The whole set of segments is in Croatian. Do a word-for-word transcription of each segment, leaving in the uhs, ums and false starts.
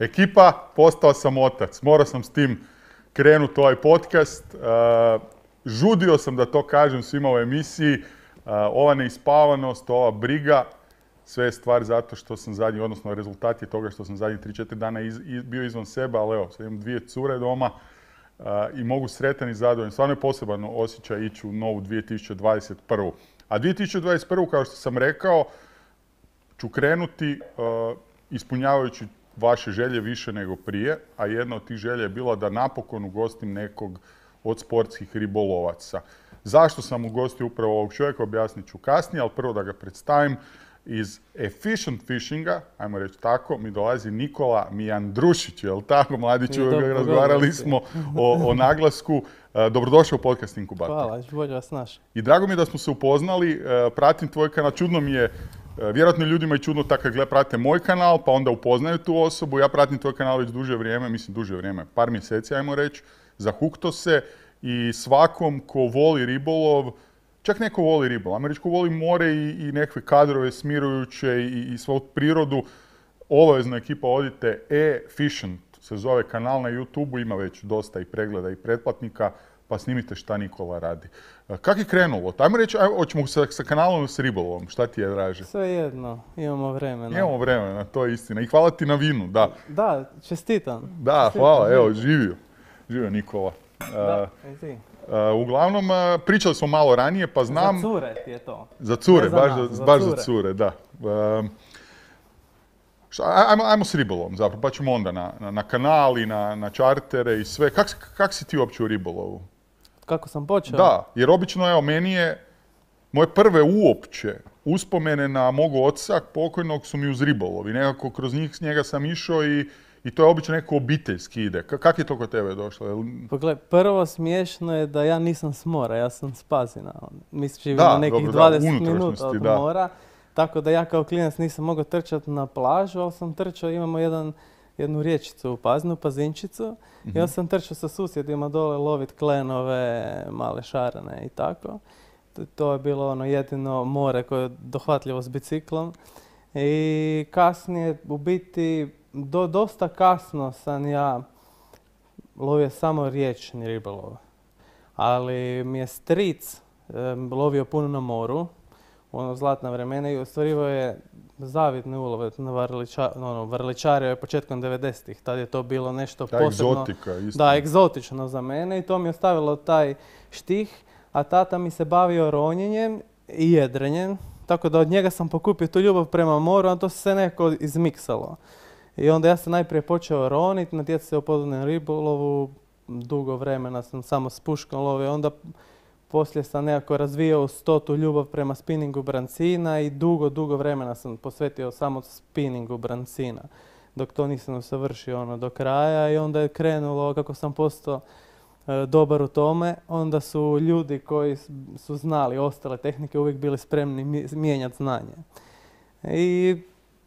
Ekipa, postao sam otac. Morao sam s tim krenuti ovaj podcast. Uh, žudio sam da to kažem svima u emisiji. Uh, ova neispavanost, ova briga, sve je stvar zato što sam zadnji, odnosno rezultat je toga što sam zadnji tri četiri dana iz, iz, bio izvan sebe, ali evo, sad imam dvije cure doma uh, i mogu sretan i zadovoljan. Stvarno je poseban osjećaj ići u novu dvije tisuće dvadeset prvu. A dvije tisuće dvadeset prvu, kao što sam rekao, ću krenuti uh, ispunjavajući vaše želje više nego prije, a jedna od tih želja je bila da napokon ugostim nekog od sportskih ribolovaca. Zašto sam ugostio upravo ovog čovjeka, objasnit ću kasnije, ali prvo da ga predstavim. Iz Efficient Fishinga, ajmo reći tako, mi dolazi Nikola Mijandrušić, je li tako, mladi čovjek, razgovarali smo o, o naglasku. Dobrodošao u podcast Inkubator. Hvala, bolje vas naš. I drago mi je da smo se upoznali, pratim tvoj kanal, čudno mi je, vjerojatno ljudima je čudno tako kad prate moj kanal, pa onda upoznaju tu osobu. Ja pratim tvoj kanal već duže vrijeme, mislim duže vrijeme, par mjeseci, ajmo reći, zahukto se i svakom ko voli ribolov, čak neko voli ribolov, ajmo reći ko voli more i, i nekakve kadrove smirujuće i, i svoju prirodu, obavezno ekipa odite, E-Fishing se zove kanal na YouTubeu, ima već dosta i pregleda i pretplatnika, pa snimite šta Nikola radi. Kako je krenulo? Ajmo reći, ajmo, hoćemo sa, sa kanalom s ribolovom, šta ti je draže? Sve jedno, imamo vremena. Imamo vremena, to je istina. I hvala ti na vinu, da. Da, čestitam. Da, čestitam, hvala, živio. evo, živio. Živio Nikola. Da, uh, i ti. Uh, uglavnom, uh, pričali smo malo ranije, pa znam... Za cure ti je to. Za cure, za baš, nas, za, za baš cure. za cure, da. Uh, šta, ajmo, ajmo s ribolovom zapravo, pa ćemo onda na, na, na kanali, na, na čartere i sve. Kak, kak si ti uopće u ribolovu? Kako sam počeo? Da, jer obično, evo, meni je, moje prve uopće uspomene na mog oca pokojnog su mi uz ribolov i nekako kroz njih s njega sam išao i, i to je obično neko obiteljski ide. K- kak je to kod tebe došlo? Jel... Pogledaj, prvo smiješno je da ja nisam s mora, ja sam s Pazina. Mi živimo Da, na nekih dobro, da, dvadeset minuta unutrašnjosti, od da. mora. Tako da ja kao klinac nisam mogao trčati na plažu, ali sam trčao, imamo jedan, jednu rječicu u Pazinu, Pazinčicu. Mhm. I onda sam trčao sa susjedima dole lovit klenove, male šarane i tako. To, to je bilo ono jedino more koje je dohvatljivo s biciklom. I kasnije, u biti, do, dosta kasno sam ja lovio samo riječni ribolov. Ali mi je stric um, lovio puno na moru, u ono zlatna vremena i ostvarivao je zavidne ulove na varliča, ono, varličario je početkom devedesetih. Tad je to bilo nešto Ta posebno. egzotika, istina. Da, egzotično za mene i to mi je ostavilo taj štih, a tata mi se bavio ronjenjem i jedrenjem, tako da od njega sam pokupio tu ljubav prema moru, a to se nekako izmiksalo. I onda ja sam najprije počeo roniti, natjecao se u podvodnom ribolovu, dugo vremena sam samo s puškom lovio, onda poslije sam nekako razvijao stotu ljubav prema spinningu brancina i dugo, dugo vremena sam posvetio samo spinningu brancina, dok to nisam usavršio ono do kraja i onda je krenulo kako sam postao e, dobar u tome, onda su ljudi koji su znali ostale tehnike uvijek bili spremni mijenjati znanje. I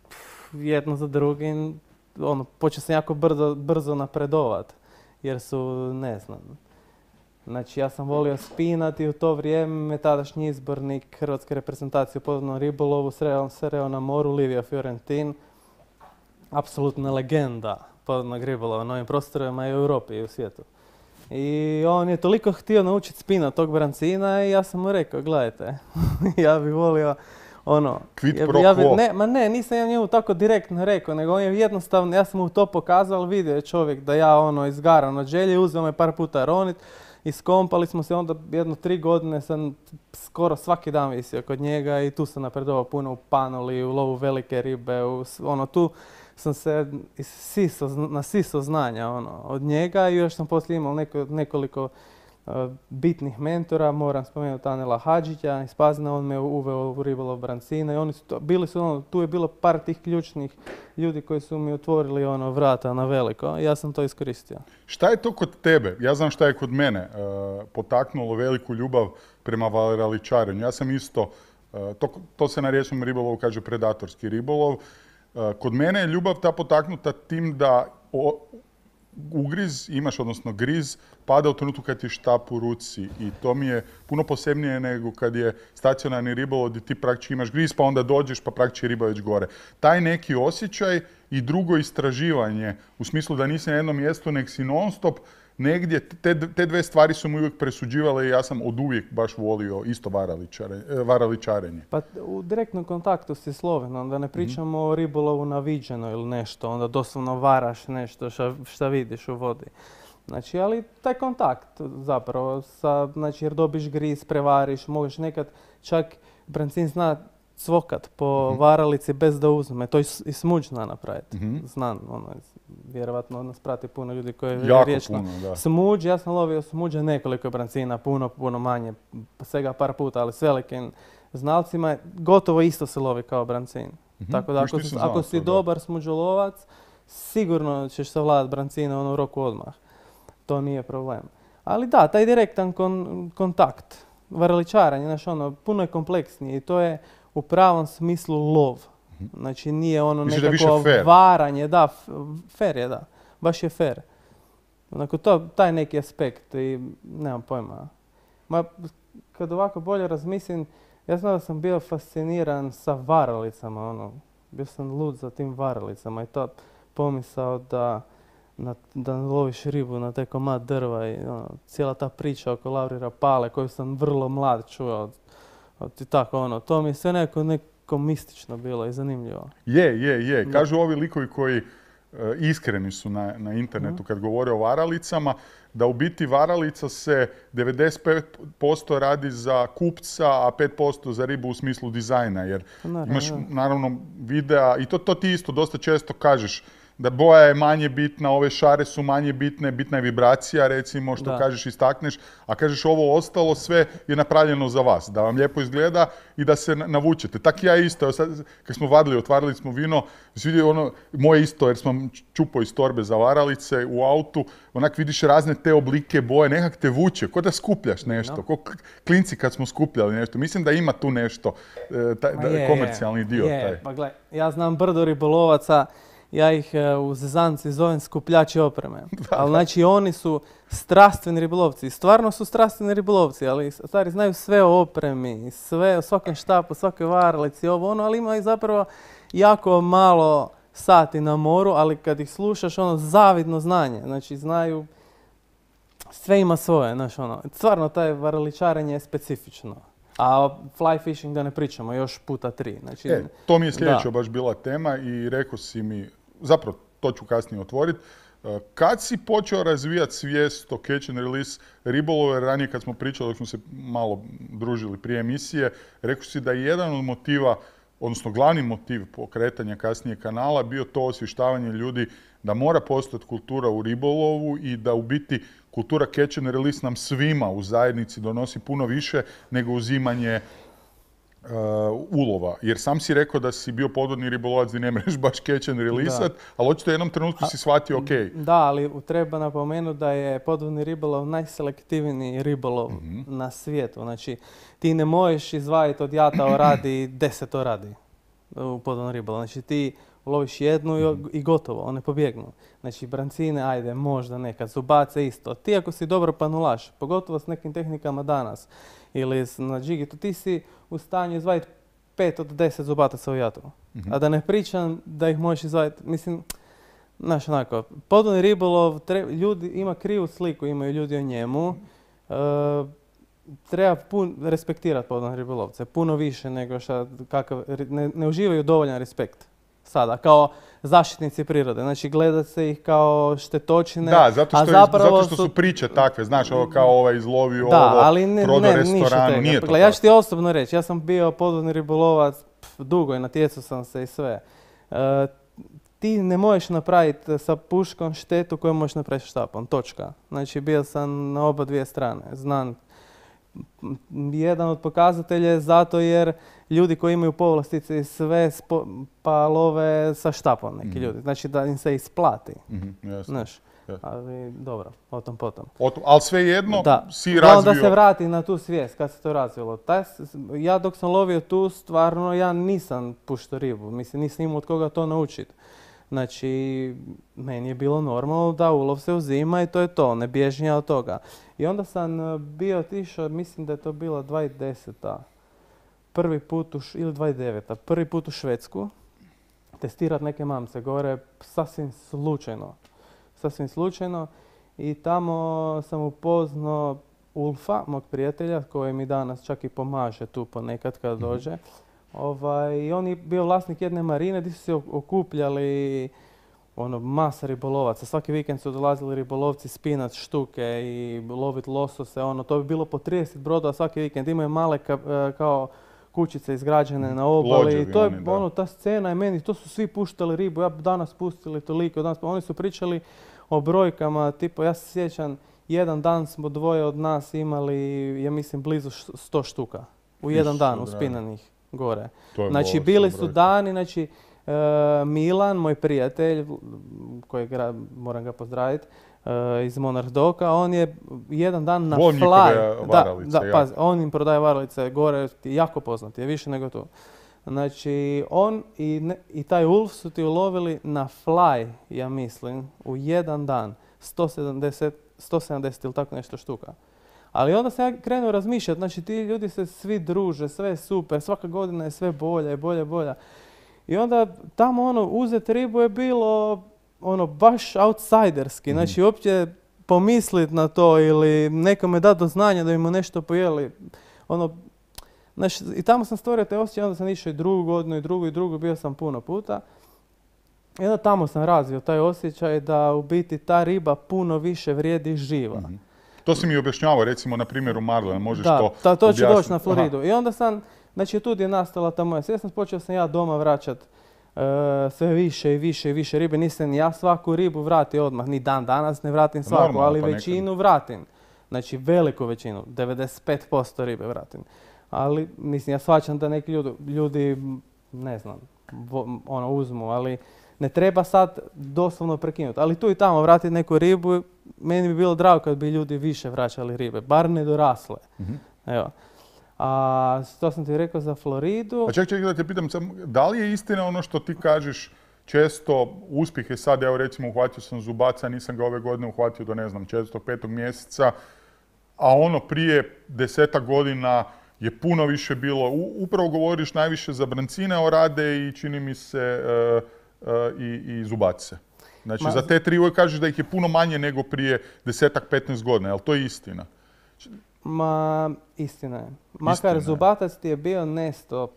pff, jedno za drugim, ono, počeo sam jako brzo, brzo napredovat, jer su, ne znam, znači ja sam volio spinati i u to vrijeme me tadašnji izbornik hrvatske reprezentacije u podvodnom ribolovu sreo, sreo na moru, Livio Fiorentin, apsolutna legenda podvodnog ribolova na ovim prostorima i u Europi i u svijetu. I on je toliko htio naučiti spinat tog brancina i ja sam mu rekao, gledajte, ja bih volio ono... Quid ja, pro ja bi, quo. ne, ma ne, nisam ja njemu tako direktno rekao, nego on je jednostavno, ja sam mu to pokazao, vidio je čovjek da ja ono izgaran od želje, uzeo me par puta ronit, iskompali smo se, onda jedno tri godine sam skoro svaki dan visio kod njega i tu sam napredovao puno u panoli, u lovu velike ribe, u, ono tu sam se isiso, nasiso znanja ono, od njega i još sam poslije imao neko, nekoliko uh, bitnih mentora, moram spomenuti Anela Hadžića iz Pazina, on me uveo u ribolov brancina i oni su to, bili su ono, tu je bilo par tih ključnih ljudi koji su mi otvorili ono vrata na veliko i ja sam to iskoristio. Šta je to kod tebe? Ja znam šta je kod mene uh, potaknulo veliku ljubav prema varaličarenju. Ja sam isto, uh, to, to se na riječnom ribolovu kaže predatorski ribolov. Uh, kod mene je ljubav ta potaknuta tim da o, ugriz imaš, odnosno griz, pada u trenutku kad ti je štap u ruci i to mi je puno posebnije nego kad je stacionarni ribolov gdje ti praktički imaš griz pa onda dođeš pa praktički riba već gore. Taj neki osjećaj i drugo istraživanje, u smislu da nisi na jednom mjestu, nek si non stop negdje, te, te dve stvari su mi uvijek presuđivale i ja sam od uvijek baš volio isto varaličare, varaličarenje. Pa u direktnom kontaktu si sloven, onda ne pričamo mm. o ribolovu na viđeno ili nešto, onda doslovno varaš nešto šta, šta vidiš u vodi. Znači, ali taj kontakt zapravo, sa, znači, jer dobiš gris, prevariš, možeš nekad čak brancin zna cvokat po mm-hmm. varalici bez da uzme, to i smuđ zna napraviti. Mm-hmm. Znam, ono, vjerovatno nas prati puno ljudi koji je riječno. Smuđ, ja sam lovio smuđa nekoliko brancina, puno, puno manje, svega par puta, ali s velikim znalcima gotovo isto se lovi kao brancin. Mm-hmm. Tako da ako, si, ako si dobar smuđolovac, sigurno ćeš savladati brancina ono u roku odmah. To nije problem. Ali da, taj direktan kon, kontakt, varaličaranje, znači ono, puno je kompleksnije i to je u pravom smislu lov. Znači nije ono Mislim nekako da varanje, da, fair je, da, baš je fair. Onako to, taj neki aspekt i nemam pojma. Ma, kad ovako bolje razmislim, ja znam da sam bio fasciniran sa varalicama, ono, bio sam lud za tim varalicama i to pomisao da Na, da loviš ribu na taj komad drva i ono, cijela ta priča oko Laurira Pale koju sam vrlo mlad čuo od, od, i tako ono, to mi je sve neko, neko mistično bilo i zanimljivo. Je, je, je. Kažu ovi likovi koji uh, iskreni su na, na internetu mm. kad govore o varalicama, da u biti varalica se devedeset pet posto radi za kupca, a pet posto za ribu u smislu dizajna, jer naravno, imaš ja. naravno videa i to, to ti isto dosta često kažeš, da boja je manje bitna, ove šare su manje bitne, bitna je vibracija recimo što da. kažeš istakneš, a kažeš ovo ostalo sve je napravljeno za vas, da vam lijepo izgleda i da se navučete. Tak ja isto, sad kad smo vadili, otvarali smo vino, vidio ono moje isto jer smo čupao iz torbe za varalice u autu, onak vidiš razne te oblike boje, nekak te vuče, ko da skupljaš nešto, no. ko klinci kad smo skupljali nešto. Mislim da ima tu nešto, taj, da, je, komercijalni dio. Je, taj. Pa gle, ja znam brdo ribolovaca. Ja ih u zezanci zovem skupljači opreme. Ali znači oni su strastveni ribolovci. Stvarno su strastveni ribolovci, ali stari znaju sve o opremi, sve o svakom štapu, svakoj varalici, ovo ono, ali imaju zapravo jako malo sati na moru, ali kad ih slušaš, ono, zavidno znanje. Znači znaju, sve ima svoje, znaš ono. Stvarno taj varaličarenje je specifično. A fly fishing da ne pričamo, još puta tri. Znači, e, to mi je sljedeća baš bila tema i rekao si mi, zapravo to ću kasnije otvoriti, kad si počeo razvijati svijest o catch and release ribolove, ranije kad smo pričali, dok smo se malo družili prije emisije, rekao si da je jedan od motiva, odnosno glavni motiv pokretanja kasnije kanala bio to osvještavanje ljudi da mora postojati kultura u ribolovu i da u biti kultura catch and release nam svima u zajednici donosi puno više nego uzimanje uh, ulova. Jer sam si rekao da si bio podvodni ribolovac gdje ne mreš baš catch and release-at, ali očito u jednom trenutku si shvatio ok. Da, ali treba napomenuti da je podvodni ribolov najselektivniji ribolov mm-hmm. na svijetu. Znači, ti ne možeš izvaditi od jata oradi deset oradi u podvodnom ribolovu. Znači, ti loviš jednu i gotovo, one pobjegnu. Znači, brancine, ajde, možda nekad, zubace isto. Ti ako si dobro panulaš, pogotovo s nekim tehnikama danas, ili na džigitu, ti si u stanju izvaditi pet od deset zubataca u jatu. Mm-hmm. A da ne pričam da ih možeš izvaditi, mislim, znaš onako, podvodni ribolov, treba, ljudi, ima krivu sliku, imaju ljudi o njemu. E, treba pun, respektirati podvodne ribolovce, puno više nego što, kakav, ne, ne uživaju dovoljan respekt. Sada, kao zaštitnici prirode. Znači, gleda se ih kao štetočine. Da, zato što, je, zato što su priče takve. Znaš, ovo kao ovaj izlovio da, ovo, ali ne, prodao ne, restoranu. Nije to Gle, ja ću ti osobno reći, ja sam bio podvodni ribolovac, pf, dugo i natjecao sam se i sve. E, ti ne možeš napraviti sa puškom štetu koju možeš napraviti štapom. Točka. Znači, bio sam na oba dvije strane. Znam, jedan od pokazatelja je zato jer ljudi koji imaju povlastice i sve spo, pa love sa štapom neki mm-hmm. ljudi. Znači da im se isplati. Mm-hmm, jasno. Znaš, jasno. Ali dobro, o tom potom. O tom, ali svejedno da. si razvio... Da se vrati na tu svijest kad se to razvilo. Taj, ja dok sam lovio tu, stvarno ja nisam puštao ribu. Mislim, nisam imao od koga to naučiti. Znači, meni je bilo normalno da ulov se uzima i to je to, ne bježim ja od toga. I onda sam bio otišao, mislim da je to bila dvadeset deseta. Prvi put u, ili dvadeset deveta. Prvi put u Švedsku. testirati neke mamce gore, sasvim slučajno. Sasvim slučajno. I tamo sam upoznao Ulfa, mog prijatelja, koji mi danas čak i pomaže tu ponekad kad dođe. Mm-hmm. Ovaj, I on je bio vlasnik jedne marine gdje su se okupljali ono, masa ribolovaca. Svaki vikend su dolazili ribolovci spinat štuke i loviti losose. Ono, to bi bilo po trideset brodova svaki vikend. Imaju male ka, kao kućice izgrađene na obali. Lođevi I to je oni, ono, ta scena je meni, to su svi puštali ribu. Ja danas pustili toliko, danas, oni su pričali o brojkama, tipo ja se sjećam, jedan dan smo dvoje od nas imali, ja mislim, blizu sto štuka. U jedan dan uspinanih gore. Znači, bili su dani, znači, uh, Milan, moj prijatelj, kojeg moram ga pozdraviti, uh, iz Monarch Doka, on je jedan dan na Volim fly. Varalice, da, da, pazi, on im prodaje varalice gore, jako poznat je, više nego tu. Znači, on i, ne, i taj Ulf su ti ulovili na fly, ja mislim, u jedan dan, sto sedamdeset, sto sedamdeset ili tako nešto štuka. Ali onda sam ja krenuo razmišljati, znači ti ljudi se svi druže, sve je super, svaka godina je sve bolja i bolja i bolja. I onda tamo ono, uzeti ribu je bilo ono, baš outsiderski, mm-hmm. Znači uopće pomisliti na to ili nekome dati do znanja da bi mu nešto pojeli. Ono, znači, i tamo sam stvorio te osjećaj, onda sam išao i drugu godinu i drugu i drugu, bio sam puno puta. I onda tamo sam razvio taj osjećaj da u biti ta riba puno više vrijedi živa. Mm-hmm. To si mi objašnjavao, recimo na primjeru Marlena, možeš da, to Da, to objasniti? ću doći na Floridu. Aha. I onda sam, znači tu je nastala ta moja svjesnost, počeo sam ja doma vraćat uh, sve više i više i više ribe. Nisam ja svaku ribu vratio odmah, ni dan danas ne vratim svaku, normalno, ali pa većinu nekad. vratim. Znači veliku većinu, devedeset pet posto ribe vratim. Ali mislim, ja shvaćam da neki ljudi, ljudi ne znam, vo, ono uzmu, ali ne treba sad doslovno prekinuti. Ali tu i tamo vratiti neku ribu, meni bi bilo drago kad bi ljudi više vraćali ribe, bar nedorasle. Mm-hmm. Evo. A to sam ti rekao za Floridu. A ček, ček da te pitam, da li je istina ono što ti kažeš često uspjeh je sad, evo recimo uhvatio sam zubaca, nisam ga ove godine uhvatio do ne znam četvrtog, petog mjeseca, a ono prije desetak godina je puno više bilo, u, upravo govoriš najviše za brancine orade i čini mi se uh, uh, i, i zubace. Znači Ma, za te tri uvijek kažeš da ih je puno manje nego prije desetak, petnaest godina, jel to je istina? Ma, istina je. Makar zubatac ti je bio nesto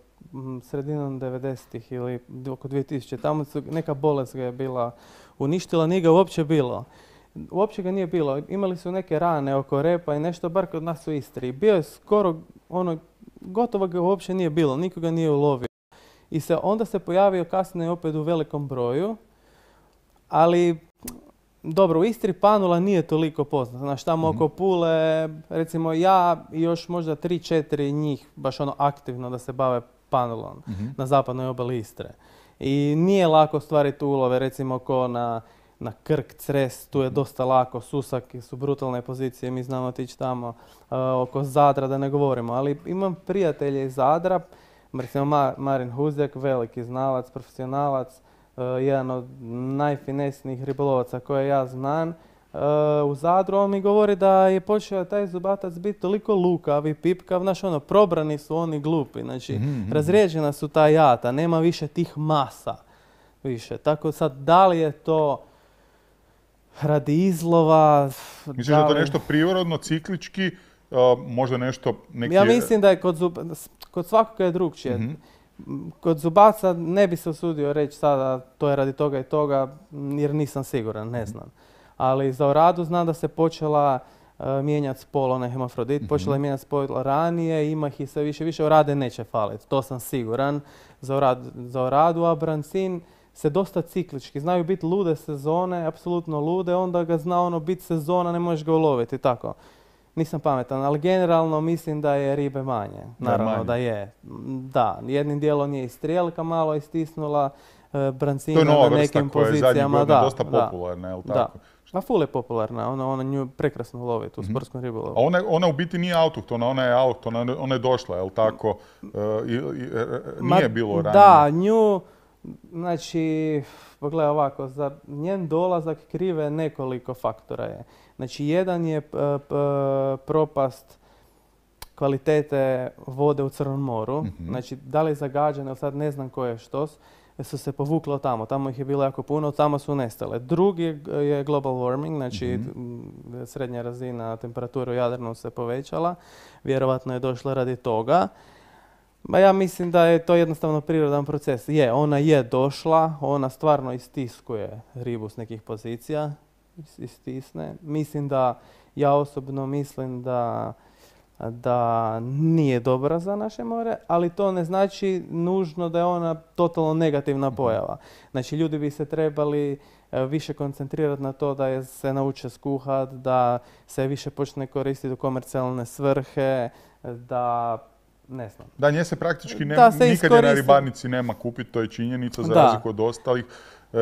sredinom devedesetih ili oko dvije tisuće. Tamo su, neka bolest ga je bila uništila, nije ga uopće bilo. Uopće ga nije bilo. Imali su neke rane oko repa i nešto, bar kod nas u Istri. Bio je skoro, ono, gotovo ga uopće nije bilo, nikoga nije ulovio. I se, onda se pojavio kasnije opet u velikom broju, ali dobro, u Istri panula nije toliko poznata. Znaš, tamo mm-hmm. oko Pule, recimo ja i još možda tri, četiri njih baš ono aktivno da se bave panulom mm-hmm. na zapadnoj obali Istre. I nije lako ostvariti ulove, recimo ko na, na Krk, Cres, tu je dosta lako, Susaki su brutalne pozicije, mi znamo otići tamo, uh, oko Zadra da ne govorimo. Ali imam prijatelje iz Zadra, recimo Ma, Marin Huzjak, veliki znalac, profesionalac, Uh, jedan od najfinesnijih ribolovaca koje ja znam uh, u Zadru, on mi govori da je počeo taj zubatac biti toliko lukav i pipkav, znaš ono, probrani su oni glupi, znači mm-hmm. razrijeđena su ta jata, nema više tih masa više, tako sad da li je to radi izlova? Misliš da, da je to nešto prirodno, ciklički, uh, možda nešto neki... Ja mislim da je kod, zub... kod svakoga je drugčije. Mm-hmm. Kod zubaca ne bi se usudio reći sada to je radi toga i toga jer nisam siguran, ne znam. Ali za oradu znam da se počela uh, mijenjati spol, onaj hemafrodit, mm-hmm. počela je mijenjati spol ranije, ima ih i sve više, više orade neće faliti, to sam siguran za, orad, za oradu, a brancin se dosta ciklički, znaju biti lude sezone, apsolutno lude, onda ga zna ono biti sezona, ne možeš ga uloviti, tako. Nisam pametan, ali generalno mislim da je ribe manje. Naravno da, manje. da je. Da, jednim dijelom je i strijelka malo istisnula, e, brancina na nekim pozicijama. To je nova vrsta koja je zadnjih godina dosta popularna, je li tako? Da. A ful je popularna, ona, ona nju prekrasno lovi u mm-hmm. sportskom ribolovu. A ona, ona u biti nije autohtona, ona je autohtona, ona je došla, je li tako? E, i, i, nije Ma, bilo ranije. Da, nju, znači, pogledaj ovako, za njen dolazak krive nekoliko faktora je. Znači, jedan je p- p- propast kvalitete vode u Crnom moru. Mm-hmm. Znači, da li je zagađena, sad ne znam koje je štos. su se povukle od tamo. Tamo ih je bilo jako puno, tamo su nestale. Drugi je global warming, znači mm-hmm. srednja razina temperature u Jadranu se povećala. Vjerovatno je došla radi toga. Ma ja mislim da je to jednostavno prirodan proces. Je, ona je došla, ona stvarno istiskuje ribu s nekih pozicija, istisne. Mislim da, ja osobno mislim da da nije dobra za naše more, ali to ne znači nužno da je ona totalno negativna pojava. Znači, ljudi bi se trebali više koncentrirati na to da je se nauče skuhat, da se više počne koristiti u komercijalne svrhe, da ne znam. Da, nje se praktički ne, se nikad je na ribarnici nema kupiti, to je činjenica za razliku od ostalih e,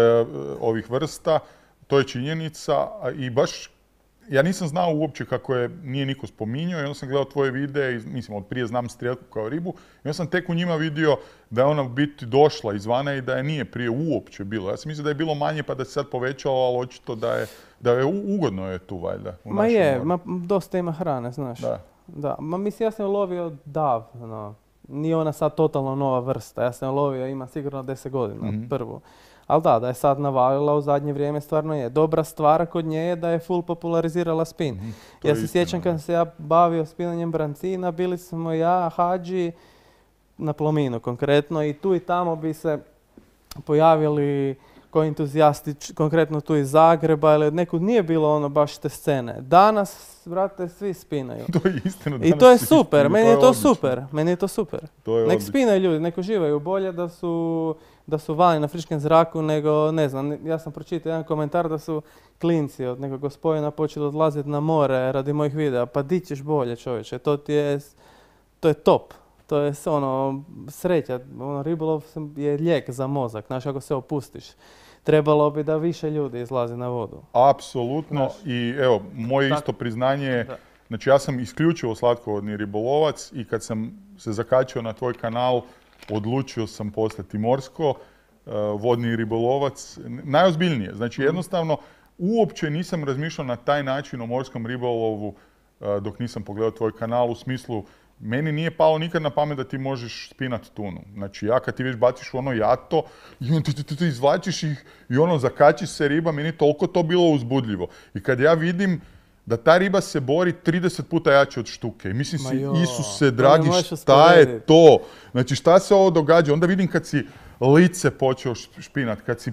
ovih vrsta. To je činjenica i baš ja nisam znao uopće kako je, nije niko spominjao i onda sam gledao tvoje videe, mislim, od prije znam strijelku kao ribu i onda sam tek u njima vidio da je ona u biti došla izvana i da je nije prije uopće bilo. Ja sam mislio da je bilo manje pa da se sad povećalo, ali očito da je, da je ugodno je tu valjda. U ma je, ma, dosta ima hrane, znaš. Da. Da, ma mislim, ja sam lovio davno. Nije ona sad totalno nova vrsta. Ja sam lovio, ima sigurno deset godina, mm-hmm. prvu. Ali da, da je sad navalila u zadnje vrijeme stvarno je. Dobra stvar kod nje je da je full popularizirala spin. Mm, ja se sjećam kad se ja bavio spinanjem brancina, bili smo ja, Hadži, na Plominu konkretno i tu i tamo bi se pojavili koji entuzijasti, konkretno tu iz Zagreba ili nekud nije bilo ono baš te scene. Danas, brate, svi spinaju. To je istina. I to je super, meni je to super, meni je to super. Nek spinaju ljudi, nek uživaju, bolje da su da su vani na friškem zraku nego, ne znam, ja sam pročitao jedan komentar da su klinci od nekog gospodina počeli odlaziti na more radi mojih videa. Pa di ćeš bolje, čovječe, to ti je, to je top. To je ono, sreća, ono, ribolov je lijek za mozak, znaš, ako se opustiš. Trebalo bi da više ljudi izlazi na vodu. Apsolutno. Znaš, i evo, moje tak, isto priznanje je, znači ja sam isključivo slatkovodni ribolovac i kad sam se zakačio na tvoj kanal, odlučio sam postati morsko, uh, vodni ribolovac, najozbiljnije. Znači jednostavno, uopće nisam razmišljao na taj način o morskom ribolovu uh, dok nisam pogledao tvoj kanal, u smislu, meni nije palo nikad na pamet da ti možeš spinati tunu. Znači ja kad ti već baciš u ono jato i on ti, ti, ti, ti izvlačiš ih i ono zakačiš se riba, meni je toliko to bilo uzbudljivo. I kad ja vidim da ta riba se bori trideset puta jače od štuke. I mislim si, Isuse dragi, šta je to? Znači šta se ovo događa? Onda vidim kad si lice počeo špinat, kad si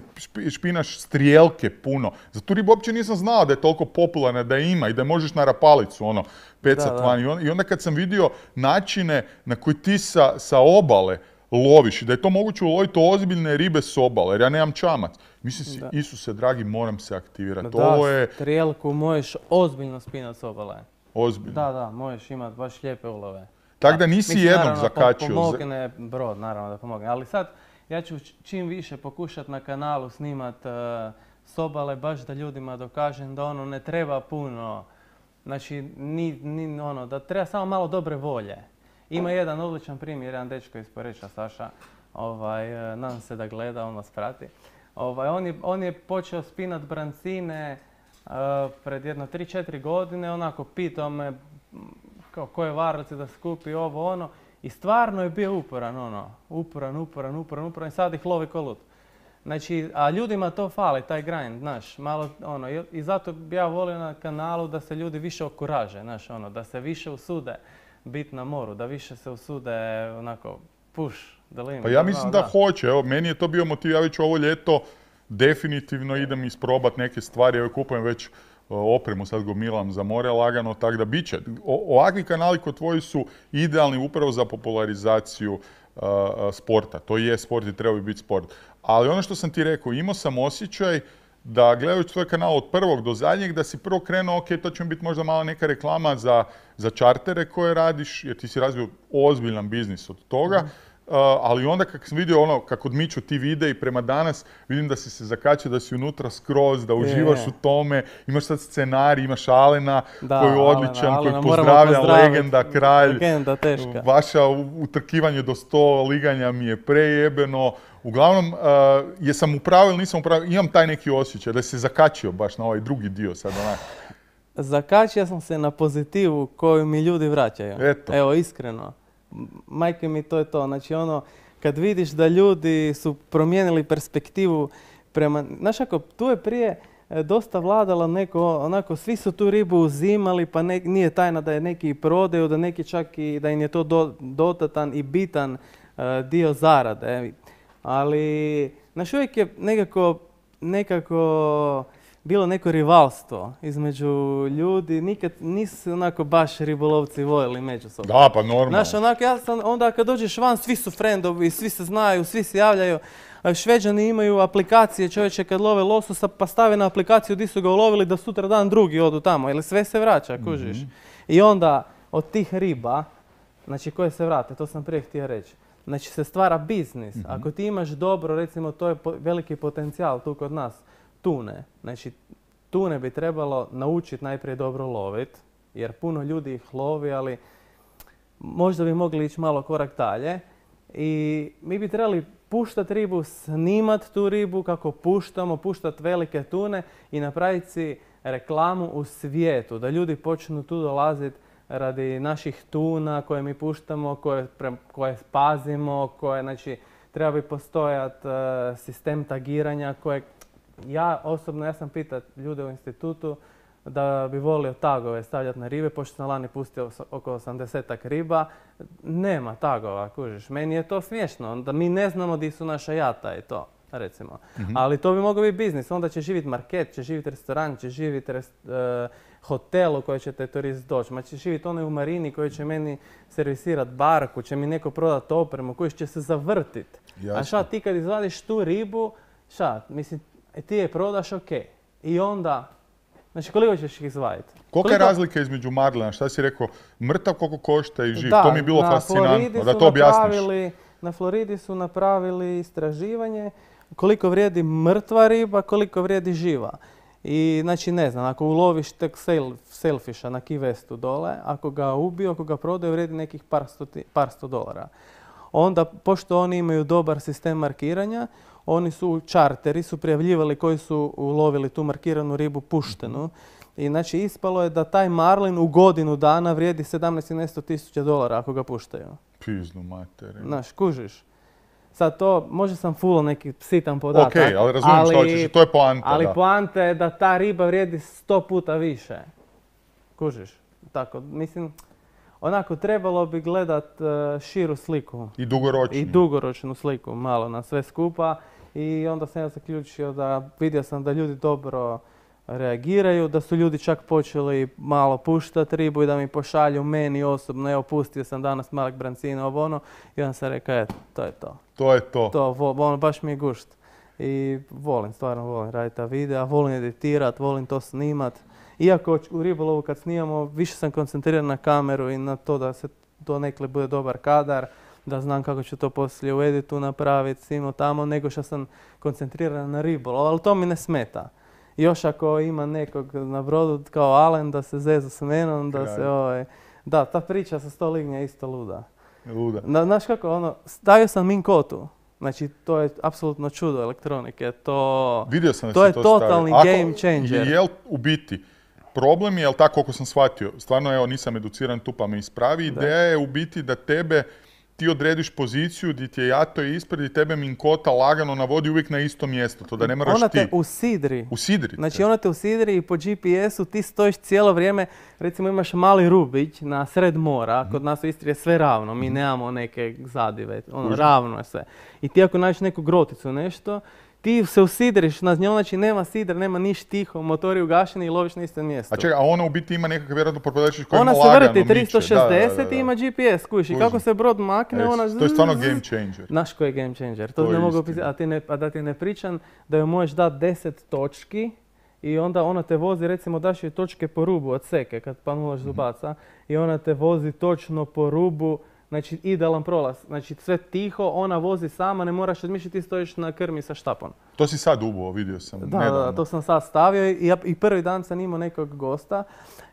špinaš strijelke puno. Za tu ribu uopće nisam znao da je toliko popularna, da je ima i da možeš na rapalicu ono, pecat van. I onda kad sam vidio načine na koji ti sa, sa obale loviš i da je to moguće uloviti ozbiljne ribe s obale, jer ja nemam čamac. Mislim si, da. Isuse dragi, moram se aktivirati. Da, ovo je... strijelku možeš ozbiljno spinati s obale. Ozbiljno? Da, da, možeš imati baš lijepe ulove. Tako da nisi mislim, jednog naravno, zakačio. Pomogne brod, naravno da pomogne. Ali sad, ja ću čim više pokušati na kanalu snimat uh, s obale, baš da ljudima dokažem da ono ne treba puno. Znači, ni, ni ono, da treba samo malo dobre volje. Ima jedan odličan primjer, jedan dečko iz Poreča, Saša, ovaj, nadam se da gleda, on vas prati. Ovaj, on, je, on je počeo spinat brancine uh, pred jedno tri četiri godine, onako pitao me kao koje varlice da skupi ovo ono i stvarno je bio uporan, ono, uporan, uporan, uporan, uporan i sad ih lovi ko lud. Znači, a ljudima to fali, taj grind, znaš, malo, ono, i zato bi ja volio na kanalu da se ljudi više okuraže, znaš, ono, da se više usude biti na moru, da više se usude, onako, push the limit. Pa ja mislim da, da hoće, evo, meni je to bio motiv, ja već ovo ljeto definitivno idem isprobat neke stvari, evo kupujem već opremu, sad gomilam za more lagano, tako da bit će. O, ovakvi kanali kod tvoji su idealni upravo za popularizaciju uh, sporta. To je sport i treba bi biti sport. Ali ono što sam ti rekao, imao sam osjećaj da gledajući tvoj kanal od prvog do zadnjeg, da si prvo krenuo, ok, to će biti možda malo neka reklama za, za čartere koje radiš, jer ti si razvio ozbiljan biznis od toga. Mm. Uh, ali onda kako sam vidio ono, kako odmiču ti videi i prema danas, vidim da si se zakačio, da si unutra skroz, da uživaš je. u tome, imaš sad scenarij, imaš Alena da, koji je odličan, Alena, koji pozdravlja, legenda, kralj, legenda, teška. Vaša utrkivanje do sto liganja mi je prejebeno. Uglavnom, uh, jesam upravo ili nisam upravo, imam taj neki osjećaj da si se zakačio baš na ovaj drugi dio sad onak. Zakačio sam se na pozitivu koju mi ljudi vraćaju. Eto. Evo, iskreno. Majke mi, to je to. Znači ono, kad vidiš da ljudi su promijenili perspektivu prema... Znaš ako, tu je prije e, dosta vladalo neko, onako, svi su tu ribu uzimali, pa ne, nije tajna da je neki prodaju, da neki čak i da im je to do, dodatan i bitan e, dio zarade. Ali, znaš, uvijek je nekako, nekako bilo neko rivalstvo između ljudi, nikad nisu onako baš ribolovci voljeli međusobno. Da, pa normalno. Znaš, onako, ja sam, onda kad dođeš van, svi su frendovi, svi se znaju, svi se javljaju. Šveđani imaju aplikacije, čovječe, kad love lososa, pa stave na aplikaciju di su ga ulovili da sutra dan drugi odu tamo, jer sve se vraća, kužiš. Mm-hmm. I onda od tih riba, znači koje se vrate, to sam prije htio reći, znači se stvara biznis. Mm-hmm. Ako ti imaš dobro, recimo, to je po, veliki potencijal tu kod nas, tune. Znači, tune bi trebalo naučiti najprije dobro loviti, jer puno ljudi ih lovi, ali možda bi mogli ići malo korak dalje. I mi bi trebali puštati ribu, snimati tu ribu kako puštamo, puštati velike tune i napraviti si reklamu u svijetu, da ljudi počnu tu dolaziti radi naših tuna koje mi puštamo, koje, pre, koje pazimo, koje, znači, treba bi postojati uh, sistem tagiranja koje... Ja osobno, ja sam pitat ljude u institutu da bi volio tagove stavljati na ribe, pošto sam lani pustio oko osamdesetak riba. Nema tagova, kužiš. Meni je to smiješno, da mi ne znamo di su naša jata i to, recimo. Mm-hmm. Ali to bi mogao biti biznis, onda će živjeti market, će živjeti restoran, će živjeti rest, uh, hotel u koji će te turist doći, ma će živjeti onaj u marini koji će meni servisirati barku, će mi neko prodati opremu, koji će se zavrtiti. A šta ti kad izvadiš tu ribu, šta, mislim, ti je prodaš, ok. I onda, znači koliko ćeš ih izvaditi? Kolika je razlika između marlina? Šta si rekao, mrtav koliko košta i živ? Da, to mi je bilo fascinantno, da to objasniš. Na Floridi su napravili istraživanje koliko vrijedi mrtva riba, koliko vrijedi živa. I znači ne znam, ako uloviš tek sailfisha na Key Westu dole, ako ga ubiju, ako ga prodaju, vrijedi nekih par sto, par sto dolara. Onda, pošto oni imaju dobar sistem markiranja, oni su, čarteri su prijavljivali koji su ulovili tu markiranu ribu puštenu. I znači ispalo je da taj marlin u godinu dana vrijedi sedamnaest i nešto tisuća dolara ako ga puštaju. Piznu materiju. Znaš, kužiš. Sad to, možda sam fulao neki sitan podatak. Ok, ali razumijem ali, što hoćeš, to je poanta. Ali da. poanta je da ta riba vrijedi sto puta više. Kužiš. Tako, mislim, onako trebalo bi gledat uh, širu sliku. I dugoročnu. I dugoročnu sliku, malo na sve skupa. I onda sam ja zaključio da, vidio sam da ljudi dobro reagiraju, da su ljudi čak počeli malo puštati ribu i da mi pošalju meni osobno, evo pustio sam danas malog brancina, ovo ono, i onda sam rekao, eto, to je to. To je to. To, ono, baš mi je gušt. I volim, stvarno volim raditi ta videa, volim editirat, volim to snimat. Iako u ribolovu kad snimamo, više sam koncentriran na kameru i na to da se to nekle bude dobar kadar, da znam kako ću to poslije u editu napraviti, simo tamo, nego što sam koncentriran na ribolov, ali to mi ne smeta. Još ako ima nekog na brodu kao Alen da se zeza s menom, da Kraj. se ovaj... Da, ta priča sa sto lignja je isto luda. Luda. Da, znaš kako, ono, stavio sam Minn Kotu. Znači, to je apsolutno čudo elektronike. To, Vidio sam da to je to totalni stavio. game changer. Je li u biti problem je, jel tako koliko sam shvatio, stvarno evo nisam educiran tu pa me ispravi, da. Ideja je u biti da tebe ti odrediš poziciju gdje ti je jato ispred i tebe Minn Kota lagano navodi uvijek na isto mjesto, to da ne moraš ti... Ona te usidri. Usidri. Znači ona te usidri i po G P S-u ti stojiš cijelo vrijeme, recimo imaš mali rubić na sred mora, kod nas u Istri je sve ravno, mi nemamo neke zadive, ono, ravno je sve. I ti ako nađeš neku groticu, nešto, ti se usidriš na njom, znači nema sidra, nema niš tiho, motori ugašeni i loviš na istom mjestu. A čekaj, a ona u biti ima nekakav vjerojatno propadačić koji ima lagano miče. Ona se vrti tristo šezdeset da, da, da. i ima G P S, kužiš. I kako se brod makne, e, ona... To je stvarno game changer. Znaš koji je game changer? To, to ne mogu opisati, a, ti ne, a da ti ne pričam da joj možeš dati deset točki i onda ona te vozi, recimo daš joj točke po rubu od seke kad panulaš zubaca mm-hmm. i ona te vozi točno po rubu. Znači, idealan prolaz. Znači, sve tiho, ona vozi sama, ne moraš odmišljati, ti stojiš na krmi sa štapom. To si sad ubuo, vidio sam. Da, da, to sam sad stavio i, ja, i prvi dan sam imao nekog gosta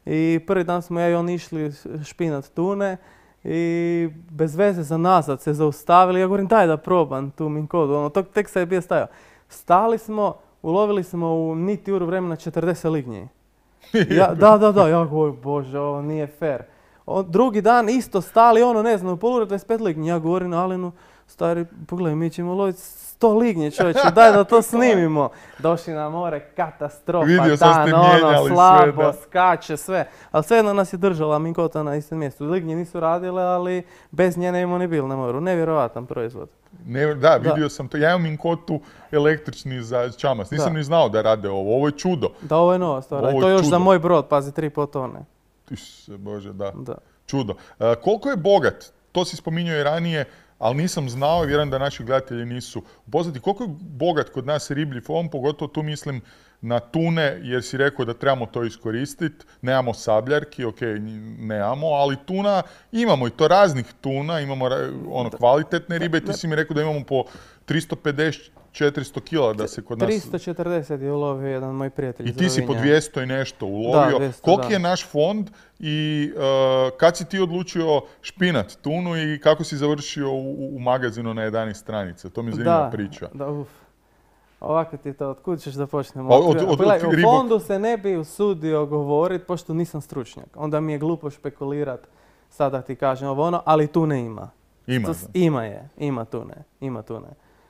i prvi dan smo ja i on išli špinat tune i bez veze za nazad se zaustavili. Ja govorim, daj da probam tu Minn Kotu, ono, tog tek se je bio stajao. Stali smo, ulovili smo u niti uru vremena četrdeset lignji. Ja, da, da, da, ja govorim, bože, ovo nije fair. O, drugi dan isto stali, ono ne znam, u polura dvadeset pet lignji. Ja govorim Alenu, stari, pogledaj, mi ćemo loviti sto lignje, čovječe, daj da to snimimo. Došli na more, katastrofa, Vidio sam dan, ste ono, mijenjali slabo, sve, da. skače, sve. Ali svejedno nas je držala minkota na istom mjestu. Lignje nisu radile, ali bez nje ne imamo ni bil na moru. Nevjerovatan proizvod. Ne, da, vidio da. sam to. Ja imam minkotu električni za čamac. Nisam da. ni znao da rade ovo. Ovo je čudo. Da, ovo je nova stvar. I to još čudo. Za moj brod, pazi, tri i pol tone. Isuse Bože, da. da. Čudo. Uh, koliko je bogat, to si spominjao i ranije, ali nisam znao i vjerujem da naši gledatelji nisu upoznati. Koliko je bogat kod nas riblji fond, pogotovo tu mislim na tune, jer si rekao da trebamo to iskoristiti. Nemamo sabljarki, ok, nemamo, ali tuna imamo i to raznih tuna, imamo ono kvalitetne ribe. Ti si mi rekao da imamo po tristo pedeset četiristo kila da se kod nas... tristo četrdeset je ulovio jedan moj prijatelj iz I ti si po dvjesto i nešto ulovio. Da, dvjesto, Koliki da. je naš fond i uh, kad si ti odlučio špinat tunu i kako si završio u, u magazinu na jedanaest stranica? To mi zanima da, priča. Da, uf. Ovako ti to, od kud ćeš da počnemo? Od, od, od, Pogledaj, od, u fondu se ne bi usudio govoriti, pošto nisam stručnjak. Onda mi je glupo špekulirat, sada ti kažem ovo ono, ali tune ima. Ima, to, ima je, ima tune, ima tune.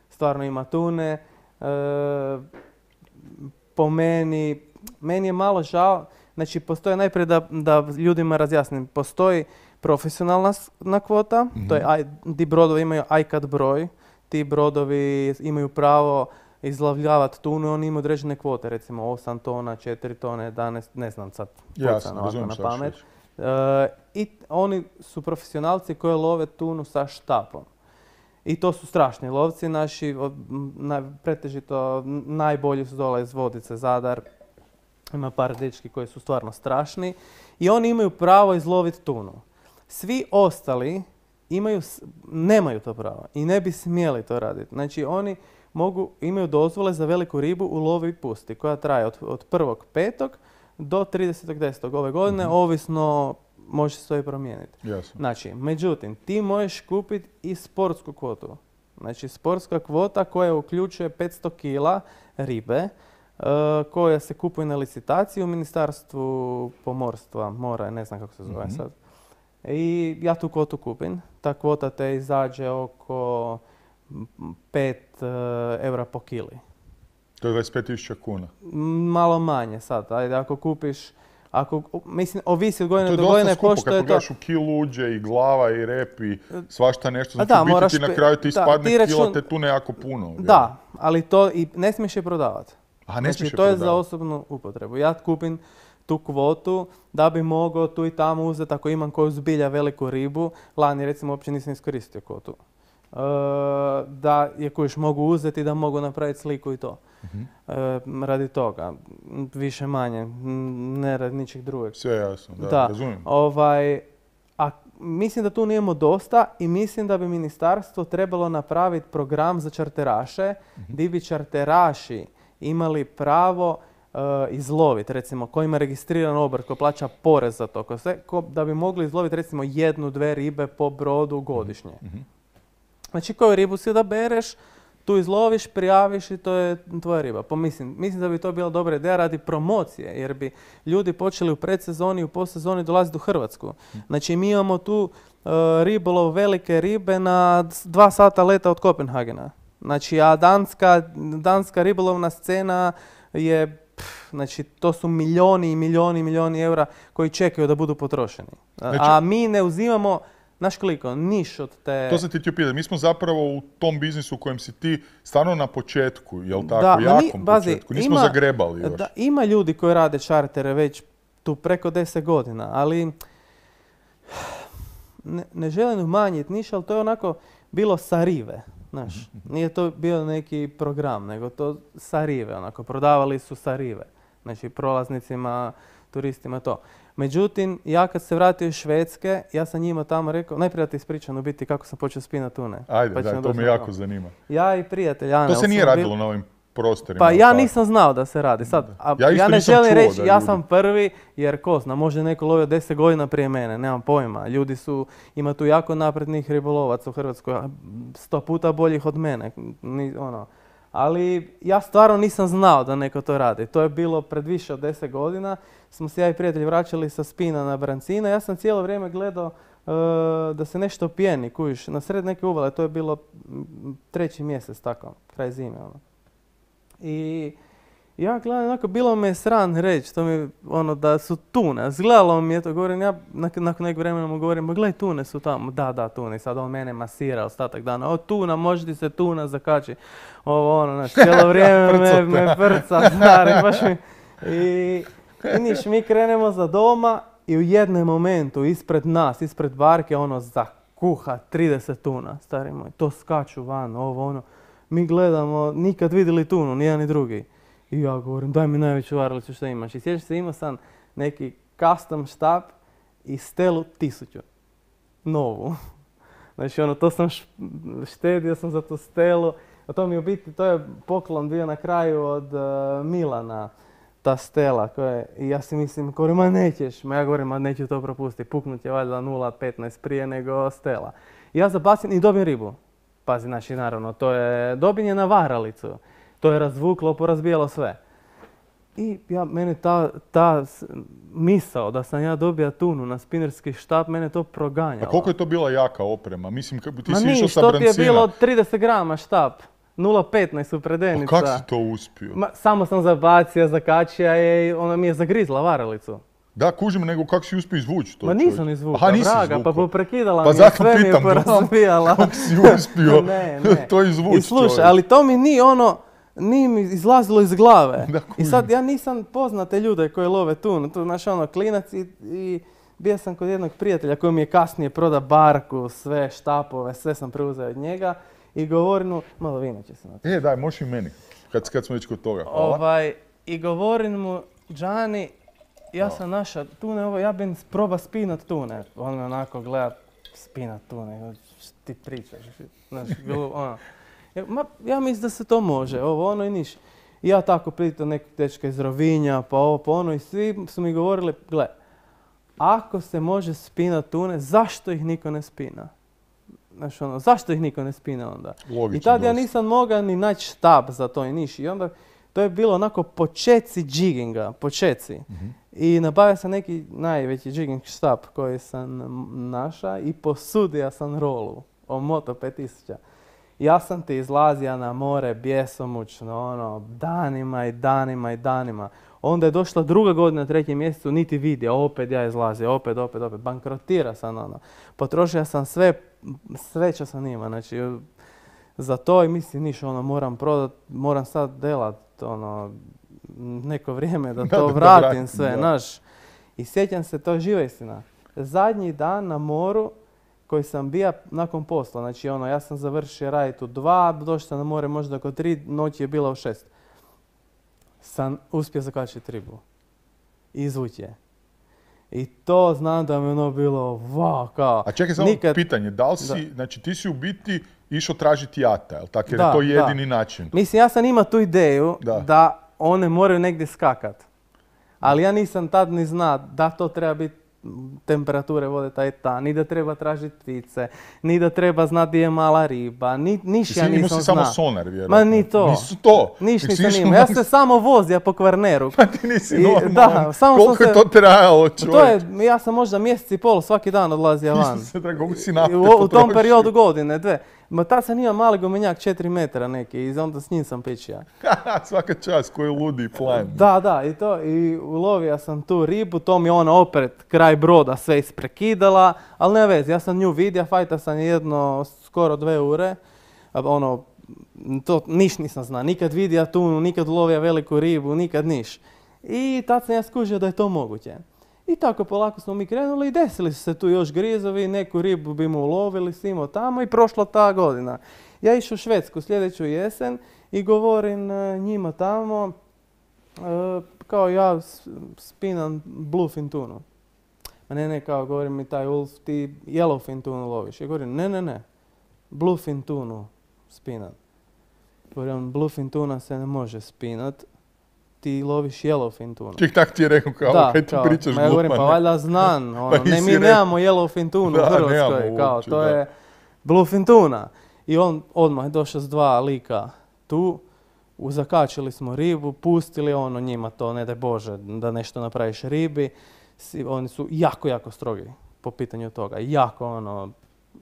Stvarno ima tune. E, po meni, meni je malo žao, znači postoje najprije da, da ljudima razjasnim, postoji profesionalna kvota, mm-hmm. to je, ti brodovi imaju I C A T broj, ti brodovi imaju pravo izlovljavati tunu, oni imaju određene kvote, recimo osam tona, četiri tone, jedanaest, ne znam sad, Jasno, ovako na pamet. E, I oni su profesionalci koji love tunu sa štapom. I to su strašni lovci, naši, od, na, pretežito najbolji su dole iz Vodice, Zadar, ima par dečki koji su stvarno strašni i oni imaju pravo izloviti tunu. Svi ostali imaju, nemaju to pravo i ne bi smjeli to raditi. Znači oni mogu, imaju dozvole za veliku ribu u lovi i pusti koja traje od, od prvog petog do tridesetog desetog ove godine, mm-hmm. ovisno može se to i promijeniti. Jasno. Znači, međutim, ti možeš kupiti i sportsku kvotu. Znači, sportska kvota koja uključuje petsto kila ribe, uh, koja se kupuje na licitaciji u Ministarstvu pomorstva, mora, ne znam kako se zove mm-hmm. sad. I ja tu kvotu kupim. Ta kvota te izađe oko pet uh, eura po kili. To je dvadeset pet tisuća kuna. Malo manje sad. Ajde, ako kupiš, ako, mislim, ovisi od godine do godine pošto je to. To je dosta skupo, kad pogledaš to... u kilu uđe i glava i rep i svašta nešto. Znači da, u biti moraš, ti na kraju ti da, ispadne ti račun... kila te tune jako puno. Da, ali to i ne smiješ je prodavati. A ne znači, smiješ je to je prodavati. za osobnu upotrebu. Ja kupim tu kvotu da bi mogao tu i tamo uzeti ako imam koju zbilja veliku ribu. Lani recimo uopće nisam iskoristio kvotu. Uh, da je kojiš mogu uzeti da mogu napraviti sliku i to. Uh-huh. Uh, radi toga. Više manje. Ne radi ničeg drugog. Sve jasno, da, da. razumijem. Ovaj, a mislim da tu nijemo dosta i mislim da bi ministarstvo trebalo napraviti program za čarteraše, uh-huh. gdje bi čarteraši imali pravo uh, izloviti, recimo, ko ima registriran obrt, ko plaća porez za to, ko sve, ko, da bi mogli izloviti recimo jednu, dve ribe po brodu godišnje. Uh-huh. Znači, koju ribu si da bereš, tu izloviš, prijaviš i to je tvoja riba. Pa mislim, mislim da bi to bila dobra ideja radi promocije, jer bi ljudi počeli u predsezoni i u postsezoni dolaziti u Hrvatsku. Znači, mi imamo tu uh, ribolov velike ribe na dva sata leta od Kopenhagena. Znači, a danska, danska ribolovna scena je, pff, znači, to su milijoni i milijoni i milijoni eura koji čekaju da budu potrošeni. Znači, a mi ne uzimamo... Znaš koliko, niš od te... To sam ti htio pitati. Mi smo zapravo u tom biznisu u kojem si ti stvarno na početku, jel tako? Da, jakom ni, bazi, početku. Nismo ima, zagrebali još. Da, ima ljudi koji rade čartere već tu preko deset godina, ali ne, ne želim umanjiti niš, ali to je onako bilo sa rive. Znaš, nije to bio neki program, nego to sa rive, onako, prodavali su sa rive. Znači, prolaznicima, turistima, to. Međutim, ja kad se vratio iz Švedske, ja sam njima tamo rekao, najprije da ti ispričam u biti kako sam počeo spinati tune. Ajde, pa da, to me jako zanima. Ja i prijatelj Ane. To se nije radilo na ovim prostorima. Pa ja nisam znao da se radi. Sad, a ja, ja ne želim reći, ja ljudi. sam prvi, jer ko zna, može neko lovio deset godina prije mene, nemam pojma. Ljudi su, ima tu jako naprednih ribolovaca u Hrvatskoj, sto puta boljih od mene. Ni, ono. Ali ja stvarno nisam znao da neko to radi. To je bilo pred više od deset godina. Smo se ja i prijatelji vraćali sa spina na brancina. Ja sam cijelo vrijeme gledao da se nešto pijeni, kužiš, na sred neke uvale, to je bilo treći mjesec, tako, kraj zime, ono. I ja gledam, onako, bilo me sran reći, to mi, ono, da su tune. Zgledalo mi je to, govorim, ja nakon nekog vremena mu govorim, ma gledaj, tune su tamo. Da, da, tune. I sad on mene masira ostatak dana. O, tuna, može ti se tuna zakači. Ovo, ono, znaš, cijelo vrijeme me, me prca, stari, baš mi. I, i niš, mi krenemo za doma i u jednom momentu, ispred nas, ispred barke, ono, zakuha trideset tuna, stari moj. To skaču van, ovo, ono. Mi gledamo, nikad vidjeli tunu, ni jedan ni drugi. I ja govorim, daj mi najveću varalicu što imaš. I sjećaš se, imao sam neki custom štap i stelu tisuću. Novu. Znači, ono, to sam štedio sam za tu stelu. A to mi u biti, to je poklon bio na kraju od uh, Milana, ta stela. Koje, i ja si mislim, govorim, ma nećeš. Ma ja govorim, ma neću to propustiti. Puknut je valjda nula petnaest prije nego stela. I ja zabacim i dobijem ribu. Pazi, znači, naravno, to je, dobijem je na varalicu. To je razvuklo, porazbijalo sve. I ja, mene ta, ta misao da sam ja dobija tunu na spinerski štap, mene to proganjalo. A koliko je to bila jaka oprema? Mislim, ti Ma si niš, išao sa to ti je brancina. bilo trideset grama štap. nula petnaest u predenica. Pa kako si to uspio? Ma, samo sam zabacio, zakačija je i ona mi je zagrizla varalicu. Da, kužim, nego kako si uspio izvući to? Ma nisam izvukao, Aha, nisi vraga, izvukao. pa poprekidala Pa mi je, zato sve mi je pitam, porazbijala. kako si uspio ne, ne. to izvući? I slušaj, čovjek? ali to mi nije ono, nije mi izlazilo iz glave. Da, I sad ja nisam poznate ljude koji love tunu. Tu, znaš, ono, klinac i, i bio sam kod jednog prijatelja koji mi je kasnije proda barku, sve štapove, sve sam preuzeo od njega i govorim mu, malo vina će se na to. E, daj, možeš i meni, kad, kad smo već kod toga. Hvala. Ovaj, I govorim mu, Džani, ja sam naša tune, ovo, ja bi proba spinat tune. On me onako gleda, spinat tune, što ti pričaš, znaš, ono. Ja, ma, ja mislim da se to može, ovo, ono i niš. I ja tako pitam nekog dečka iz Rovinja, pa ovo, pa ono, i svi su mi govorili, gle, ako se može spinat tune, zašto ih niko ne spina? Znaš, ono, zašto ih niko ne spina onda? Logično, I tad ja dosta. nisam mogao ni naći štab za to i niš. I onda to je bilo onako počeci džiginga, počeci. Mm-hmm. I nabavio sam neki najveći džiging štab koji sam naša i posudio sam rolu o Moto pet tisuća. Ja sam ti izlazio na more bjesomučno, ono, danima i danima i danima. Onda je došla druga godina, treći mjesecu, niti vidio, opet ja izlazio, opet, opet, opet. Bankrotira sam, ono. Potrošio sam sve, sve što sam ima, znači, za to i mislim, niš, ono, moram prodat, moram sad delat, ono, neko vrijeme da to da, vratim da vratim, sve, da. znaš. I sjećam se, to je živa istina. Zadnji dan na moru koji sam bio nakon posla, znači ono, ja sam završio raditi u dva, došao sam na more možda oko tri, noći je bila u šest. Sam uspio zakačiti ribu. I izvući je. I to znam da mi je ono bilo, wow, kao. A čekaj samo nikad... pitanje, da li si, Da. znači ti si u biti išao tražiti jata, jel tako? Jer Da, je to da. jedini način. Mislim, ja sam imao tu ideju Da. da, one moraju negdje skakat. Ali ja nisam tad ni zna da to treba biti temperature vode taj ta, ni da treba tražiti ptice, ni da treba znati gdje je mala riba, ni, niš ja Mislim, imao nisam si zna. samo sonar, vjerojatno. Ma ni to. Nisu to. Niš Nisi nisam išao imao. Ja na- se samo vozio po Kvarneru. Pa ti nisi I- normalan. da, samo Koliko sam je se- to trajalo, čovjek? To je, ja sam možda mjesec i pol svaki dan odlazio van. Isuse, dragi, koliko si I nafte U, u tom potrošio? periodu godine, dve. Ma tad sam imao mali gumenjak četiri metra neki i onda s njim sam pičija. Svaka čast, koji ludi plan. Da, da, i to, i ulovio sam tu ribu, to mi ona opet kraj broda sve isprekidala, ali ne vezi, ja sam nju vidio, fajta sam jedno skoro dve ure, a ono, to niš nisam zna, nikad vidio tunu, nikad ulovio veliku ribu, nikad niš. I tad sam ja skužio da je to moguće. I tako polako smo mi krenuli i desili su se tu još grizovi, neku ribu bi mu ulovili, simo tamo i prošla ta godina. Ja išao u Švedsku sljedeću jesen i govorim e, njima tamo, e, kao ja s- spinam bluefin tunu. A ne, ne, kao govorim mi taj Ulf, ti yellowfin tunu loviš. Ja govorim, ne, ne, ne, bluefin tunu spinam. Govorim, bluefin tuna se ne može spinat, ti loviš yellowfin tunu. Ček, tak ti je rekao, kao, Da, kaj ti kao, pričaš ma ja govorim, pa glupane? valjda znan, ono, Pa ne, nisi mi rekao. nemamo yellowfin tunu Da, u Hrvatskoj, nemamo kao, uopće, to da. je bluefin tuna. I on odmah je došao s dva lika tu, u- zakačili smo ribu, pustili ono njima to, ne daj Bože, da nešto napraviš ribi. Si- Oni su jako, jako strogi. po pitanju toga. Jako ono,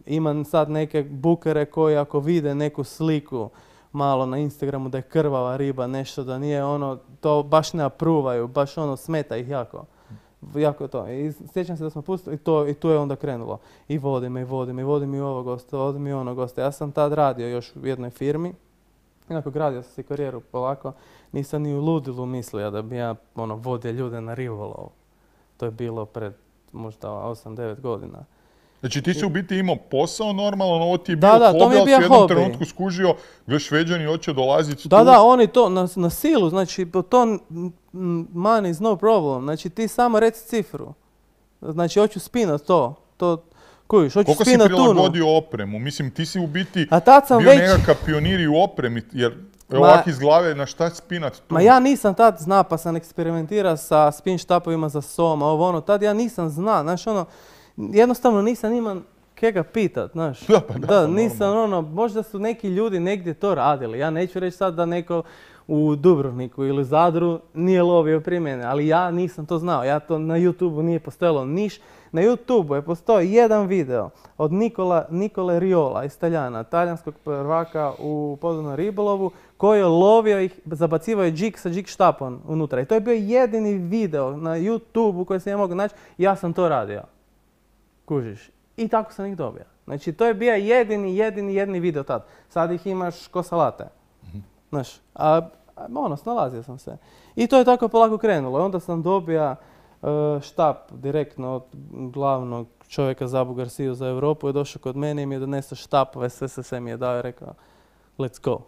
imam sad neke bukere koji ako vide neku sliku malo na Instagramu da je krvava riba, nešto da nije ono, to baš ne apruvaju, baš ono smeta ih jako. Jako to. I sjećam se da smo pustili i to i tu je onda krenulo. I vodi me, i vodi me, i vodi mi ovo gosta, vodi mi ono gosta. Ja sam tad radio još u jednoj firmi. Inako gradio sam si karijeru polako. Nisam ni u ludilu mislio da bi ja ono, vodio ljude na ribolov. To je bilo pred možda osam devet godina. Znači ti si u biti imao posao normalno, ovo ti je da, bio da, hobi, to mi je ali bio si u jednom hobi. trenutku skužio, gdje Šveđani hoće dolaziti Da, tu. da, oni to na, na silu, znači to money is no problem, znači ti samo reci cifru. Znači hoću spinat to, to kujiš, hoću Koliko si spinat tunu. prilagodio opremu? Mislim, ti si u biti A tad sam bio već... nekakav pionir i u opremi, jer Ma- ovak iz glave na šta spinat tu? Ma ja nisam tad zna, pa sam eksperimentirao sa spin štapovima za soma, ovo ono, tad ja nisam zna, znaš ono, jednostavno nisam imam ke ga pitat, znaš. Da, pa da, da, pa nisam ono, možda su neki ljudi negdje to radili, ja neću reći sad da neko u Dubrovniku ili Zadru nije lovio prije mene, ali ja nisam to znao, ja to na YouTubeu nije postojalo niš. Na YouTubeu je postoji jedan video od Nikola, Nikole Riola iz Taljana, talijanskog prvaka u podvodnom ribolovu, koji je lovio ih, zabacivao je džik sa džik štapom unutra. I to je bio jedini video na YouTubeu koji sam ja mogao naći, ja sam to radio. Kužiš. I tako sam ih dobio. Znači to je bio jedini, jedini, jedini video tad. Sad ih imaš ko salate. Znaš, a ono, snalazio sam se. I to je tako polako krenulo. I onda sam dobio uh, štap direktno od glavnog čovjeka za Abu Garciju za Europu. Je došao kod mene i mi je donesao štapove, sve se sve mi je dao i rekao let's go.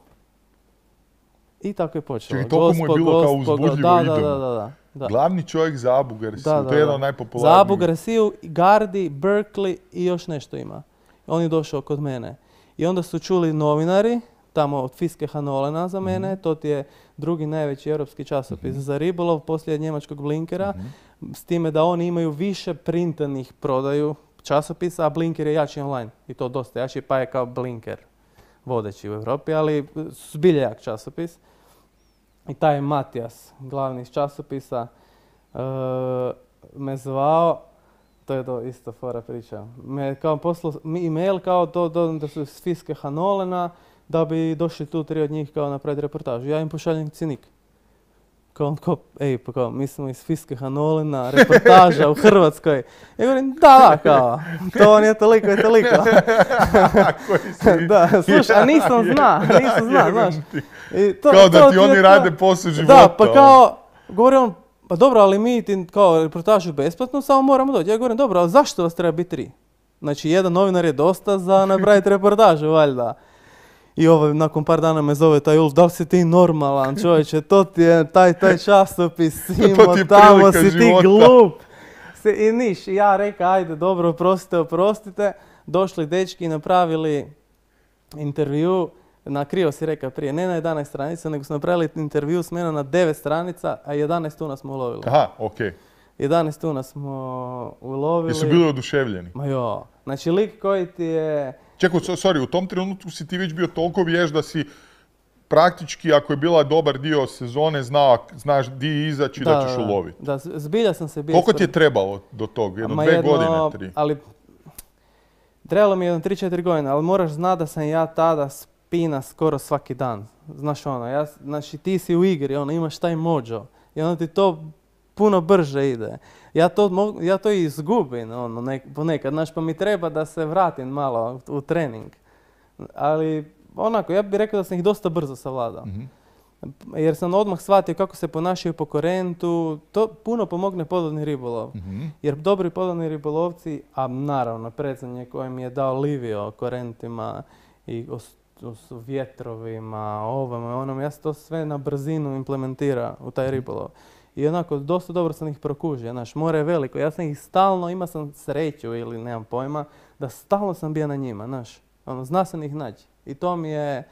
I tako je počelo. Čekaj, toliko mu je bilo kao uzbudljivo, da, idemo. da, da, da, da, da. Glavni čovjek za Abu Garciju, Da, da, to je jedan da. od najpopularnijih. Za Abu Garciju, Gardi, Berkeley i još nešto ima. On je došao kod mene. I onda su čuli novinari, tamo od Fiske Hanolena za mene, Mhm. to ti je drugi najveći europski časopis za ribolov poslije njemačkog Blinkera, Mhm. s time da oni imaju više printanih prodaju časopisa, a Blinker je jači online. I to dosta jači, pa je kao Blinker vodeći u Europi, ali zbilja jak časopis. I taj Matijas, glavni iz časopisa, uh, me zvao, to je to isto fora priča, me kao poslao e-mail kao to, to, da su iz Fiske Hanolena, da bi došli tu tri od njih kao napraviti reportažu. Ja im pošaljem cjenik. Kao, kao, ej, pa kao, mi smo iz Fiske Hanolena, reportaža u Hrvatskoj. Ja govorim, da, da, kao, to vam je toliko i toliko. Koji si... Da, slušaj, a nisam zna, nisam zna, Jebem znaš. ti. I to, Kao da to ti je oni to. rade posao života. Da, pa kao, govori on, pa dobro, ali mi ti kao reportažu besplatno, samo moramo doći. Ja govorim, dobro, ali zašto vas treba biti tri? Znači, jedan novinar je dosta za napraviti reportažu, valjda. I ovo, nakon par dana me zove taj Ulf, da li si ti normalan, čovječe, to ti je taj, taj časopis, imao ti je tamo, prilika si ti života. glup. Se, I niš, I ja reka, ajde, dobro, oprostite, oprostite. Došli dečki i napravili intervju, na krivo si rekao prije, ne na jedanaest stranica, nego su napravili intervju s menom na devet stranica, a jedanaest tuna smo ulovili. Aha, okej. jedanaest tuna smo ulovili. Jesu bili oduševljeni? Ma jo, znači lik koji ti je... Čekaj, so- sorry, u tom trenutku si ti već bio toliko vješ da si praktički, ako je bila dobar dio sezone, znao, znaš di izaći da, ćeš uloviti. Da, z- zbilja sam se bio... Koliko ti je spre- trebalo do tog? Jedno, Ma dve jedno, godine, tri? Ali, trebalo mi je jedno tri četiri godine, ali moraš znati da sam ja tada spina skoro svaki dan. Znaš ono, ja, znači ti si u igri, ono, imaš taj mođo i onda ti to puno brže ide. Ja to, mo- ja to i izgubim ono, nek- ponekad, znaš, pa mi treba da se vratim malo u, u trening. Ali onako, ja bih rekao da sam ih dosta brzo savladao. Mhm. Jer sam odmah shvatio kako se ponašaju po korentu, to puno pomogne podvodni ribolov. Mhm. Jer dobri podvodni ribolovci, a naravno predzanje koje mi je dao Livio o korentima i o, s- o s vjetrovima, ovome, onom, ja sam to sve na brzinu implementira u taj ribolov. I onako, dosta dobro sam ih prokužio, znaš, more je veliko, ja sam ih stalno, imao sam sreću ili nemam pojma, da stalno sam bio na njima, znaš, ono, zna sam ih naći. I to mi je,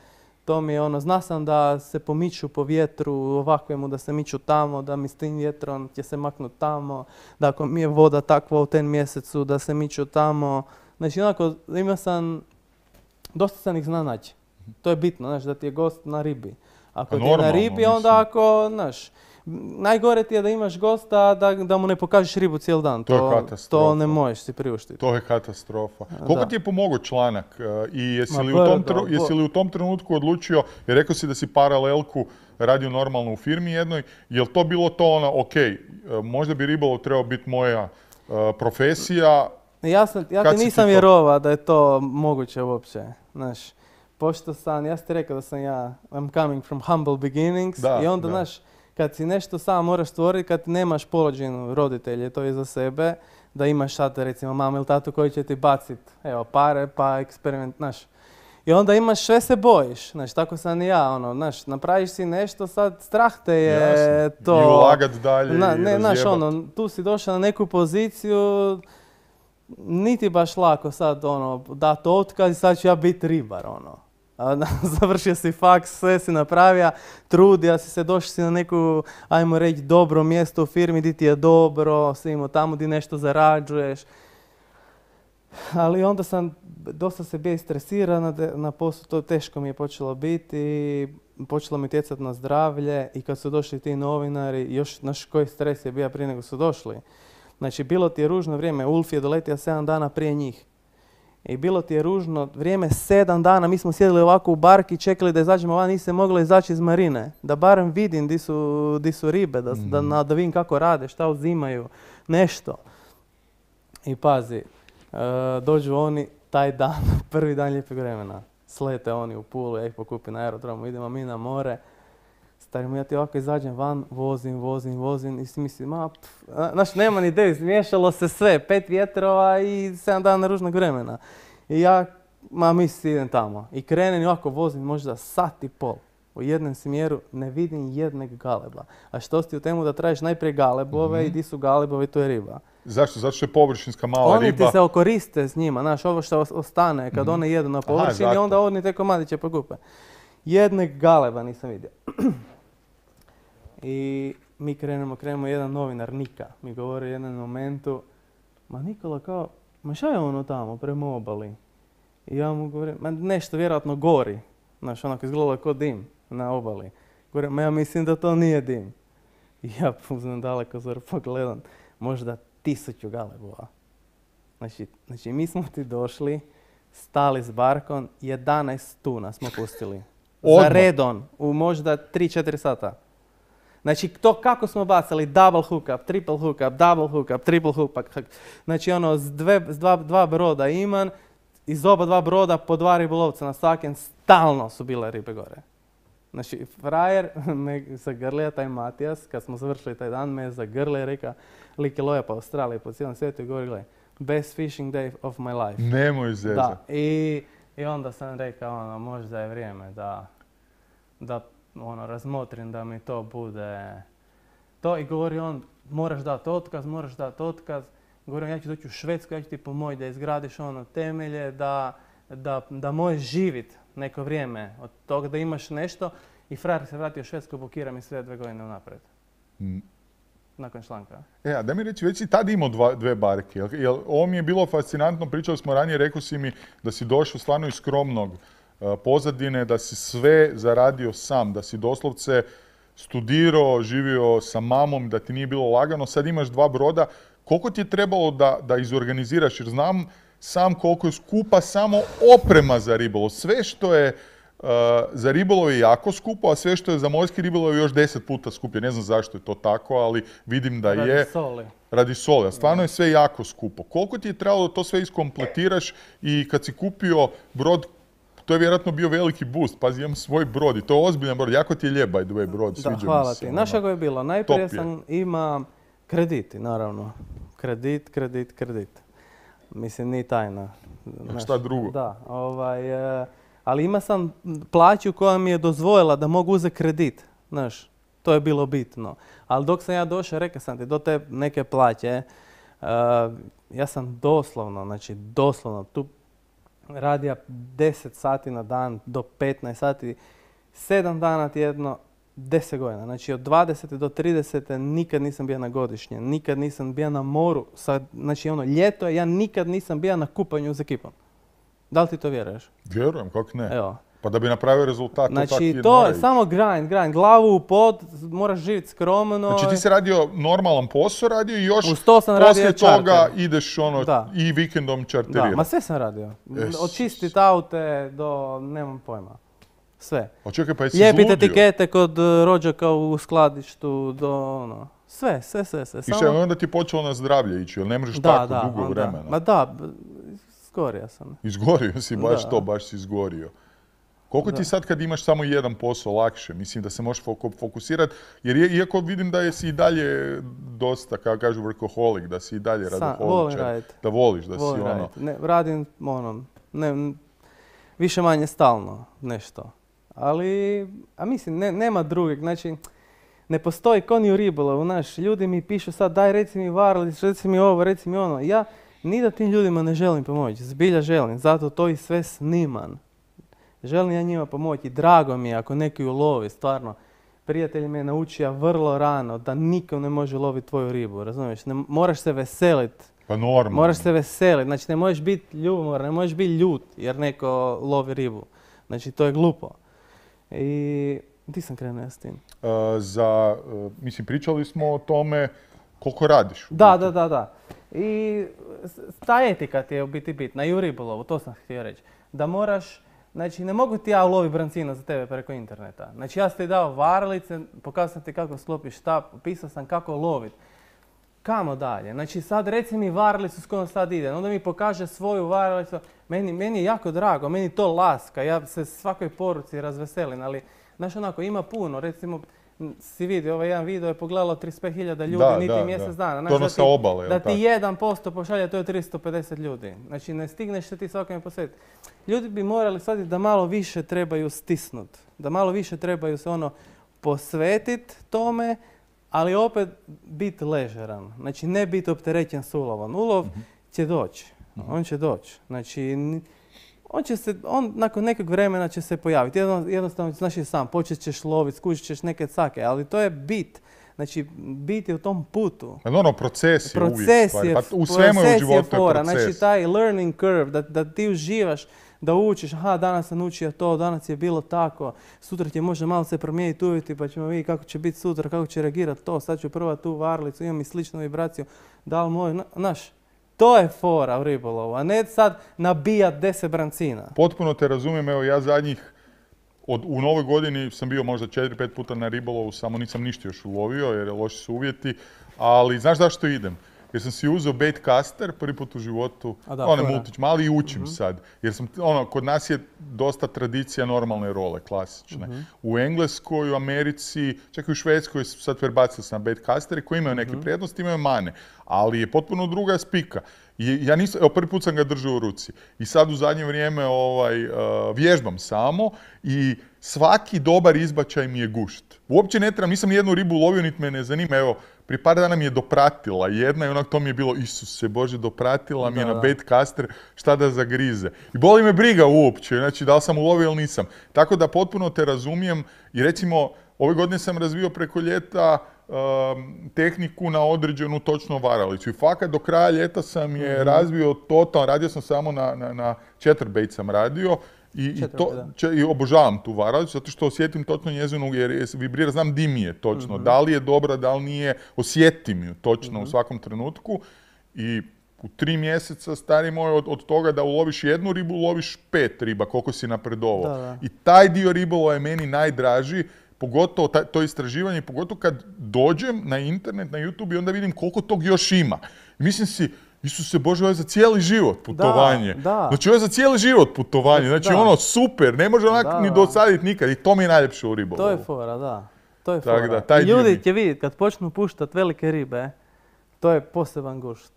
to mi je ono, zna sam da se pomiču po vjetru ovakvemu, da se miču tamo, da mi s tim vjetrom će se maknut tamo, da ako mi je voda takva u ten mjesecu, da se miču tamo. Znači, onako, imao sam, dosta sam ih zna naći. To je bitno, znaš, da ti je gost na ribi. Ako Pa ti je na normalno, ribi, onda mislim. ako, znaš, najgore ti je da imaš gosta da, da mu ne pokažeš ribu cijeli dan. To, to je katastrofa. To ne možeš si priuštiti. To je katastrofa. Koliko da. ti je pomogao članak i jesi li, Ma, u tom, brdo, jesi li u tom trenutku odlučio, jer rekao si da si paralelku radio normalno u firmi jednoj, je li to bilo to ono, ok, možda bi ribolov trebao biti moja uh, profesija? Ja, sam, ja ti nisam vjerovao da je to moguće uopće, znaš. Pošto sam, ja sam ti rekao da sam ja, I'm coming from humble beginnings, da, i onda, da. znaš, kad si nešto sam moraš stvoriti, kad nemaš položenu roditelje, to je za sebe, da imaš sad, recimo, mamu ili tatu koji će ti bacit, evo, pare, pa eksperiment, znaš. I onda imaš, sve se bojiš, znaš, tako sam i ja, ono, znaš, napraviš si nešto, sad strah te je. Jasne. To... I ulagat dalje na, i ne, znaš, ono, tu si došao na neku poziciju, niti baš lako sad, ono, dati otkaz i sad ću ja biti ribar, ono. Završio si faks, sve si napravio, trudio si se, došli si na neku, ajmo reći, dobro mjesto u firmi gdje ti je dobro, si imao tamo gdje nešto zarađuješ. Ali onda sam, dosta se bio stresiran na, na poslu, to teško mi je počelo biti, počelo mi utjecati na zdravlje i kad su došli ti novinari, još naš koji stres je bio prije nego su došli. Znači, bilo ti je ružno vrijeme, Ulf je doletio sedam dana prije njih. I bilo ti je ružno vrijeme, sedam dana, mi smo sjedili ovako u barki, čekali da izađemo van, nisi se mogla izaći iz marine. Da barem vidim di su, di su ribe, da, mm. da, da vidim kako rade, šta uzimaju, nešto. I pazi, uh, dođu oni taj dan, prvi dan lijepog vremena. Slete oni u Pulu, ja ih pokupim na aerodromu, idemo mi na more. Starimo, ja ti ovako izađem van, vozim, vozim, vozim i si mislim, ma, pff, znaš, nema ni ideju, izmiješalo se sve, pet vjetrova i sedam dana ružnog vremena. I ja, ma, mislim, idem tamo. I krenem i ovako vozim možda sat i pol. U jednom smjeru ne vidim jednog galeba. A što si u temu da tražiš najprije galebove mm-hmm. i di su galebovi, to je riba. Zašto? Zato što je površinska mala oni riba. Oni ti se okoriste s njima, znaš, ovo što ostane kad mm-hmm. one jedu na površini, aha, onda oni te komadiće pokupe. Jednog galeba nisam vidio. I mi krenemo, krenemo, jedan novinar, Nika, mi govori u jednom momentu, ma Nikola kao, ma šta je ono tamo prema obali? I ja mu govorim, ma nešto vjerojatno gori, znaš, onako izgledalo kao dim na obali. Govorim, ma ja mislim da to nije dim. I ja uzmem daleko zor, pogledam, možda tisuću galebova. Znači, znači, mi smo ti došli, stali s barkom, jedanaest tuna smo pustili. Odmah. Za redon, u možda tri četiri sata. Znači, to kako smo bacali, double hookup, triple hookup, double hookup, triple hookup. Znači, ono, s, dve, s dva, dva broda iman, iz oba dva broda po dva ribolovca na svakem, stalno su bile ribe gore. Znači, frajer me zagrlija, taj Matijas, kad smo završili taj dan, me zagrlija i reka, lik je loja po Australiji, po cijelom svijetu i govori, gledaj, best fishing day of my life. Nemoj zezat. Da, i, i onda sam rekao, ono, možda je vrijeme da, da ono, razmotrim da mi to bude to. I govori on, moraš dati otkaz, moraš dati otkaz. Govori on, ja ću doći u Švedsku, ja ću ti pomoći da izgradiš ono temelje, da, da, da možeš živjeti neko vrijeme od toga da imaš nešto. I frajer se vratio u Švedsku, blokira mi sve dve godine unaprijed. Mm. Nakon članka. E, a da mi reći, već si tad imao dva, dve barke. Jel, jel, ovo mi je bilo fascinantno, pričali smo ranije, rekao si mi da si došao stvarno iz skromnog uh, pozadine, da si sve zaradio sam, da si doslovce studirao, živio sa mamom, da ti nije bilo lagano, sad imaš dva broda. Koliko ti je trebalo da, da izorganiziraš, jer znam sam koliko je skupa samo oprema za ribolov. Sve što je uh, za ribolov je jako skupo, a sve što je za morski ribolov je još deset puta skuplje. Ne znam zašto je to tako, ali vidim da radi je... Radi soli. Radi soli, a stvarno je sve jako skupo. Koliko ti je trebalo da to sve iskompletiraš i kad si kupio brod, to je vjerojatno bio veliki boost. Pazi, imam svoj brod i to je ozbiljan brod. Jako ti je lijep, by the way, brod. Da, hvala ti. Znaš kako je bilo? Najprije sam ima krediti, naravno. Kredit, kredit, kredit. Mislim, nije tajna. Znaš, šta drugo? Da, ovaj, e, ali ima sam plaću koja mi je dozvojila da mogu uzeti kredit. Znaš, to je bilo bitno. Ali dok sam ja došao, rekao sam ti, do te neke plaće, uh, ja sam doslovno, znači doslovno, tu radio deset sati na dan do petnaest sati, sedam dana tjedno, deset godina. Znači od dvadesete do tridesete nikad nisam bio na godišnje, nikad nisam bio na moru. Sad, znači ono, ljeto, ja nikad nisam bio na kupanju s ekipom. Da li ti to vjeruješ? Vjerujem, kako ne. Evo. Pa da bi napravio rezultat, Znači, to tako to mora je ići. samo grind, grind, glavu u pod, moraš živjeti skromno. Znači ti si radio normalan posao, radio i još Uz to sam radio poslije toga čarter. ideš ono Da. i vikendom Da, čarterirati. ma sve sam radio. Jesus. Od čistit aute do, nemam pojma. Sve. A čekaj, pa jesi Lijepiti izludio? etikete kod uh, rođaka u skladištu do ono. Sve, sve, sve, sve. I šta, onda ti je počelo na zdravlje ići, jer ne možeš tako dugo onda. vremena. Ma da, b- skorija sam. Izgorio si, baš Da. to, baš si izgorio. Koliko ti Da. sad kad imaš samo jedan posao lakše? Mislim da se možeš fok- fokusirati, jer je, iako vidim da jesi i dalje dosta, kako kažu, workaholic, da si i dalje Sam, radoholičar. volim raditi. Da voliš, da Volim si ono... raditi. Ne, radim ono, ne, n- više manje stalno nešto. Ali, a mislim, ne, nema drugog, znači, ne postoji ko ni u ribolovu, znaš, ljudi mi pišu sad, daj reci mi varalic, reci mi ovo, reci mi ono. Ja ni da tim ljudima ne želim pomoći, zbilja želim, zato to i sve snimam. Želim ja njima pomoći, drago mi je ako neki ulovi, stvarno. Prijatelj me je naučio vrlo rano da niko ne može loviti tvoju ribu, razumiješ? Ne, moraš se veseliti. Pa normalno. Moraš se veseliti, znači ne možeš biti ljubomoran, ne možeš biti ljut jer neko lovi ribu. Znači to je glupo. I di sam krenuo ja s tim? Uh, za, uh, mislim, pričali smo o tome koliko radiš. u Da, biti. da, da, da. I s- ta etika ti je u biti bitna i u ribolovu, to sam htio reći. Da moraš, znači ne mogu ti ja uloviti brancina za tebe preko interneta. Znači ja sam ti dao varalice, pokazao sam ti kako sklopiš štap, pisao sam kako lovit. Kamo dalje? Znači sad reci mi varalicu s kojom sad ide, onda mi pokaže svoju varalicu. Meni, meni je jako drago, meni to laska, ja se svakoj poruci razveselim, ali znaš onako ima puno, recimo m, si vidio, ovaj jedan video je pogledalo trideset pet hiljada ljudi, Da, niti da, mjesec da. dana. To Znaš, ono da sa ti- obale, jel Da tako? ti jedan posto pošalje, to je tristo pedeset ljudi. Znači ne stigneš se ti svakome posvetiti. Ljudi bi morali shvatiti da malo više trebaju stisnut, da malo više trebaju se ono posvetiti tome, ali opet biti ležeran. Znači ne biti opterećen s ulovom. Ulov će doći, on će doći. Znači ni- on će se, on nakon nekog vremena će se pojaviti. Jedno, jednostavno, znaš i sam, počet ćeš loviti, skušit ćeš neke cake, ali to je bit. Znači, bit je u tom putu. Ali ono, proces je uvijek Proces stvari. je, Pa u svemu je u proces životu je fora. proces. Znači, taj learning curve, da, da ti uživaš, da učiš, aha, danas sam učio to, danas je bilo tako, sutra će možda malo se promijeniti uvjeti, pa ćemo vidjeti kako će biti sutra, kako će reagirati to, sad ću probati tu varlicu, imam i sličnu vibraciju, da li moj, znaš, to je fora u ribolovu, a ne sad nabijat deset brancina. Potpuno te razumijem, evo ja zadnjih, od, u novoj godini sam bio možda četiri pet puta na ribolovu, samo nisam ništa još ulovio jer je loši su uvjeti, ali znaš zašto idem? Jer sam si uzeo baitcaster prvi put u životu, A da, onaj fora. multić mali i učim sad. Jer sam, ono, kod nas je dosta tradicija normalne role, klasične. U Engleskoj, u Americi, čak i u Švedskoj su sad prebacili se na baitcastere koji imaju neke prednosti, imaju mane. Ali je potpuno druga spika. I ja nisam, evo prvi put sam ga držao u ruci. I sad u zadnje vrijeme ovaj, uh, vježbam samo i svaki dobar izbačaj mi je gušt. Uopće ne trebam, nisam nijednu ribu lovio, niti me ne zanima. Evo, prije par dana mi je dopratila jedna i onak to mi je bilo, Isuse Bože, dopratila mi je Da, na da. baitcaster, šta da zagrize. I boli me briga uopće, znači da li sam ulovio ili nisam. Tako da potpuno te razumijem i recimo, ove godine sam razvio preko ljeta um, tehniku na određenu točno varalicu. I fakat do kraja ljeta sam je razvio totalno, radio sam samo na, na, na chatterbait sam radio i, i, to, Chatterbait, da. če- i obožavam tu varalicu zato što osjetim točno njezinu, jer je vibrira, znam di mi je točno, da li je dobra, da li nije, osjetim ju točno u svakom trenutku i u tri mjeseca, stari moj, od, od toga da uloviš jednu ribu, uloviš pet riba, koliko si napredovao. Da, da. I taj dio ribolova je meni najdraži, pogotovo taj, to istraživanje, pogotovo kad dođem na internet, na YouTube i onda vidim koliko tog još ima. I mislim si, Isuse Bože, ovo je za cijeli život putovanje. da. Znači ovo je za cijeli život putovanje, znači Da. ono super, ne može onak Da, ni da. dosaditi nikad i to mi je najljepše u ribolovu. To je fora, da. To je Tak fora. da, taj I dio ljudi mi- će vidjeti kad počnu puštat velike ribe, to je poseban gušt.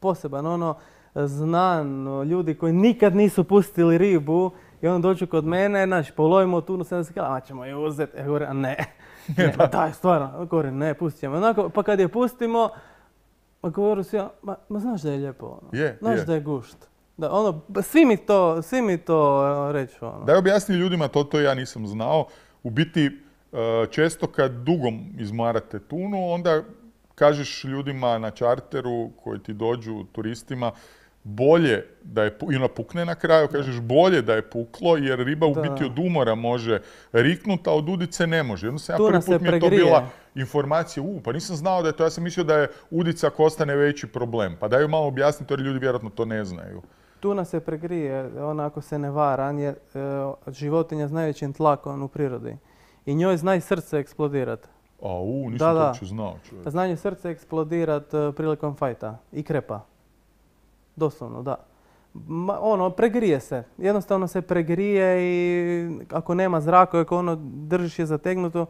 Poseban, ono, znan, ljudi koji nikad nisu pustili ribu i onda dođu kod mene, znaš, polovimo tunu sedamdeset kilograma, a ćemo je uzeti. Ja govorim, a ne, ne, ma daj, stvarno, govorim, ne, pustit ćemo. Onako, pa kad je pustimo, ma govorim si ja, ma, ma znaš da je lijepo, ono. Je, znaš je. da je gušt. Da, ono, svi mi to, svi mi to e, reću, ono. Daj objasni ljudima, to to ja nisam znao. U biti, e, često kad dugom izmarate tunu, onda kažeš ljudima na čarteru koji ti dođu, turistima, bolje da je, pu- i ona pukne na kraju, kažeš bolje da je puklo, jer riba u Da. biti od umora može riknuti, a od udice ne može. Jednostavno, ja Tuna prvi se put mi je to pregrije. bila informacija, u, pa nisam znao da je to, ja sam mislio da je udica ako ostane veći problem. Pa daju malo objasniti, jer ljudi vjerojatno to ne znaju. Tuna se pregrije, ona ako se ne varam, je e, životinja s najvećim tlakom u prirodi. I njoj zna i srce eksplodirati. A u, nisam Da, to da. uopće znao, čovjek. Zna njoj srce eksplodirati e, prilikom fajta. I krepa. Doslovno, da. Ma, ono, pregrije se. Jednostavno se pregrije i ako nema zraka, ako ono držiš je zategnuto,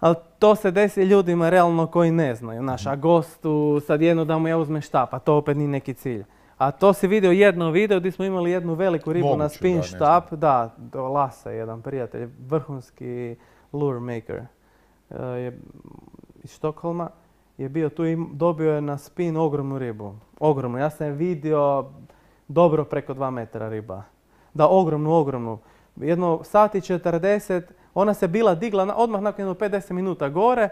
ali to se desi ljudima realno koji ne znaju. Znaš, a gostu sad jedno da mu ja uzmem štap, a to opet nije neki cilj. A to si vidio jedno video gdje smo imali jednu veliku ribu na Moguće, spin da, ne štap. Da, do Lasa, jedan prijatelj, vrhunski lure maker e, je iz Štokholma. Je bio tu i dobio je na spin ogromnu ribu. Ogromnu. Ja sam je vidio dobro preko dva metra riba. Da, ogromnu, ogromnu. Jedno sat i četrdeset, ona se bila digla na, odmah nakon jedno pedeset minuta gore,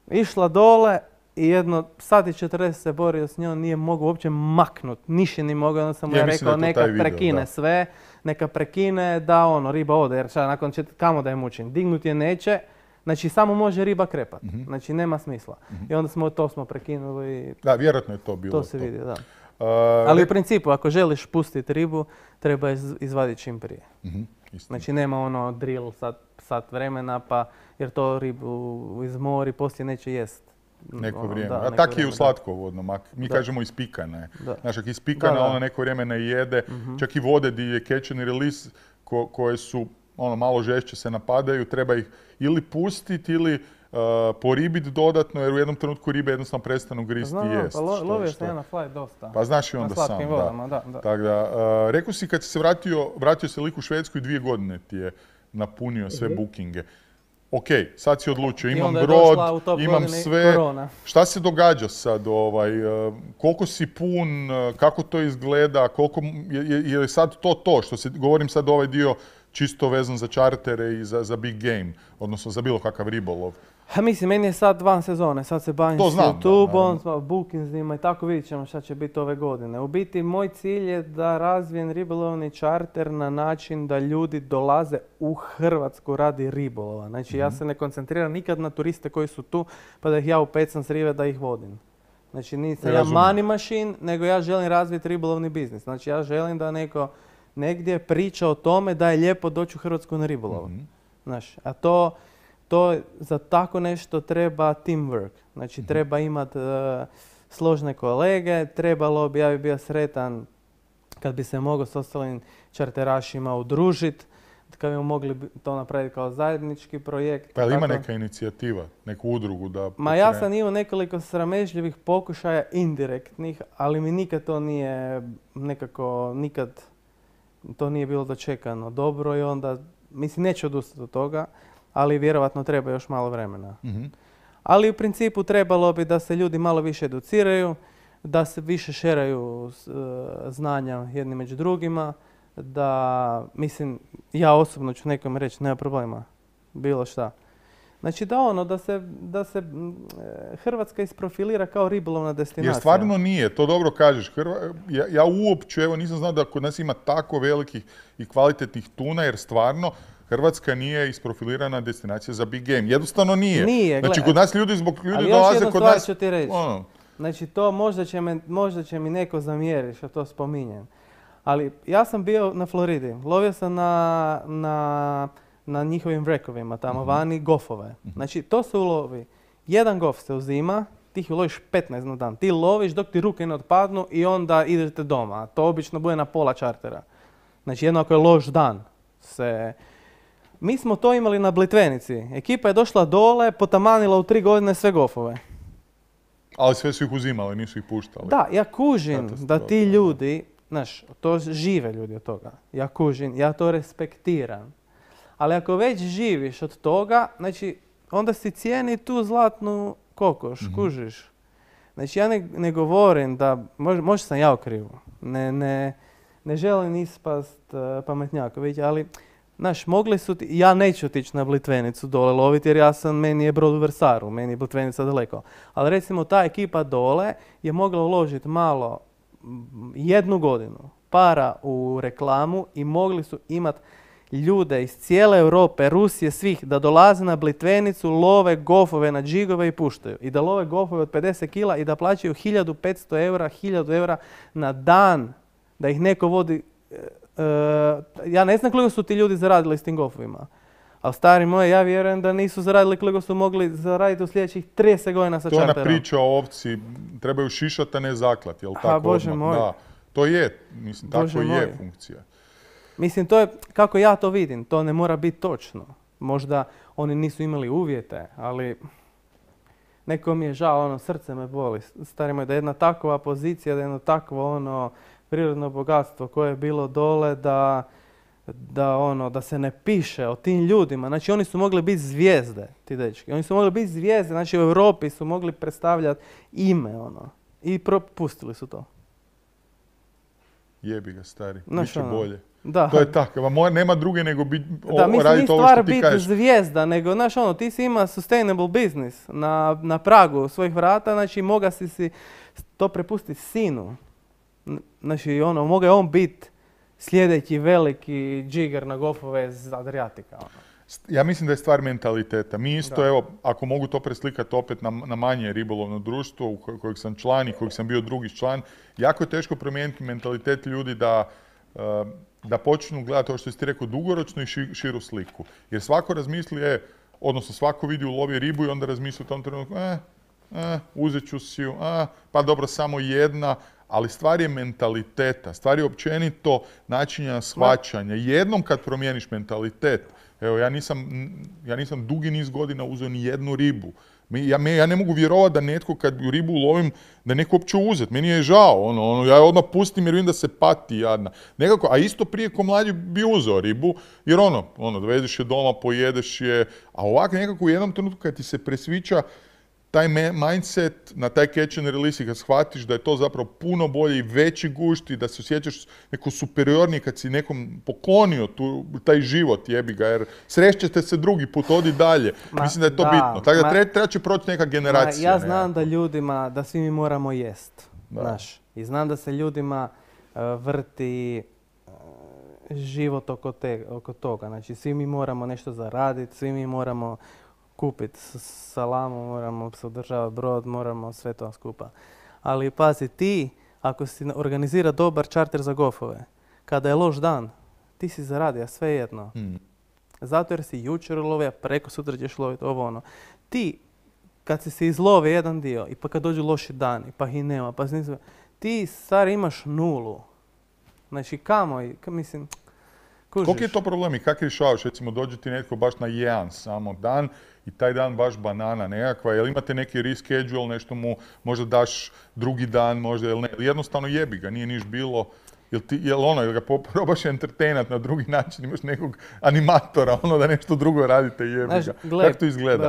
išla dole i jedno sat i četrdeset se borio s njom, nije mogao uopće maknut, ništa nije mogao, onda sam mu Ja ja mislim rekao da je to neka taj video, prekine da. sve, neka prekine da ono, riba ode, jer šta, nakon čet, kamo da je mučim, dignut je neće, znači samo može riba krepat, Mhm. znači nema smisla. I onda smo to smo prekinuli i Da, vjerojatno je to bilo to se vidi, da. Uh, Ali re- u principu, ako želiš pustiti ribu, treba je iz- izvaditi čim prije. Mhm, istina. Znači nema ono drill sat, sat vremena, pa jer to ribu izmori, poslije neće jest. Neko Ono, vrijeme. da, A neko tak je vrijeme, u da. slatkovodnom. ak- Mi Da. kažemo ispikana je. Da. Znaš, ako je ispikana, Da, da. ona neko vrijeme ne jede. Mhm. Čak i vode di je catch and release, ko- koje su ono, malo žešće se napadaju, treba ih ili pustiti ili uh, poribiti dodatno, jer u jednom trenutku ribe jednostavno prestanu gristi Znam, i jest. pa lo, što- lovio što- sam ja na fly dosta. Pa znaš i na onda sam, slatkim da. vodama, da. da. Tako da, uh, rekao si kad si se vratio, vratio se lik u Švedsku i dvije godine ti je napunio sve bookinge. Ok, sad si odlučio, I imam onda je brod, došla u top imam godini sve. korona. Šta se događa sad? Ovaj, uh, koliko si pun, uh, kako to izgleda, koliko, m- je, je, je li sad to to, što se, govorim sad ovaj dio čisto vezan za čartere i za, za big game, odnosno za bilo kakav ribolov. Ha, mislim, meni je sad van sezone, sad se bavim To s znam, da, YouTube-om, bookingsima i tako vidjet ćemo šta će biti ove godine. U biti, moj cilj je da razvijem ribolovni čarter na način da ljudi dolaze u Hrvatsku radi ribolova. Znači, ja se ne koncentriram nikad na turiste koji su tu, pa da ih ja upecam s rive da ih vodim. Znači, nisam ja Razumijem. money machine, nego ja želim razviti ribolovni biznis. Znači, ja želim da neko negdje priča o tome da je lijepo doći u Hrvatsku na ribolov. Mhm. Znaš, a to, to za tako nešto treba teamwork. Znači, treba imati složne kolege, trebalo bi, ja bi bio sretan kad bi se mogao s ostalim čarterašima udružiti, kad bi mogli bi to napraviti kao zajednički projekt. Pa jel ima tako. neka inicijativa, neku udrugu da... Ma ja pokrene- sam imao nekoliko sramežljivih pokušaja indirektnih, ali mi nikad to nije nekako, nikad to nije bilo dočekano dobro i onda, mislim, neću odustati od toga, ali vjerovatno treba još malo vremena. Mhm. Ali u principu trebalo bi da se ljudi malo više educiraju, da se više šeraju s- e, znanja jedni među drugima, da, mislim, ja osobno ću nekom reći, nema problema, bilo šta. Znači da ono, da se, da se m, e, Hrvatska isprofilira kao ribolovna destinacija. Jer stvarno nije, to dobro kažeš. Hrva- ja, ja uopće, evo nisam znao da kod nas ima tako velikih i kvalitetnih tuna, jer stvarno Hrvatska nije isprofilirana destinacija za big game. Jednostavno nije. Nije, Znači gle- kod nas ljudi zbog ljudi Ali još dolaze jednu kod stvar nas... ću ti reći. ono, Znači to možda će, me, možda će mi neko zamjeriti što to spominjem. Ali ja sam bio na Floridi, lovio sam na, na, na njihovim vrekovima tamo vani gofove. Znači to se ulovi. Jedan gof se uzima, ti ih uloviš petnaest na dan. Ti loviš dok ti ruke ne otpadnu i onda idete doma. To obično bude na pola čartera. Znači jedno ako je loš dan se... Mi smo to imali na Blitvenici. Ekipa je došla dole, potamanila u tri godine sve gofove. ali sve su ih uzimali, nisu ih puštali. Da, ja kužim Katastrofa, da ti da. ljudi, znaš, to žive ljudi od toga. Ja kužim, ja to respektiram. Ali ako već živiš od toga, znači, onda si cijeni tu zlatnu kokoš, Mhm. kužiš. Znači, ja ne, ne govorim da, možda, možda sam ja u krivu, ne, ne, ne želim ispast uh, pametnjaković, ali, znaš, mogli su ti, ja neću otići na Blitvenicu dole loviti jer ja sam, meni je brod u Vrsaru, meni je Blitvenica daleko. Ali recimo ta ekipa dole je mogla uložiti malo jednu godinu para u reklamu i mogli su imati ljude iz cijele Europe, Rusije, svih, da dolaze na Blitvenicu, love golfove na džigove i puštaju. I da love golfove od pedeset kila i da plaćaju hiljadu petsto eura, hiljadu eura na dan, da ih neko vodi. E, e, ja ne znam koliko su ti ljudi zaradili s tim golfovima. Ali stari moji, ja vjerujem da nisu zaradili koliko su mogli zaraditi u sljedećih trideset godina sa čarterom. To je ona priča o ovci, trebaju šišati, a ne zaklati, jel tako? Ha, Bože moj. Da, to je, mislim, Bože tako moj. je funkcija. Mislim, to je, kako ja to vidim, to ne mora biti točno. Možda oni nisu imali uvjete, ali neko mi je žao, ono, srce me boli. Stari moj, da jedna takva pozicija, da jedno takvo, ono, prirodno bogatstvo koje je bilo dole, da, da, ono, da se ne piše o tim ljudima. Znači, oni su mogli biti zvijezde, ti dečki. Oni su mogli biti zvijezde, znači u Europi su mogli predstavljati ime, ono. I propustili su to. Jebi ga, stari. Znaš, Biće ono, bolje. Da. To je tako. Nema druge nego biti Da, mislim, nije raditi ovo stvar što ti biti kažeš. zvijezda, nego, znaš, ono, ti si ima sustainable business na, na pragu svojih vrata, znači, moga si si to prepustiti sinu. N- Znači, ono, moga je on biti sljedeći veliki džiger na golfove iz Adriatika, ono. Ja mislim da je stvar mentaliteta. Mi isto, Da. evo, ako mogu to preslikati opet na, na manje ribolovno društvo u ko- kojeg sam član i kojeg sam bio drugi član, jako je teško promijeniti mentalitet ljudi da, uh, da počnu gledati, ovo što si ti rekao, dugoročno i ši- širu sliku. Jer svako razmisli, e, odnosno svako vidi u lovi ribu i onda razmisli u tom trenutku, e, e, uzet ću si ju, a, pa dobro, samo jedna, ali stvar je mentaliteta, stvar je općenito načinja shvaćanja. Jednom kad promijeniš mentalitet, evo, ja nisam, ja nisam dugi niz godina uzeo ni jednu ribu. Mi- Ja, me- ja ne mogu vjerovati da netko kad ju ribu ulovim, da neko uopće uzet. Meni je žao, ono, ono, ja je odmah pustim jer vidim da se pati jadna. Nekako, a isto prije ko mlađi bi uzeo ribu, jer ono, ono, dovedeš je doma, pojedeš je, a ovako nekako u jednom trenutku kad ti se presvića taj me- mindset na taj catch and release i kad shvatiš da je to zapravo puno bolje i veći gušt i da se osjećaš neko superiorniji kad si nekom poklonio tu, taj život, jebi ga, jer srećete se drugi put, odi dalje. Ma, Mislim da je to da, bitno. Tako da ma- treba, treba će proći neka generacija. Ma, ja znam nekako. da ljudima, da svi mi moramo jest, Da. znaš. I znam da se ljudima uh, vrti uh, život oko, te, oko toga. Znači, svi mi moramo nešto zaraditi, svi mi moramo kupiti s- salamu, moramo se održavati brod, moramo sve to skupa. Ali pazi, ti, ako si organizira dobar čarter za golfove, kada je loš dan, ti si zaradio sve jedno. Mm. Zato jer si jučer ulovio, preko sutra ćeš loviti ovo ono. Ti, kad si se izlove jedan dio i pa kad dođu loši dani, pa ih nema, pa nisu, ti stari imaš nulu. Znači kamo, i- ka, mislim, kužiš. Koliki je to problem i kako rješavaš? Recimo, dođe ti netko baš na jedan samo dan i taj dan baš banana nekakva, jel imate neki reschedule, nešto mu možda daš drugi dan, možda, jel ne, ili jednostavno jebi ga, nije niš bilo, jel, ti, jel ono, jel ga po- probaš entertainat na drugi način, imaš nekog animatora, ono da nešto drugo radite, jebi Znaš, ga. gle, Kako to izgleda?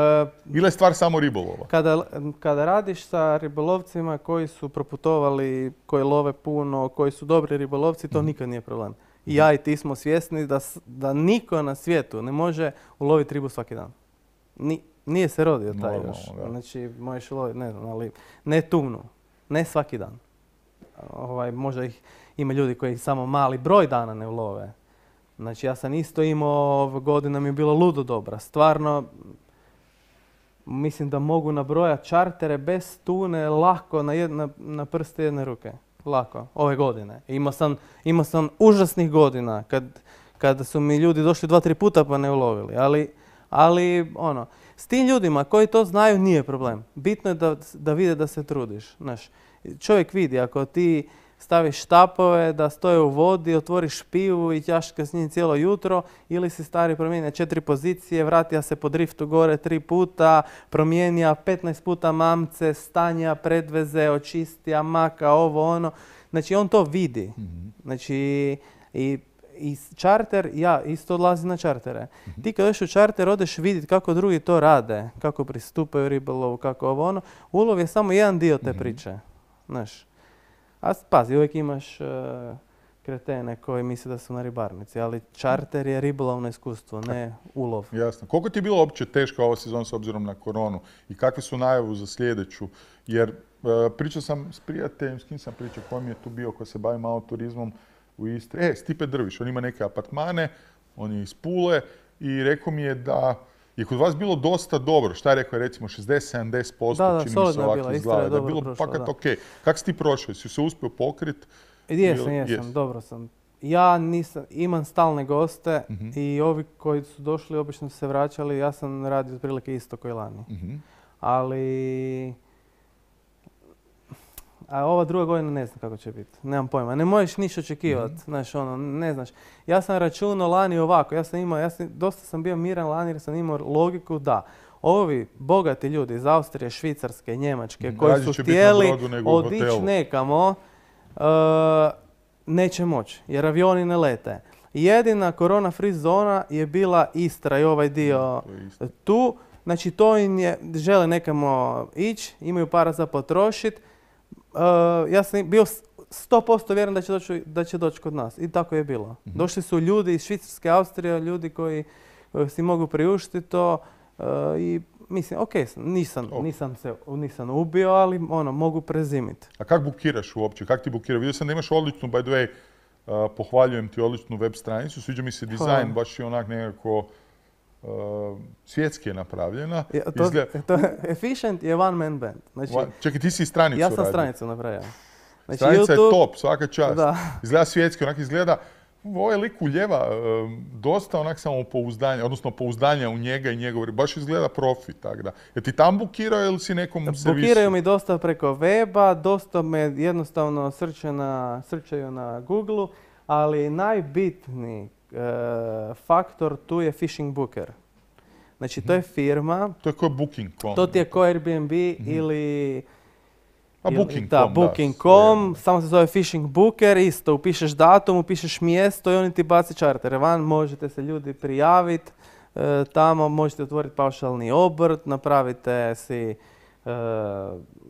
e, Ili je stvar samo ribolova? Kada, kada radiš sa ribolovcima koji su proputovali, koji love puno, koji su dobri ribolovci, to nikad nije problem. I ja i ti smo svjesni da, s- da niko na svijetu ne može uloviti ribu svaki dan. Ni, nije se rodio taj Normalno, još. da. Znači, možeš loviti, ne znam, ali ne tunu. Ne svaki dan. Ovaj, možda ih ima ljudi koji samo mali broj dana ne ulove. Znači, ja sam isto imao, ove godina mi je bilo ludo dobra. Stvarno, mislim da mogu nabrojati čartere bez tune lako na, jedna, na prste jedne ruke. Lako, ove godine. Imao sam, imao sam užasnih godina kad, kada su mi ljudi došli dva, tri puta pa ne ulovili. Ali, ali ono, s tim ljudima koji to znaju nije problem. Bitno je da, da vide da se trudiš. Znaš, čovjek vidi ako ti staviš štapove da stoje u vodi, otvoriš pivu i ćaška s njim cijelo jutro, ili si stari promijenio četiri pozicije, vratija se po driftu gore tri puta, promijenija petnaest puta mamce, stanja, predveze, očistija, maka, ovo, ono. Znači, on to vidi. Znači, i, i čarter, ja isto odlazim na čartere. Ti kad odeš u čarter, odeš vidjeti kako drugi to rade, kako pristupaju ribolovu, kako ovo, ono. Ulov je samo jedan dio te priče. Znaš. A pazi, uvijek imaš uh, kretene koji misle da su na ribarnici, ali čarter je ribolovno iskustvo, ne ulov. Jasno. Koliko ti je bilo uopće teška ova sezona s obzirom na koronu i kakve su najavu za sljedeću? Jer uh, pričao sam s prijateljem, s kim sam pričao, koji mi je tu bio, ko se bavi malo turizmom u Istri. E, Stipe Drviš, on ima neke apartmane, on je iz Pule i rekao mi je da je kod vas bilo dosta dobro. Šta je rekao? Recimo šezdeset do sedamdeset posto Da, da, čini mi se solidno je ovako bila, Istra izgleda. je Da je dobro bilo prošla, fakat da. ok. Kako si ti prošao? Si se uspio pokriti? Jesam, Ili- jesam, jes. dobro sam. Ja nisam, imam stalne goste Mhm. i ovi koji su došli obično su se vraćali, ja sam radio otprilike isto koji lani. Mhm. Ali... A ova druga godina ne znam kako će biti. Nemam pojma. Ne možeš ništa očekivati. Mhm. Znaš, ono, ne znaš. Ja sam računao lani ovako. Ja sam imao, ja sam, dosta sam bio miran lani jer sam imao logiku da ovi bogati ljudi iz Austrije, Švicarske, Njemačke, Mhm. koji Rađe su će biti na htjeli brodu nego u otići hotelu. nekamo, uh, neće moći. Jer avioni ne lete. Jedina korona free zona je bila Istra i ovaj dio To je isto. tu. Znači to im je, žele nekamo ići, imaju para za potrošit. Uh, ja sam bio sto posto vjeran da će doći, da će doći kod nas. I tako je bilo. Mhm. Došli su ljudi iz Švicarske, Austrije, ljudi koji uh, si mogu priuštiti to. uh, I mislim, ok, sam, nisam, Ok. nisam se nisam ubio, ali ono, mogu prezimiti. A kako bukiraš uopće? Kako ti bukiraš? Vidio sam da imaš odličnu, by the way, uh, pohvaljujem ti odličnu web stranicu. Sviđa mi se dizajn, Hvala. baš je onak nekako uh, svjetski je napravljena. Ja, to, Izgleda- to, Efficient je one man band. Znači, Va- Čekaj, ti si i stranicu ja sam radio. stranicu napravio. Znači, Stranica je YouTube- top, svaka čast. Da. Izgleda svjetski, onak izgleda, ovaj lik uljeva um, dosta onak samopouzdanja, odnosno pouzdanja u njega i njegov, baš izgleda profi, tak da. Je ti tam bukirao ili si nekom servisu? Bukiraju mi dosta preko weba, dosta me jednostavno srče na, srčaju na Google, ali najbitniji e, faktor tu je Fishing Booker. Znači to je firma, To je kao booking punkt com. to ti je ko Airbnb ili... A ili- booking Da, punkt com, da, booking punkt com, svejedno. samo se zove Fishing Booker, isto upišeš datum, upišeš mjesto i oni ti baci čartere van, možete se ljudi prijaviti, e, tamo možete otvoriti paušalni obrt, napravite si, e,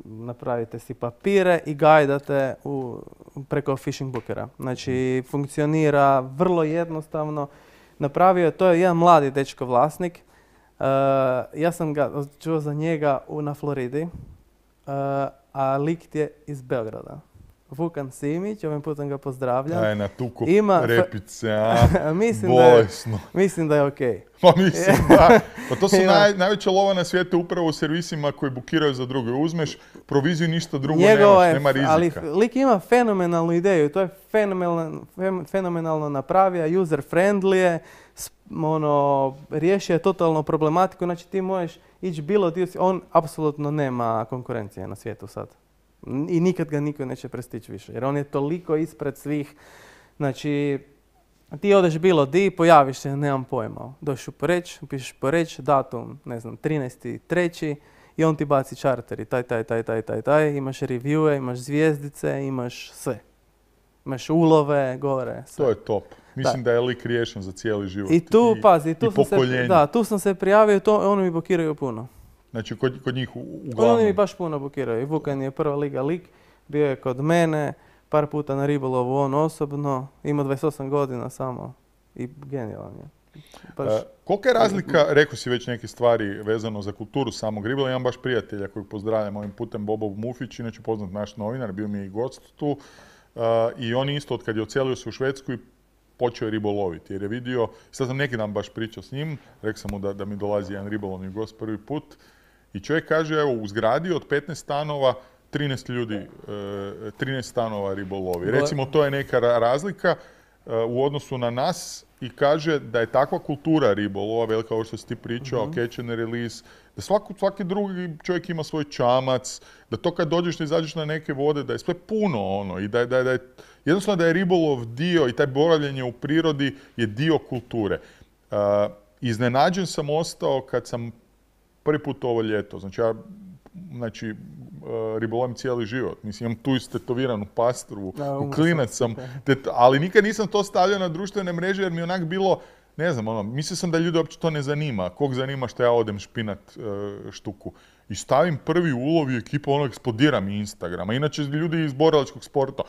napravite si papire i gajdate u, preko Fishing Bookera. Znači funkcionira vrlo jednostavno, napravio je, to je jedan mladi dečko vlasnik, e, ja sam ga čuo za njega u, na Floridi, Uh, a lik je iz Beograda. Vukan Simić, ovim putem ga pozdravljam. Aj, na tuku Ima- repice, a? mislim, da je, Bolesno. mislim da je okej. Pa mislim da. Pa to su Ima. naj, najveća lova na svijetu upravo u servisima koji bukiraju za druge. Uzmeš proviziju, ništa drugo Njegova nemaš, je- nema rizika. ali lik ima fenomenalnu ideju, to je fenomenalno, fem- fenomenalno napravio, user friendly je, s- ono, riješio je totalno problematiku, znači ti možeš ići bilo dio, on apsolutno nema konkurencije na svijetu sad. I nikad ga niko neće prestići više, jer on je toliko ispred svih, znači ti odeš bilo di, pojaviš se, nemam pojma, dođeš u Poreč, pišeš Poreč, datum, ne znam, trinaesti treći i on ti baci čarteri, taj, taj, taj, taj, taj, taj, imaš reviewe, imaš zvijezdice, imaš sve. Imaš ulove, gore, sve. To je top. Mislim da, je lik riješen za cijeli život. I tu, pazi, tu i sam se, pokoljenje. da, tu sam se prijavio, to, oni mi blokiraju puno. Znači, kod, kod njih u- uglavnom. Oni mi baš puno blokiraju. I Vukan je prva liga lik, bio je kod mene, par puta na ribolovu on osobno, ima dvadeset osam godina samo i genijalan je. Baš, E, kolika je razlika, rekao si već neke stvari vezano za kulturu samog ribolova, imam baš prijatelja kojeg pozdravljam ovim putem, Bobo Mufić, inače poznat naš novinar, bio mi je i gost tu, e, i on isto od kad je ocelio se u Švedsku i počeo je riboloviti, jer je vidio, sad sam neki dan baš pričao s njim, rekao sam mu da, da mi dolazi jedan ribolovni gost prvi put, i čovjek kaže, evo, u zgradi od petnaest stanova, trinaest ljudi, e, trinaest stanova ribolovi. Recimo, to je neka ra- razlika e, u odnosu na nas i kaže da je takva kultura ribolova, velika ovo što si ti pričao, Mhm. catch and release, da svaki, svaki drugi čovjek ima svoj čamac, da to kad dođeš da izađeš na neke vode, da je sve puno ono i da je, da je, da je jednostavno da je ribolov dio i taj boravljenje u prirodi je dio kulture. E, iznenađen sam ostao kad sam prvi put ovo ljeto, znači ja znači, e, ribolovim cijeli život. Mislim, imam tu istetoviranu pastru, Da, umro klinac sam. sam, te- ali nikad nisam to stavljao na društvene mreže jer mi je onak bilo, ne znam, ono, mislio sam da ljude uopće to ne zanima. Kog zanima što ja odem špinat e, štuku. I stavim prvi ulov i ekipa ono eksplodira mi Instagrama. Inače, ljudi iz borilačkog sporta,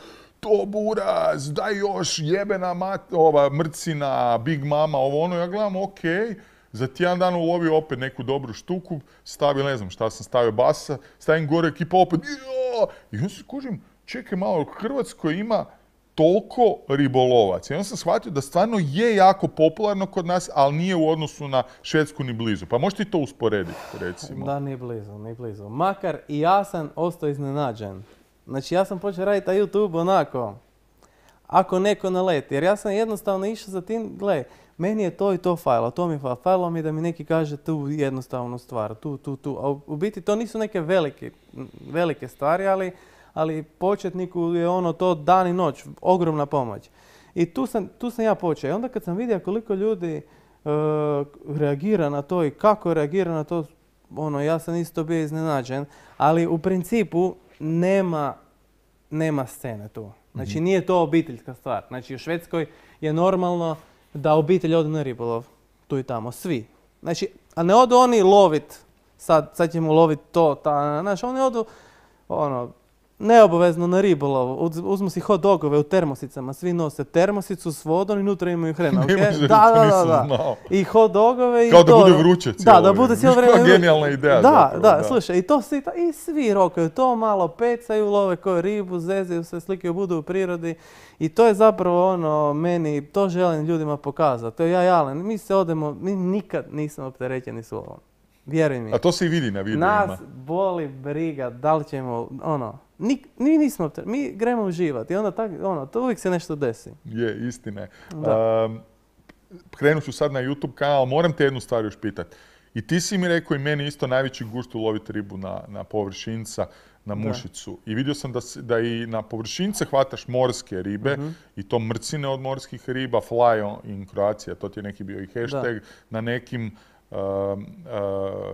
to buraz, daj još, jebena mat, ova mrcina, Big Mama, ovo ono. Ja gledam, okej. Za tjedan dan ulovio opet neku dobru štuku, stavio, ne znam šta sam stavio, basa, stavim gore, ekipa opet, jo! I onda se kužim, čekaj malo, u Hrvatskoj ima toliko ribolovaca. I onda sam shvatio da stvarno je jako popularno kod nas, ali nije u odnosu na Švedsku ni blizu. Pa možete i to usporediti, recimo. Da, ni blizu, ni blizu. Makar i ja sam ostao iznenađen. Znači, ja sam počeo raditi na YouTube onako, ako neko naleti. Jer ja sam jednostavno išao za tim, gle, meni je to i to fajlo, to mi je fajlo. Fajlo mi je da mi neki kaže tu jednostavnu stvar, tu, tu, tu. A u, u biti to nisu neke velike, velike stvari, ali, ali početniku je ono to dan i noć, ogromna pomoć. I tu sam, tu sam ja počeo. I onda kad sam vidio koliko ljudi uh, reagira na to i kako reagira na to, ono, ja sam isto bio iznenađen, ali u principu nema, nema scene tu. Znači, nije to obiteljska stvar. Znači, u Švedskoj je normalno da obitelj ode na ribolov. Tu i tamo. Svi. Znači, a ne odu oni lovit. Sad, sad ćemo lovit to, ta, znaš, oni odu, ono, neobavezno na ribolov. Uz, uzmu si hot dogove u termosicama. Svi nose termosicu s vodom i unutra imaju hrenovke. Ne može, da, to da, nisam da, da. znao. I hot dogove i Kao to. da bude vruće cijelo Da, da bude cijelo vrijeme. vrijeme. Genijalna ideja. Da, zapravo, da, da, slušaj, i to svi, i svi rokaju to, malo pecaju, love koju ribu, zezaju se, slikaju, budu u prirodi. I to je zapravo ono, meni, to želim ljudima pokazati. To je ja jalen. Mi se odemo, mi nikad nismo opterećeni s lovom. Vjeruj mi. A to se i vidi na videima. Nas boli briga, da li ćemo, ono, nik, mi nismo opterećeni, mi gremo uživati. I onda tak, ono, to uvijek se nešto desi. Je, istina je. Da. Um, krenut ću sad na YouTube kanal, moram te jednu stvar još pitat. I ti si mi rekao i meni isto najveći gust uloviti ribu na, na površinca, na mušicu. Da. I vidio sam da, si, da i na površince hvataš morske ribe, uh-huh. i to mrcine od morskih riba, fly in Croatia, to ti je neki bio i hashtag, da. Na nekim uh, uh,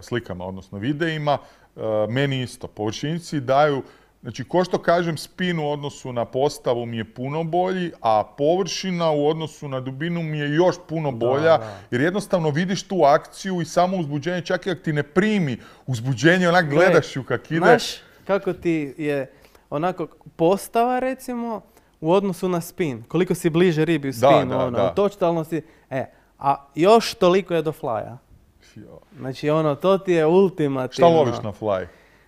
slikama, odnosno videima. Uh, meni isto. Površinci daju, znači, ko što kažem, spin u odnosu na postavu mi je puno bolji, a površina u odnosu na dubinu mi je još puno bolja, da, da. Jer jednostavno vidiš tu akciju i samo uzbuđenje, čak i ako ti ne primi uzbuđenje, onak gledaš ju kak ide. Znaš kako ti je onako postava, recimo, u odnosu na spin, koliko si bliže ribi u spinu, da, da, ono, da. Totalno si, e, a još toliko je do flya. Znači, ono, to ti je ultimativno. Šta loviš na fly?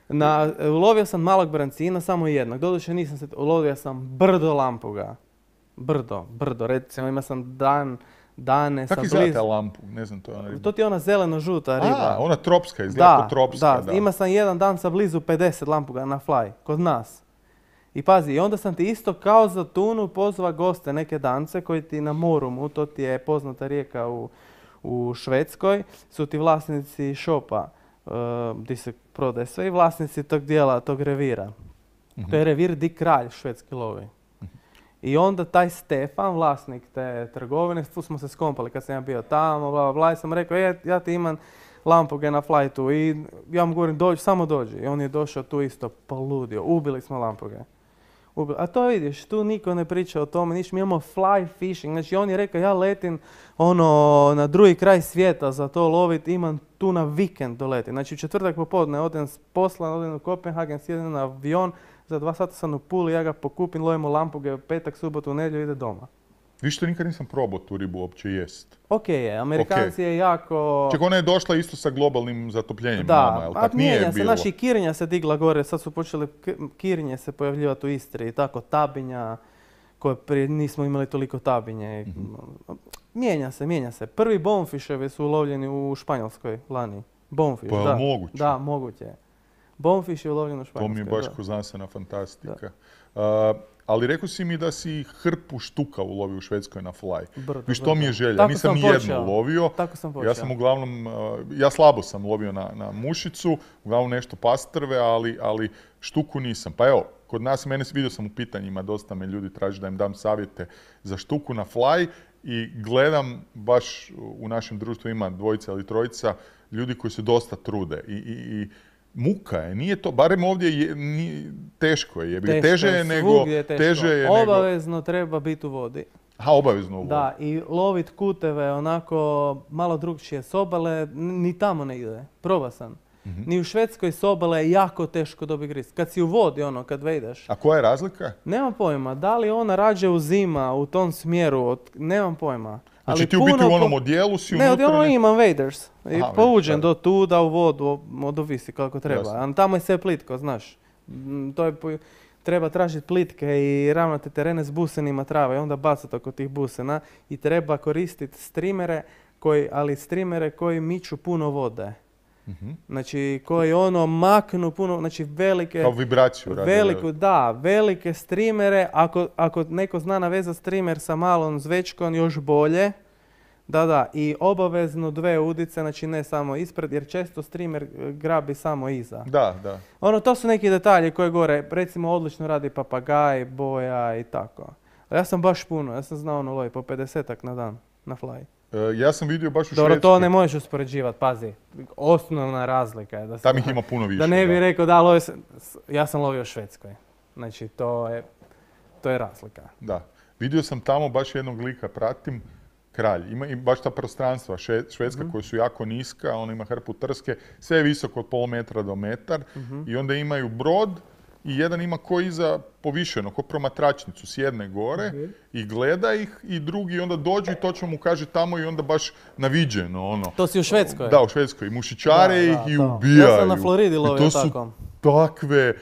Na, ulovio sam malog brancina, samo jednog. Doduše nisam se, ulovio sam brdo lampuga. Brdo, brdo. Recimo, ima sam dan, dane sa blizu. Kako izgleda lampu? Ne znam, to je ona riba. To ti je ona zeleno-žuta riba. A, ona tropska, izgleda kao tropska. Da, da, ima sam jedan dan sa blizu pedeset lampuga na fly, kod nas. I pazi, i onda sam ti isto kao za tunu pozva goste, neke dance koji ti na Morumu, to ti je poznata rijeka u, u Švedskoj, su ti vlasnici šopa. Uh, gdje se prodaje sve i vlasnici tog dijela, tog revira. Uh-huh. To je revir di kralj švedski lovi. Uh-huh. I onda taj Stefan, vlasnik te trgovine, tu smo se skompali kad sam ja bio tamo, bla, bla, bla, i sam rekao, je, ja ti imam lampuge na flightu i ja mu govorim, dođi, samo dođi. I on je došao tu isto poludio, ubili smo lampuge. Ubili. A to vidiš, tu niko ne priča o tome, niš, mi imamo fly fishing, znači on je rekao, ja letim ono, na drugi kraj svijeta za to lovit, imam tu na vikend doletim. Znači u četvrtak popodne odem s posla, odem u Kopenhagen, sjedem na avion, za dva sata sam u Puli, ja ga pokupim, lovimo lampuge, petak, subotu, nedjelju, ide doma. Viš što nikad nisam probao tu ribu uopće jest. Ok je, Amerikanci okay. je jako... Ček, ona je došla isto sa globalnim zatopljenjem da, nama, jel tak nije se, bilo? naši Kirinja se digla gore, sad su počeli Kirinje se pojavljivati u Istri i tako, tabinja, koje prije nismo imali toliko tabinje. Mm-hmm. Mijenja se, mijenja se. Prvi bonefiševi su ulovljeni u Španjolskoj lani. Bonefish, pa da. moguće? Da, moguće. Bonefish je ulovljen u Španjolskoj. To mi je baš ko znanstvena fantastika. Uh, ali rekao si mi da si hrpu štuka ulovio u Švedskoj na fly. Brdo, Viš, to brdo. mi je želja. Tako Nisam ni jednu ulovio. Tako sam počeo. Ja sam uglavnom, uh, ja slabo sam lovio na, na mušicu, uglavnom nešto pastrve, ali, ali štuku nisam. Pa evo, kod nas, mene vidio sam u pitanjima, dosta me ljudi traži da im dam savjete za štuku na fly i gledam, baš u našem društvu ima dvojica ili trojica ljudi koji se dosta trude i, i, i muka je, nije to, barem ovdje je, nije, teško je, teško, teže je nego, je teško. teže je obavezno nego... treba biti u vodi. Ha, obavezno u vodi. Da, i lovit kuteve onako malo drugčije s obale, ni tamo ne ide, proba sam. Mm-hmm. Ni u Švedskoj s obale je jako teško dobiti gris. Kad si u vodi, ono, kad vejdeš. A koja je razlika? Nemam pojma. Da li ona rađe uzima u tom smjeru? Od... Nemam pojma. Znači ali ti u biti u onom po... odijelu si ne, unutra... Ne, odijelu imam waders. I Aha, pouđem vidiš, do tuda u vodu, od ovisi kako treba. A tamo je sve plitko, znaš. To je... Po... Treba tražiti plitke i ravnate terene s busenima trava i onda bacati oko tih busena. I treba koristiti streamere, koji, ali streamere koji miču puno vode. Mm-hmm. Znači, koji ono maknu puno, znači velike... Kao vibraciju radi. Veliku, da, velike streamere. Ako, ako neko zna navezati streamer sa malom zvečkom, još bolje. Da, da, i obavezno dve udice, znači ne samo ispred, jer često streamer grabi samo iza. Da, da. Ono, to su neki detalji koje gore, recimo odlično radi papagaj, boja i tako. A ja sam baš puno, ja sam znao ono lovi po pedesetak na dan, na fly. E, ja sam vidio baš u Dobro, Švedskoj. to ne možeš uspoređivati, pazi. Osnovna razlika je da se... Tam ih ima puno više. Da ne bi da. rekao da lovi sam, ja sam lovio u Švedskoj. Znači, to je, to je razlika. Da. Vidio sam tamo baš jednog lika, pratim, Kralj. Ima i baš ta prostranstva Švedska mm-hmm. koja su jako niska, ona ima hrpu trske, sve je visoko od pol metra do metar mm-hmm. i onda imaju brod i jedan ima ko iza povišeno, ko promatračnicu, sjedne gore mm-hmm. i gleda ih i drugi onda dođu i točno mu kaže tamo i onda baš naviđeno ono. To si u Švedskoj? Da, u Švedskoj. I mušičare da, ih da, i to. ubijaju. Ja sam na Floridi lovio tako. To su takve...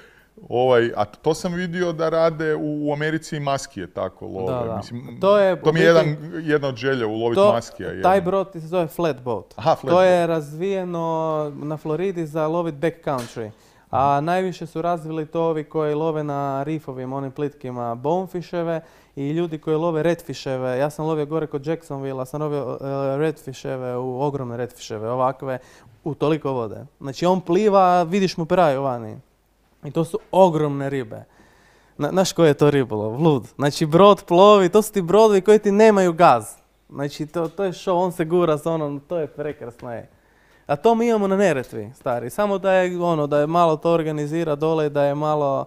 Ovaj, a to sam vidio da rade u Americi i maskije tako love. Da, da. Mislim, to je, to mi je jedan, jedna od želja uloviti to, maskija. Taj brod se zove flatboat. Aha, flat to boat. je razvijeno na Floridi za lovit backcountry. A mm. najviše su razvili to ovi koji love na rifovima, onim plitkima bonefisheve i ljudi koji love redfisheve. Ja sam lovio gore kod Jacksonville, sam lovio uh, redfisheve, u ogromne redfisheve, ovakve, u toliko vode. Znači on pliva, vidiš mu peraju vani. I to su ogromne ribe. Znaš koji je to ribolov? Lud. Znači brod plovi, to su ti brodovi koji ti nemaju gaz. Znači to, to je show, on se gura s onom, to je prekrasno je. A to mi imamo na Neretvi, stari. Samo da je ono, da je malo to organizira dole, da je malo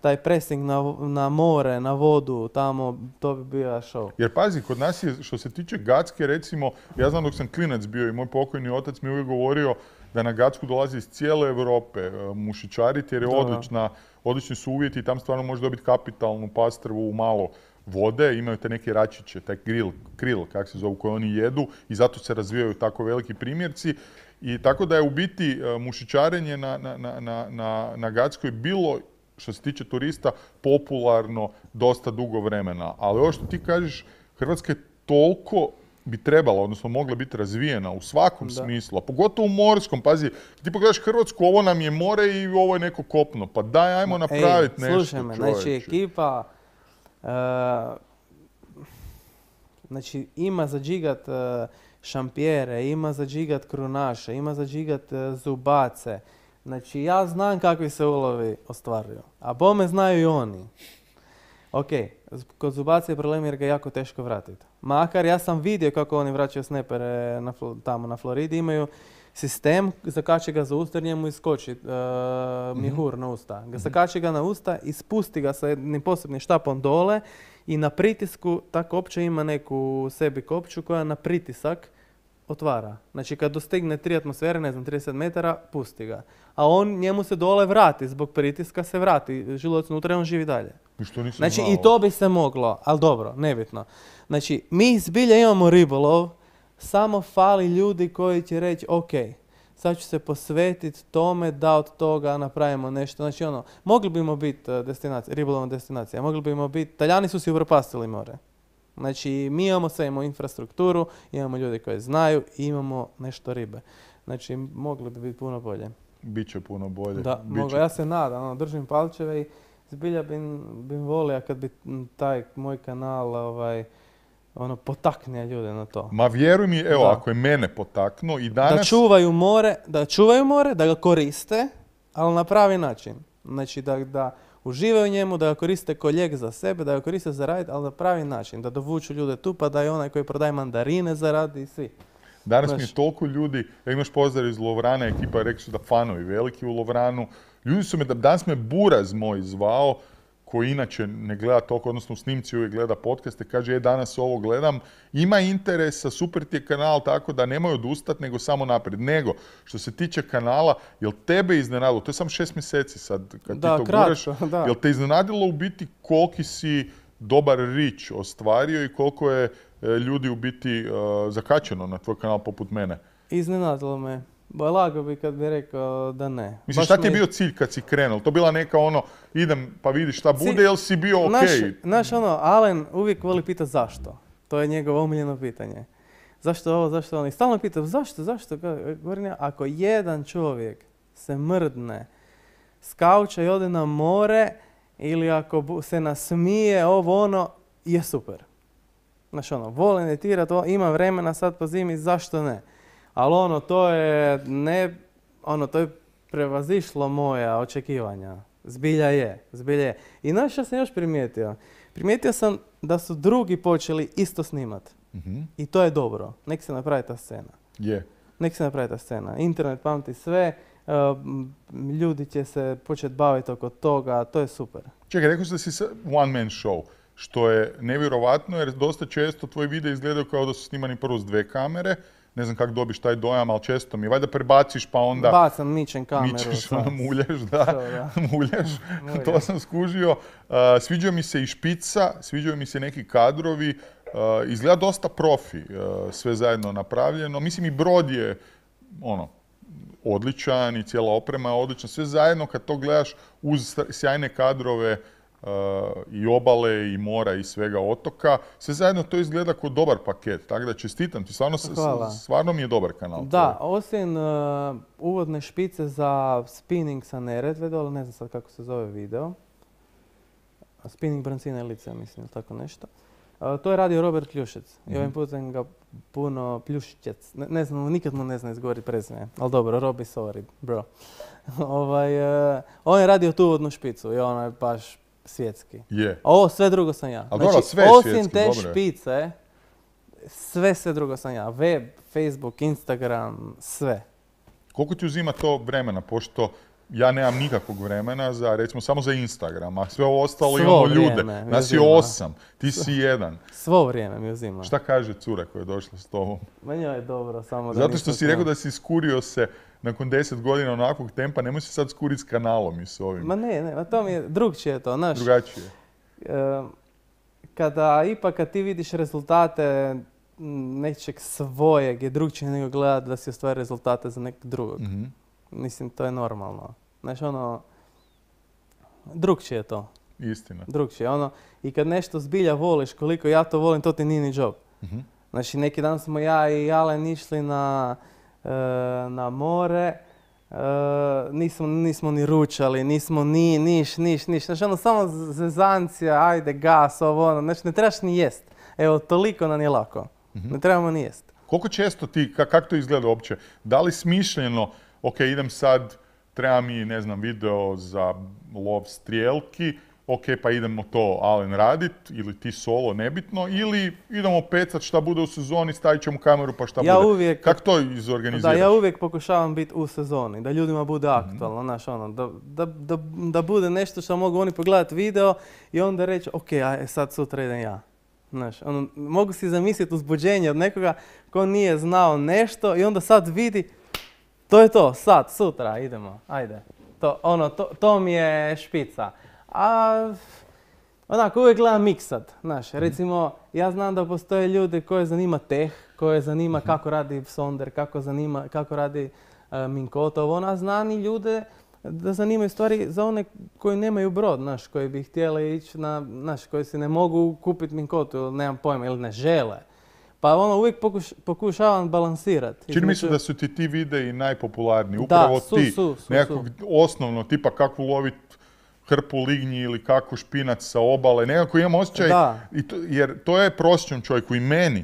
taj pressing na, na more, na vodu, tamo, to bi bio show. Jer pazi, kod nas je, što se tiče Gacke, recimo, ja znam dok sam klinac bio i moj pokojni otac mi uvijek govorio da na Gacku dolazi iz cijele Europe mušičariti jer je odlična, odlični su uvjeti i tam stvarno može dobiti kapitalnu pastrvu u malo vode, imaju te neke račiće, taj grill, krill, kak se zovu, koje oni jedu i zato se razvijaju tako veliki primjerci. I tako da je u biti mušičarenje na, na, na, na, na Gackoj bilo, što se tiče turista, popularno dosta dugo vremena. Ali ovo što ti kažeš, Hrvatska je toliko bi trebala, odnosno mogla biti razvijena u svakom da. smislu, a pogotovo u morskom. Pazi, ti pogledaš Hrvatsku, ovo nam je more i ovo je neko kopno. Pa daj, ajmo napraviti nešto, slušaj me, čovječe. Znači, ekipa uh, znači, ima za džigat uh, šampijere, ima za džigat krunaše, ima za džigat uh, zubace. Znači, ja znam kakvi se ulovi ostvaruju, a bome znaju i oni. Ok, kod zubaca je problem jer ga je jako teško vratiti. Makar ja sam vidio kako oni vraćaju snepere na, tamo na Floridi, imaju sistem, zakači ga za usta jer njemu iskoči uh, mjehur mm-hmm. na usta. Ga zakači ga na usta i spusti ga sa jednim posebnim štapom dole i na pritisku ta kopča ima neku u sebi kopču koja na pritisak otvara. Znači kad dostigne tri atmosfere, ne znam, trideset metara, pusti ga. A on njemu se dole vrati, zbog pritiska se vrati, želudac unutra i on živi dalje. I što nisam znači znao. I to bi se moglo, ali dobro, nebitno. Znači mi zbilja imamo ribolov, samo fali ljudi koji će reći ok, sad ću se posvetiti tome da od toga napravimo nešto. Znači ono, mogli bimo biti destinacija, ribolovna destinacija, mogli bimo biti, Talijani su si upropastili more. Znači, mi imamo sve, imamo infrastrukturu, imamo ljudi koji znaju i imamo nešto ribe. Znači, mogli bi biti puno bolje. Biće puno bolje. Da, mogu, ja se nadam, ono, držim palčeve i zbilja bi, bi volio kad bi taj moj kanal ovaj, ono, potakne ljude na to. Ma vjeruj mi, evo, da. ako je mene potaknuo i danas... Da čuvaju more, da čuvaju more, da ga koriste, ali na pravi način. Znači, da... da uživaju u njemu, da ga koriste ko lijek za sebe, da ga koriste za radit, ali na pravi način, da dovuču ljude tu, pa da je onaj koji prodaje mandarine zaradi i svi. Danas Znaš, mi je toliko ljudi, ja imaš pozdrav iz Lovrana, ekipa rekli su da fanovi veliki u Lovranu. Ljudi su me, danas me Buraz moj zvao, koji inače ne gleda toliko, odnosno u snimci uvijek gleda podcaste, kaže, je, danas ovo gledam, ima interesa, super ti je kanal, tako da nemoj odustati, nego samo naprijed. Nego, što se tiče kanala, jel tebe iznenadilo, to je samo šest mjeseci sad, kad Da, ti to kratko, guraš, da. jel te iznenadilo u biti koliki si dobar reach ostvario i koliko je e, ljudi u biti e, zakačeno na tvoj kanal poput mene? Iznenadilo me. Ba, lago bi kad bi rekao da ne. Mislim, Baš šta ti je me- bio cilj kad si krenuo? To bila neka ono, idem pa vidi šta Cilj- bude, jel si bio okej? Naš, naš ono, Alen uvijek voli pitati zašto. To je njegovo omiljeno pitanje. Zašto ovo, zašto ono? I stalno pita zašto, zašto? Ka- Govorim ja, ako jedan čovjek se mrdne s kauča i ode na more, ili ako bu- se nasmije, ovo ono, je super. Znaš ono, volim editirati, o, ima vremena sad po zimi, zašto ne? Ali ono, to je ne, ono, to je prevazišlo moja očekivanja. Zbilja je, zbilja je. I znaš što sam još primijetio? Primijetio sam da su drugi počeli isto snimat. Mhm. I to je dobro. Nek se napravi ta scena. Je. Nek se napravi ta scena. Internet pamti sve, uh, m, ljudi će se početi baviti oko toga, to je super. Čekaj, rekao si da si sa- one man show, što je nevjerovatno jer dosta često tvoji videi izgledaju kao da su snimani prvo s dve kamere. Ne znam kako dobiš taj dojam, ali često mi. Valjda prebaciš pa onda Bacam, mičem kameru. mičeš, sad. ono, muljaš, da. To, da. muljaš. Muljam. To sam skužio. Uh, sviđao mi se i špica, sviđaju mi se neki kadrovi. Uh, izgleda dosta profi, uh, sve zajedno napravljeno. Mislim i brod je ono, odličan i cijela oprema je odlična. Sve zajedno kad to gledaš uz sjajne kadrove uh, i obale i mora i svega otoka, sve zajedno to izgleda kao dobar paket. Tako da čestitam ti, stvarno, s- Hvala. stvarno mi je dobar kanal. Da, osim uh, uvodne špice za spinning sa Neretve dole, ne znam sad kako se zove video. Spinning brancina lice, mislim, ili tako nešto. Uh, to je radio Robert Pljušec. I ovim putem ga puno Pljušćec. Ne, ne znam, nikad mu ne znam izgovoriti prezime. Ali dobro, Robi, sorry, bro. ovaj, uh, on je radio tu uvodnu špicu i ono je baš svjetski. Je. A ovo sve drugo sam ja. Ali dobro, sve je osim svjetski, te dobro je. špice, sve sve drugo sam ja. Web, Facebook, Instagram, sve. Koliko ti uzima to vremena, pošto ja nemam nikakvog vremena za, recimo, samo za Instagram, a sve ovo ostalo Svo imamo vrijeme ljude. mi Nas je uzima. osam, ti si jedan. Svo vrijeme mi uzima. Šta kaže cura koja je došla s tobom? Meni je dobro, samo da Zato nisam što si s njom. rekao da si skurio se nakon deset godina onakvog tempa, nemoj se sad skuriti s kanalom i s ovim. Ma ne, ne, ma to mi je drugčije to, znaš. Drugačije. e, kada, ipak kad ti vidiš rezultate m, nečeg svojeg je drugčije nego gledati da si ostvari rezultate za nekog drugog. Mhm. Mislim, to je normalno. Znaš, ono, drugčije je to. Istina. Drugčije, ono, i kad nešto zbilja voliš koliko ja to volim, to ti nije ni job. Mhm. Znači, neki dan smo ja i Alen išli na, e, na more, e, nismo, nismo ni ručali, nismo ni, niš, niš, niš. Znači, ono, samo zezancija, ajde, gas, ovo, ono, znači, ne trebaš ni jest. Evo, toliko nam je lako. Ne trebamo ni jest. Koliko često ti, ka- kako to izgleda uopće? Da li smišljeno, ok, idem sad, treba mi, ne znam, video za lov strijelki, ok, pa idemo to Alen radit, ili ti solo, nebitno, ili idemo pecat šta bude u sezoni, stavit ćemo kameru pa šta Ja bude. uvijek- Kako to Da, izorganiziraš? ja uvijek pokušavam biti u sezoni, da ljudima bude aktualno, znaš, ono, da, da, da, da bude nešto što mogu oni pogledati video i onda reći, ok, aj, sad sutra idem ja. Znaš, ono, mogu si zamisliti uzbuđenje od nekoga ko nije znao nešto i onda sad vidi, to je to, sad, sutra, idemo, ajde. To, ono, to, to mi je špica. A onako, uvijek gledam miksat, znaš, recimo, ja znam da postoje ljude koje zanima teh, koje zanima kako radi sonder, kako, zanima, kako radi uh, Minkotov, ona znani ljude da zanimaju stvari za one koji nemaju brod, znaš, koji bi htjeli ići na, znaš, koji si ne mogu kupiti Minkotu, ili nemam pojma, ili ne žele. Pa ono, uvijek pokuš, pokušavam balansirati. Čini mi se između- da su ti ti videi najpopularniji. Upravo su, ti, su, su, nekakvog osnovno, tipa kako lovit hrpu lignji ili kako špinac sa obale. Nekako imam osjećaj, Da. i to, jer to je prosječnom čovjeku i meni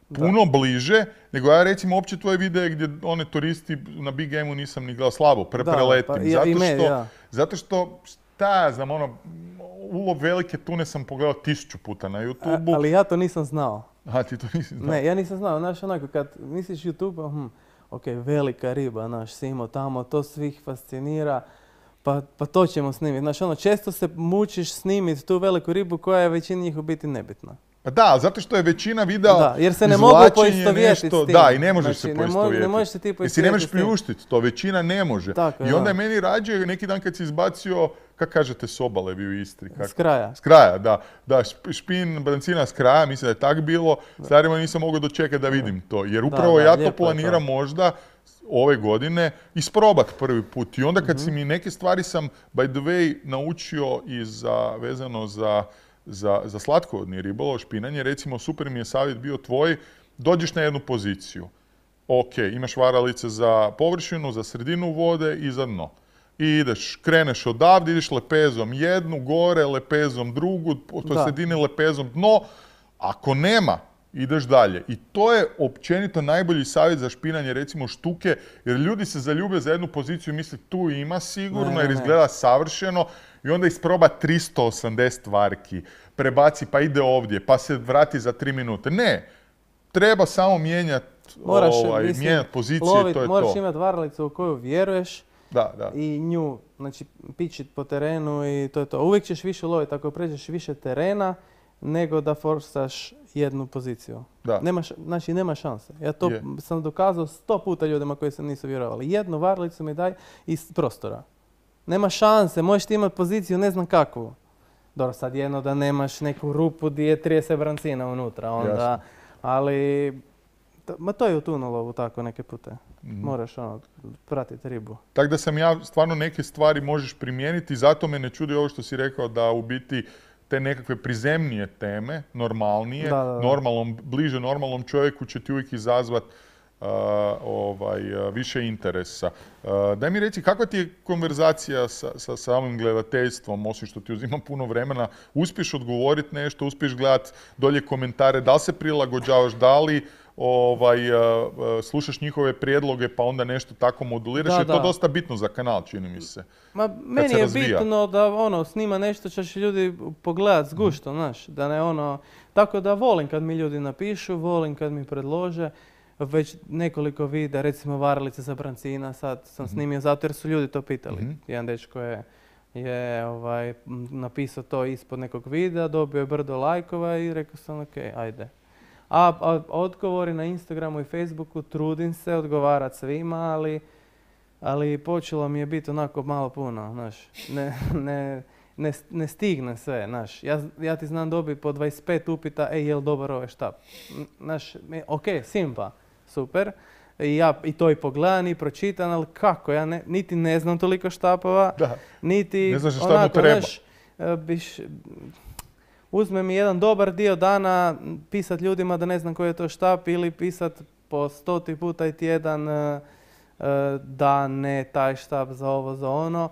puno bliže, nego ja recimo uopće tvoje videe gdje one turisti na Big Game-u nisam ni gledao, slabo, pre, Da, preletim. pa i- zato, i meni, što, da. zato što, šta ja znam, ono, ulov velike tune sam pogledao tisuću puta na A- YouTubeu. ali ja to nisam znao. A ti to nisi znao? Ne, ja nisam znao, znaš, onako, kad misliš YouTube, hm, ok, velika riba, znaš, si imao tamo, to svih fascinira, pa, pa to ćemo snimiti. Znači, ono, često se mučiš snimiti tu veliku ribu koja je većini njih u biti nebitna. Pa da, zato što je većina videa Da, jer se ne mogu izvlačenje poistovjetiti nešto- s tim. Da, i ne možeš Znači, se ne mo- ne poistovjetiti. možeš se ti Jer si ne poistovjetiti možeš s tim. priuštiti to, većina ne može. Tako je, I onda da. je meni rađe neki dan kad si izbacio, kako kažete, s obale vi u Istri? Kako? S kraja. S kraja, da. Da, šp- špin brancina s kraja, mislim da je tak bilo. Stvarima nisam mogao dočekati da vidim to. Jer upravo da, ja to lijepo je to. planiram možda ove godine isprobat prvi put. I onda kad si mi neke stvari sam, by the way, naučio i za, vezano za, za, za slatkovodni ribolov, špinanje, recimo super mi je savjet bio tvoj, dođeš na jednu poziciju. Ok, imaš varalice za površinu, za sredinu vode i za dno. I ideš, kreneš odavde, ideš lepezom jednu, gore, lepezom drugu, po toj Da. sredini lepezom dno. Ako nema, ideš dalje. I to je općenito najbolji savjet za špinanje, recimo štuke, jer ljudi se zaljube za jednu poziciju i misle tu ima sigurno, Ne, ne, jer ne. izgleda savršeno, i onda isproba tristo osamdeset varki, prebaci pa ide ovdje, pa se vrati za tri minute. Ne, treba samo mijenjati Moraš, ovaj, mislim, mijenjat pozicije, lovit, to je moraš to. imati varalicu u koju vjeruješ Da, da. i nju, znači, pičit po terenu i to je to. Uvijek ćeš više loviti ako pređeš više terena nego da forsaš jednu poziciju. Da. Nema, š- znači, nema šanse. Ja to Je. sam dokazao sto puta ljudima koji se nisu vjerovali. Jednu varalicu mi daj iz prostora. Nema šanse, možeš ti imati poziciju ne znam kakvu. Dobro, sad jedno da nemaš neku rupu gdje je trideset brancina unutra, onda, Jasno. ali to, ma to je u tunolovu tako neke pute. Mhm. Moraš ono, pratiti ribu. Tako da sam ja stvarno neke stvari možeš primijeniti, zato me ne čudi ovo što si rekao da u biti te nekakve prizemnije teme, normalnije, Da, da, da. normalnom, bliže normalnom čovjeku će ti uvijek izazvat uh, ovaj, uh, više interesa. Uh, daj mi reci, kakva ti je konverzacija sa, sa samim gledateljstvom, osim što ti uzima puno vremena, uspiješ odgovoriti nešto, uspiješ gledati dolje komentare, da li se prilagođavaš, da li ovaj, uh, uh, slušaš njihove prijedloge pa onda nešto tako moduliraš, Da, jer je to da. dosta bitno za kanal, čini mi se. Ma, meni se je razvija. bitno da ono, snima nešto što će ljudi pogledat s guštom, znaš, da ne ono, tako da volim kad mi ljudi napišu, volim kad mi predlože, već nekoliko videa, recimo varalice za brancina, sad sam snimio zato jer su ljudi to pitali. Mhm. Jedan dečko je, je ovaj, m, napisao to ispod nekog videa, dobio je brdo lajkova i rekao sam ok, ajde. A, a odgovori na Instagramu i Facebooku trudim se odgovarati svima, ali ali počelo mi je biti onako malo puno, znaš, ne, ne, ne, ne stigne sve, znaš. Ja, ja ti znam dobiti po dvadeset pet upita, ej, jel dobar ovaj štap? N- Znaš, me- ok, simpa, super. I ja i to i pogledam i pročitam, ali kako, ja ne, niti ne znam toliko štapova, Da. niti Ne znaš šta mu onako, treba. znaš, e, biš, uzme mi jedan dobar dio dana pisat ljudima da ne znam koji je to štap ili pisat po stoti puta i tjedan e, e, da ne taj štap za ovo, za ono.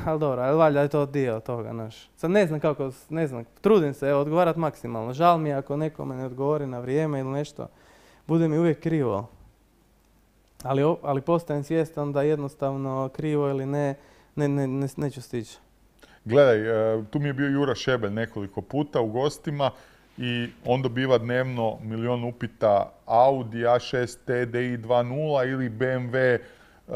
Ali dobro, ali valjda je to dio toga, znaš. Sad ne znam kako, ne znam, trudim se, evo, odgovarat maksimalno. Žal mi je ako nekome ne odgovori na vrijeme ili nešto, bude mi uvijek krivo. Ali, o- ali postajem svjestan da jednostavno krivo ili ne, ne, ne, ne, neću stići. Gledaj, e, tu mi je bio Jura Šebelj nekoliko puta u gostima i on dobiva dnevno milion upita Audi A šest T D I dva nula ili B M W uh,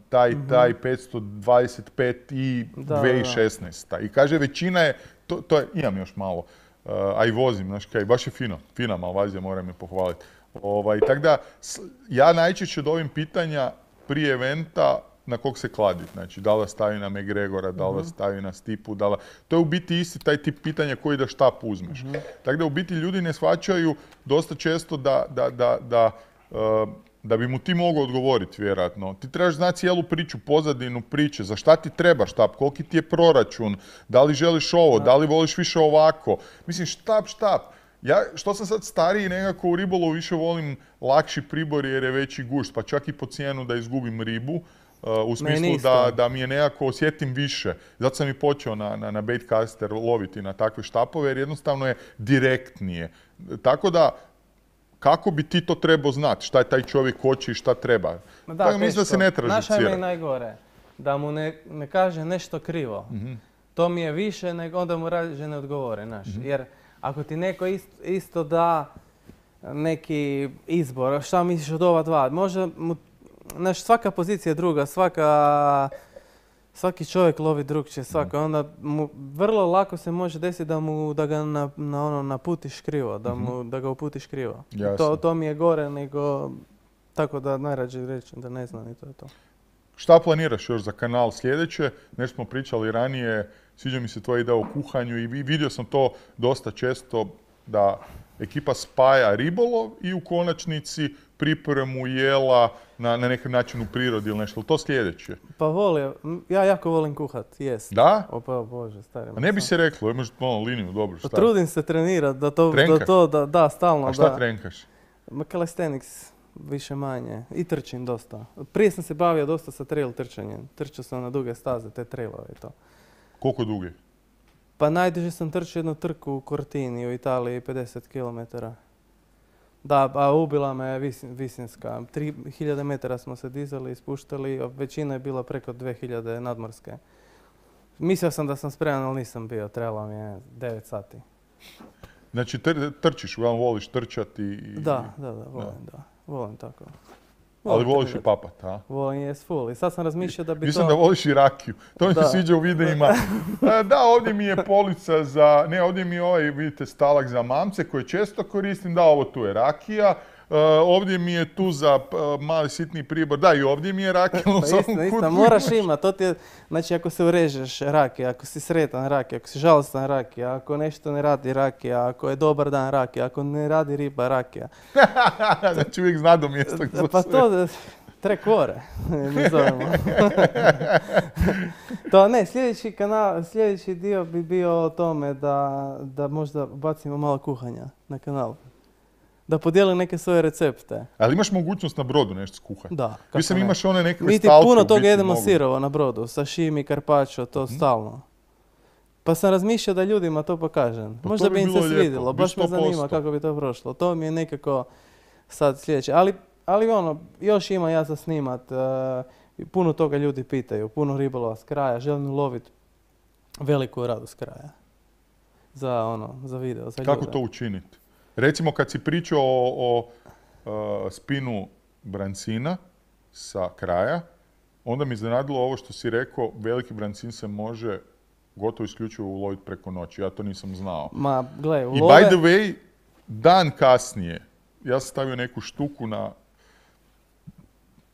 taj, taj petsto dvadeset pet i Da, dvije tisuće šesnaesta. I kaže, većina je, to, to je, imam još malo, uh, a i vozim, znaš kaj, baš je fino, fina Malvazija, moram je pohvaliti. Ovaj, tako da, s- ja najčešće dobim pitanja prije eventa na kog se kladi. Znači, da li vas stavi na McGregora, da li vas stavi na Stipu, da li... To je u biti isti taj tip pitanja koji da štap uzmeš. Tako da u biti ljudi ne shvaćaju dosta često da, da, da, da, uh, da bi mu ti mogao odgovoriti, vjerojatno. Ti trebaš znati cijelu priču, pozadinu priče, za šta ti treba štap, koliki ti je proračun, da li želiš ovo, da li voliš više ovako. Mislim, štap, štap. Ja, što sam sad stariji, nekako u ribolovu više volim lakši pribor jer je veći gušt, pa čak i po cijenu da izgubim ribu. Uh, u smislu isto. da, da mi je nekako osjetim više. Zato sam i počeo na, na, na baitcaster loviti na takve štapove jer jednostavno je direktnije. Tako da, kako bi ti to trebao znati? Šta je taj čovjek hoće i šta treba? Ma Tako mislim da se ne teško. traži Znaš, ajme cira. i najgore, da mu ne, ne kaže nešto krivo. Mhm. To mi je više nego onda mu rađe ne odgovore, znaš. Jer ako ti neko isto, isto da neki izbor, šta misliš od ova dva, možda mu, znaš, svaka pozicija je druga, svaka Svaki čovjek lovi drugčije, svako. Onda mu vrlo lako se može desiti da mu da ga na, na ono naputiš krivo, da mu da ga uputiš krivo. To, to mi je gore nego tako da najrađe reći da ne znam i to je to. Šta planiraš još za kanal sljedeće? Nešto smo pričali ranije, sviđa mi se tvoja ideja o kuhanju i vidio sam to dosta često da ekipa spaja ribolov i u konačnici pripremu jela na, na neki način u prirodi ili nešto. To sljedeće? Pa volim, ja jako volim kuhat, jest. Da? O pa Bože, stari. A ne bi se reklo, imaš malo liniju, dobro, šta? Trudim se trenirati da to, da to, da, da, stalno, da. A šta da. trenkaš? Calisthenics, više manje. I trčim dosta. Prije sam se bavio dosta sa trail trčanjem. Trčao sam na duge staze, te trailove i to. Koliko duge? Pa najduže sam trčao jednu trku u Cortini u Italiji, pedeset kilometara. Da, a ubila me visin, Visinska. tri hiljade metara smo se dizali i spuštali, a većina je bila preko dvije hiljade nadmorske. Mislio sam da sam spreman, ali nisam bio. Trebalo mi je devet sati. Znači tr trčiš, uglavnom voliš trčati i... Da, da, da, volim, da. da. Volim tako. Volim ali voliš i papat, a? Volim yes full. I sad sam razmišljao da bi Mislim to... da voliš i rakiju. To mi se sviđa u videima. Da, ovdje mi je polica za... Ne, ovdje mi je ovaj, vidite, stalak za mamce koje često koristim. Da, ovo tu je rakija. Uh, ovdje mi je tu za uh, mali sitni pribor. Da, i ovdje mi je rakija. Pa istina, istina, moraš imati. To ti je, znači, ako se urežeš rakija, ako si sretan rakija, ako si žalostan rakija, ako nešto ne radi rakija, ako je dobar dan rakija, ako ne radi riba rakija. Znači uvijek zna do mjesta gdje pa to, trekore, mi zovemo. To ne, sljedeći kanal, sljedeći dio bi bio o tome da, da možda bacimo malo kuhanja na kanal. Da podijeli neke svoje recepte. Ali imaš mogućnost na brodu nešto skuhati? Da. Vi sam imaš one neke stalke. Mi ti puno toga jedemo mogu. Sirovo na brodu. Sashimi, carpaccio, to hmm. stalno. Pa sam razmišljao da ljudima to pokažem. Pa možda bi im se svidjelo. Baš me zanima kako bi to prošlo. To mi je nekako sad sljedeće. Ali, ali ono, još ima ja za snimat. Uh, puno toga ljudi pitaju. Puno ribolova s kraja. Želim loviti veliku radu s kraja. Za ono, za video, za kako ljude. to učiniti? Recimo kad si pričao o, o uh, spinu brancina sa kraja, onda mi iznenadilo ovo što si rekao, veliki brancin se može gotovo isključivo uloviti preko noći. Ja to nisam znao. Ma, gle, ulove... I by the way, dan kasnije, ja sam stavio neku štuku na,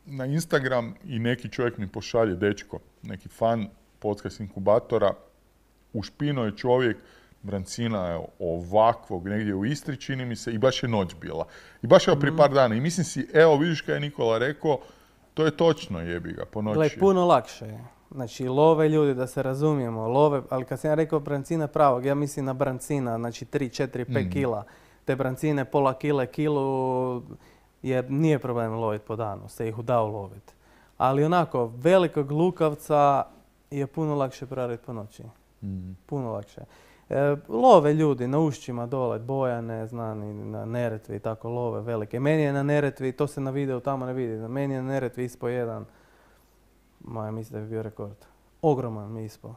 na Instagram i neki čovjek mi pošalje, dečko, neki fan podcast inkubatora, ušpino je čovjek brancina je ovakvog, negdje u Istri, čini mi se, i baš je noć bila. I baš evo prije par dana. I mislim si, evo, vidiš kaj je Nikola rekao, to je točno, jebi ga, po noći. Gle, puno lakše je. Znači, love ljudi, da se razumijemo, love, ali kad sam ja rekao brancina pravog, ja mislim na brancina, znači tri, četiri, pet mm. kila. Te brancine, pola kile, kilu, jer nije problem loviti po danu, se ih da uloviti. Ali onako, velikog lukavca je puno lakše preraditi po noći. Mm. Puno lakše. E, love ljudi na ušćima dole, Bojane, znam i na Neretvi i tako love velike. Meni je na Neretvi, to se na videu tamo ne vidi, meni je na Neretvi ispao jedan, moja mislim da bi bio rekord. Ogroman mi ispao.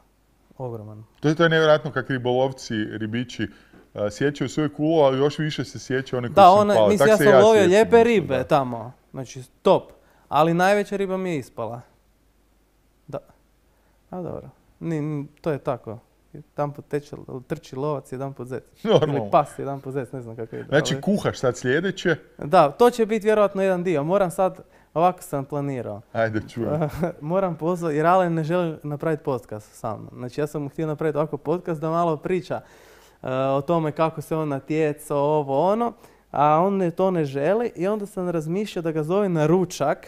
Ogroman. To je to je nevjerojatno kako ribolovci, ribiči uh, sjećaju svoje kulo, ali još više se sjećaju one koji da, su one, pali. mislim, ja sam ja lovio lijepe ribe da. Tamo, znači top, ali najveća riba mi je ispala. Da, a dobro, ni, to je tako. Jedan put teče, trči lovac, jedan put zec. Normalno. Ili pas, jedan put zec, ne znam kako ide. Znači ali... kuhaš sad sljedeće? Da, to će biti vjerojatno jedan dio. Moram sad, ovako sam planirao. Ajde, čujem. Moram pozvati, jer Alen ne želi napraviti podcast sa mnom. Znači ja sam mu htio napraviti ovako podcast da malo priča uh, o tome kako se on natjecao, ovo ono, a on ne, to ne želi i onda sam razmišljao da ga zove na ručak,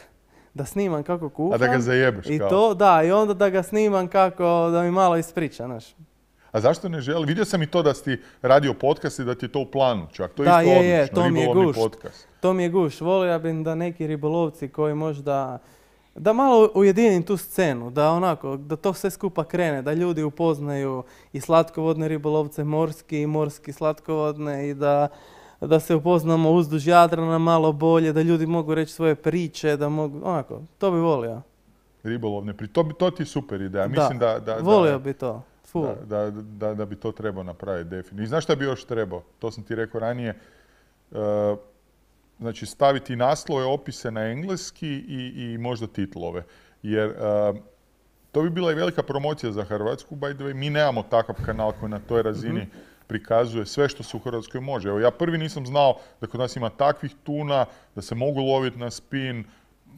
da snimam kako kuham. A da ga zajebeš i kao? To, da, i onda da ga snimam kako, da mi malo ispriča, znaš. A zašto ne želi? Vidio sam i to da si radio podcast i da ti je to u planu čak. To je da, isto je, odlično, je, to mi je gušt. Podcast. To mi je gušt. Volio bih da neki ribolovci koji možda, da malo ujedinim tu scenu, da onako, da to sve skupa krene, da ljudi upoznaju i slatkovodne ribolovce morski i morski slatkovodne i da, da se upoznamo uzduž Jadrana malo bolje, da ljudi mogu reći svoje priče, da mogu, onako, to bi volio. Ribolovne priče, to, to ti je super ideja. Mislim da, da, volio da, bi to. Da, da, da, da bi to trebao napraviti definitivno. I znaš šta bi još trebao? To sam ti rekao ranije. Uh, znači staviti naslove, opise na engleski i, i možda titlove. Jer uh, To bi bila i velika promocija za Hrvatsku, by the way. Mi nemamo takav kanal koji na toj razini mm-hmm. prikazuje sve što se u Hrvatskoj može. Evo, ja prvi nisam znao da kod nas ima takvih tuna, da se mogu loviti na spin.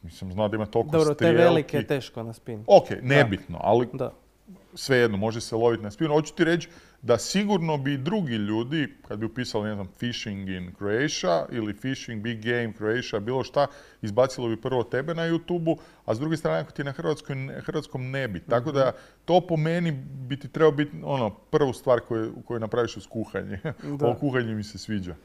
Nisam znao da ima toliko Dobro, strijelki. te velike je teško na spin. Ok, nebitno, ali da. Svejedno, može se loviti na spin. Hoću ti reći da sigurno bi drugi ljudi, kad bi upisali, ne znam, fishing in Croatia ili fishing big game Croatia, bilo šta, izbacilo bi prvo tebe na YouTube-u, a s druge strane, ako ti na hrvatskoj, hrvatskom ne bi. Tako da to po meni bi ti trebao biti ono, prvu stvar koju, koju napraviš uz kuhanje. Ovo kuhanje mi se sviđa.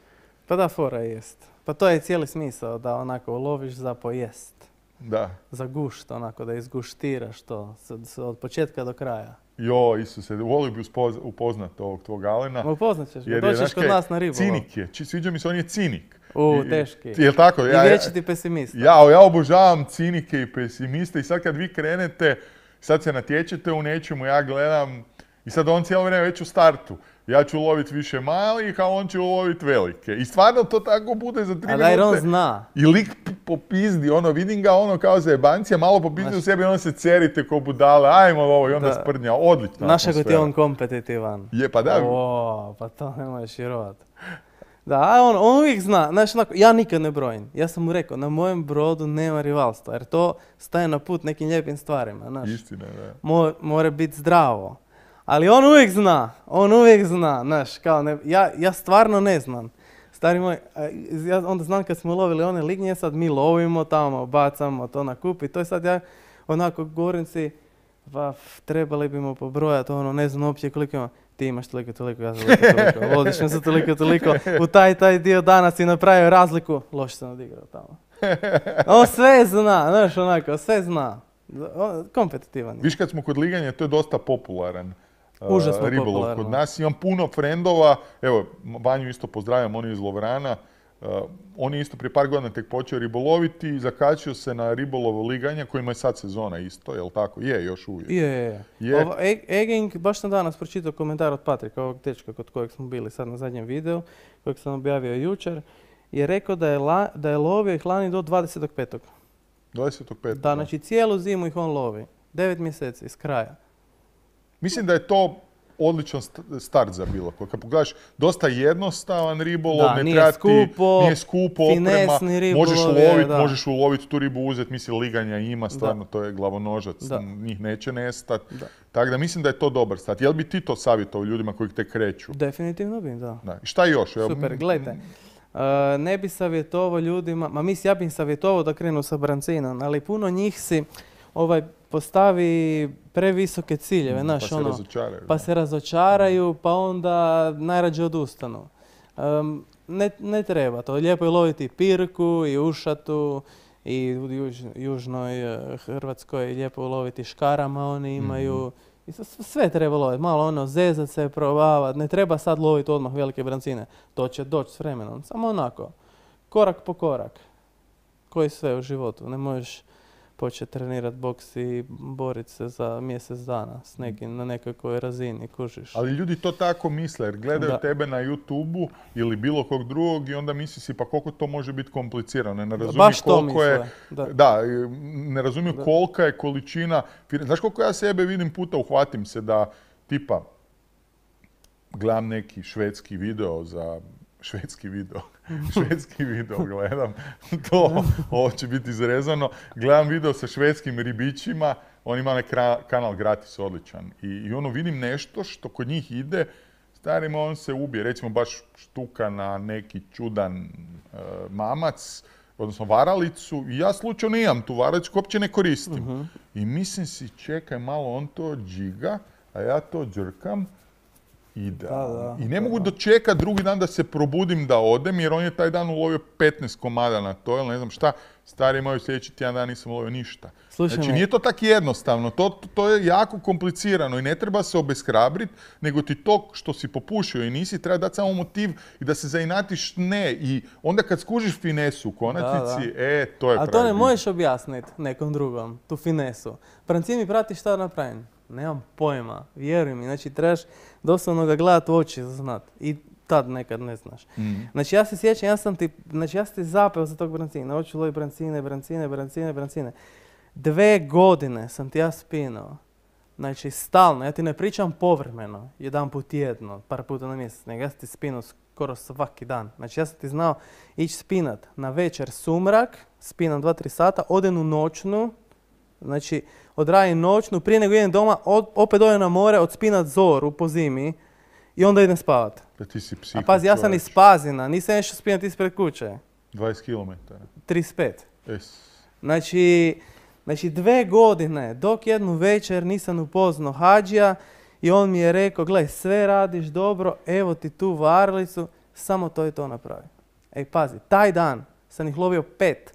Pa da, fora jest. Pa to je cijeli smisao, da onako loviš za pojest. Da. Za gušt, onako, da izguštiraš to od početka do kraja. Jo, Isuse, volio bi upoznat ovog tvog Alena. Upoznat ćeš ga, doćeš kod nas na ribolov. Cinik je, sviđa mi se, on je cinik. U, teški. Je tako? I vječiti pesimista. Ja, ja obožavam cinike i pesimiste i sad kad vi krenete, sad se natječete u nečemu, ja gledam i sad on cijelo vrijeme već u startu. Ja ću loviti više malih, a on će loviti velike. I stvarno to tako bude za tri minute. A da, on zna. I lik popizdi, ono, vidim ga ono kao za jebancija, malo popizdi u sebi, ono se cerite ko budale, ajmo ovo i onda da. Sprdnja. Odlična Naša atmosfera. Naša ti je on kompetitivan. Je, pa da. O, pa to ne možeš vjerovat. Da, on, on uvijek zna. Znaš, onako, ja nikad ne brojim. Ja sam mu rekao, na mojem brodu nema rivalstva, jer to staje na put nekim lijepim stvarima. Znaš. Istina, da. Mo, mora biti zdravo. Ali on uvijek zna, on uvijek zna, znaš, kao ne, ja, ja stvarno ne znam. Stari moj, ja onda znam kad smo lovili one lignje, sad mi lovimo tamo, bacamo to na kup i to je sad ja onako govorim si, va, trebali bimo pobrojati, ono, ne znam uopće koliko ima. Ti imaš toliko, toliko, ja sam toliko, toliko, vodiš me za toliko, toliko, u taj, taj dio dana si napravio razliku, loše sam odigrao tamo. On sve zna, znaš, onako, sve zna. Kompetitivan je. Viš kad smo kod liganja, to je dosta popularan. Užasno ribolov popularno. Kod nas. Imam puno frendova, evo, Vanju isto pozdravljam, on je iz Lovrana. Uh, on je isto prije par godina tek počeo riboloviti i zakačio se na ribolovo liganje, kojima je sad sezona isto, jel tako? Je, još uvijek. Je, je. je. Ovo, Egging, baš sam danas pročitao komentar od Patrika, ovog dečka kod kojeg smo bili sad na zadnjem videu, kojeg sam objavio jučer, je rekao da je, la, da je lovio ih lani do dvadesetog petog dvadesetog petog Da, znači cijelu zimu ih on lovi. Devet mjeseci, iz kraja. Mislim da je to odličan start za bilo koji. Kad pogledaš, dosta jednostavan ribolov, da, ne nije treba skupo, ti, nije skupo oprema, ribolov, možeš loviti, da. možeš uloviti tu ribu, uzeti, mislim, liganja ima, stvarno, da. To je glavonožac, da. Njih neće nestati. Tako da mislim da je to dobar start. Jel bi ti to savjetovao ljudima koji te kreću? Definitivno bi, da. da. I šta još? Super, gledajte. Uh, ne bi savjetovao ljudima, ma mislim, ja bih im savjetovao da krenu sa brancinom, ali puno njih si ovaj, postavi previsoke ciljeve, znaš, pa se ono, razočaraju. Pa da. se razočaraju, pa onda najrađe odustanu. Um, ne, ne treba to. Lijepo je loviti pirku i ušatu i u juž, južnoj uh, Hrvatskoj lijepo je loviti škarama, oni imaju. Mm. I sve treba loviti. Malo ono, zezat se, probavati. Ne treba sad loviti odmah velike brancine. To će doći s vremenom. Samo onako, korak po korak. Koji sve u životu. Ne možeš početi trenirati boks i boriti se za mjesec dana s nekim na nekakvoj razini, kužiš. Ali ljudi to tako misle, jer gledaju da. tebe na YouTube-u ili bilo kog drugog i onda misli si pa koliko to može biti komplicirano. Ne razumiju Baš to koliko je, da. da, ne razumiju da. kolika je količina. Znaš koliko ja sebe vidim puta, uhvatim se da tipa gledam neki švedski video za švedski video. švedski video gledam, to, ovo će biti izrezano. Gledam video sa švedskim ribićima, on ima onaj kanal gratis, odličan. I, i ono vidim nešto što kod njih ide, starima on se ubije. Recimo baš štuka na neki čudan uh, mamac, odnosno varalicu. I ja slučajno imam tu varalicu, uopće ne koristim. Uh-huh. I mislim si, čekaj malo, on to džiga, a ja to džrkam. Da, da, I ne da, mogu da. dočekati drugi dan da se probudim da odem, jer on je taj dan ulovio petnaest komada na to, ili ne znam šta. Stari imaju sljedeći tjedan dan nisam ulovio ništa. Slušaj znači me. nije to tako jednostavno, to, to, to je jako komplicirano i ne treba se obeshrabriti, nego ti to što si popušio i nisi, treba dati samo motiv i da se zainatiš ne. I onda kad skužiš finesu u konačnici, da, da. e, to je pravi. A to ne možeš objasniti nekom drugom, tu finesu. Franciji mi prati šta napravim. Nemam pojma, vjeruj mi. Znači, trebaš doslovno ga gledati u oči za znat. I tad nekad ne znaš. Mm. Znači, ja se sjećam, ja sam ti, znači, ja sam ti zapeo za tog brancina. Hoću lovi brancine, brancine, brancine, brancine. Dve godine sam ti ja spinao. Znači, stalno, ja ti ne pričam povremeno, jedan put tjedno, par puta na mjesec, nego ja sam ti spinao skoro svaki dan. Znači, ja sam ti znao ići spinat na večer sumrak, spinam dva tri sata, odem u noćnu, znači, odradim noćnu, prije nego idem doma, od, opet odem na more, odspinat zoru po zimi i onda idem spavat. Da ti si psiho. A pazi, ja sam iz Pazina, nisam išao spinat ispred kuće. dvadeset kilometara. trideset pet. Es. Znači, znači, dve godine, dok jednu večer nisam upoznao Hadžija i on mi je rekao, gle, sve radiš dobro, evo ti tu varalicu, samo to i to napravi. Ej, pazi, taj dan sam ih lovio pet,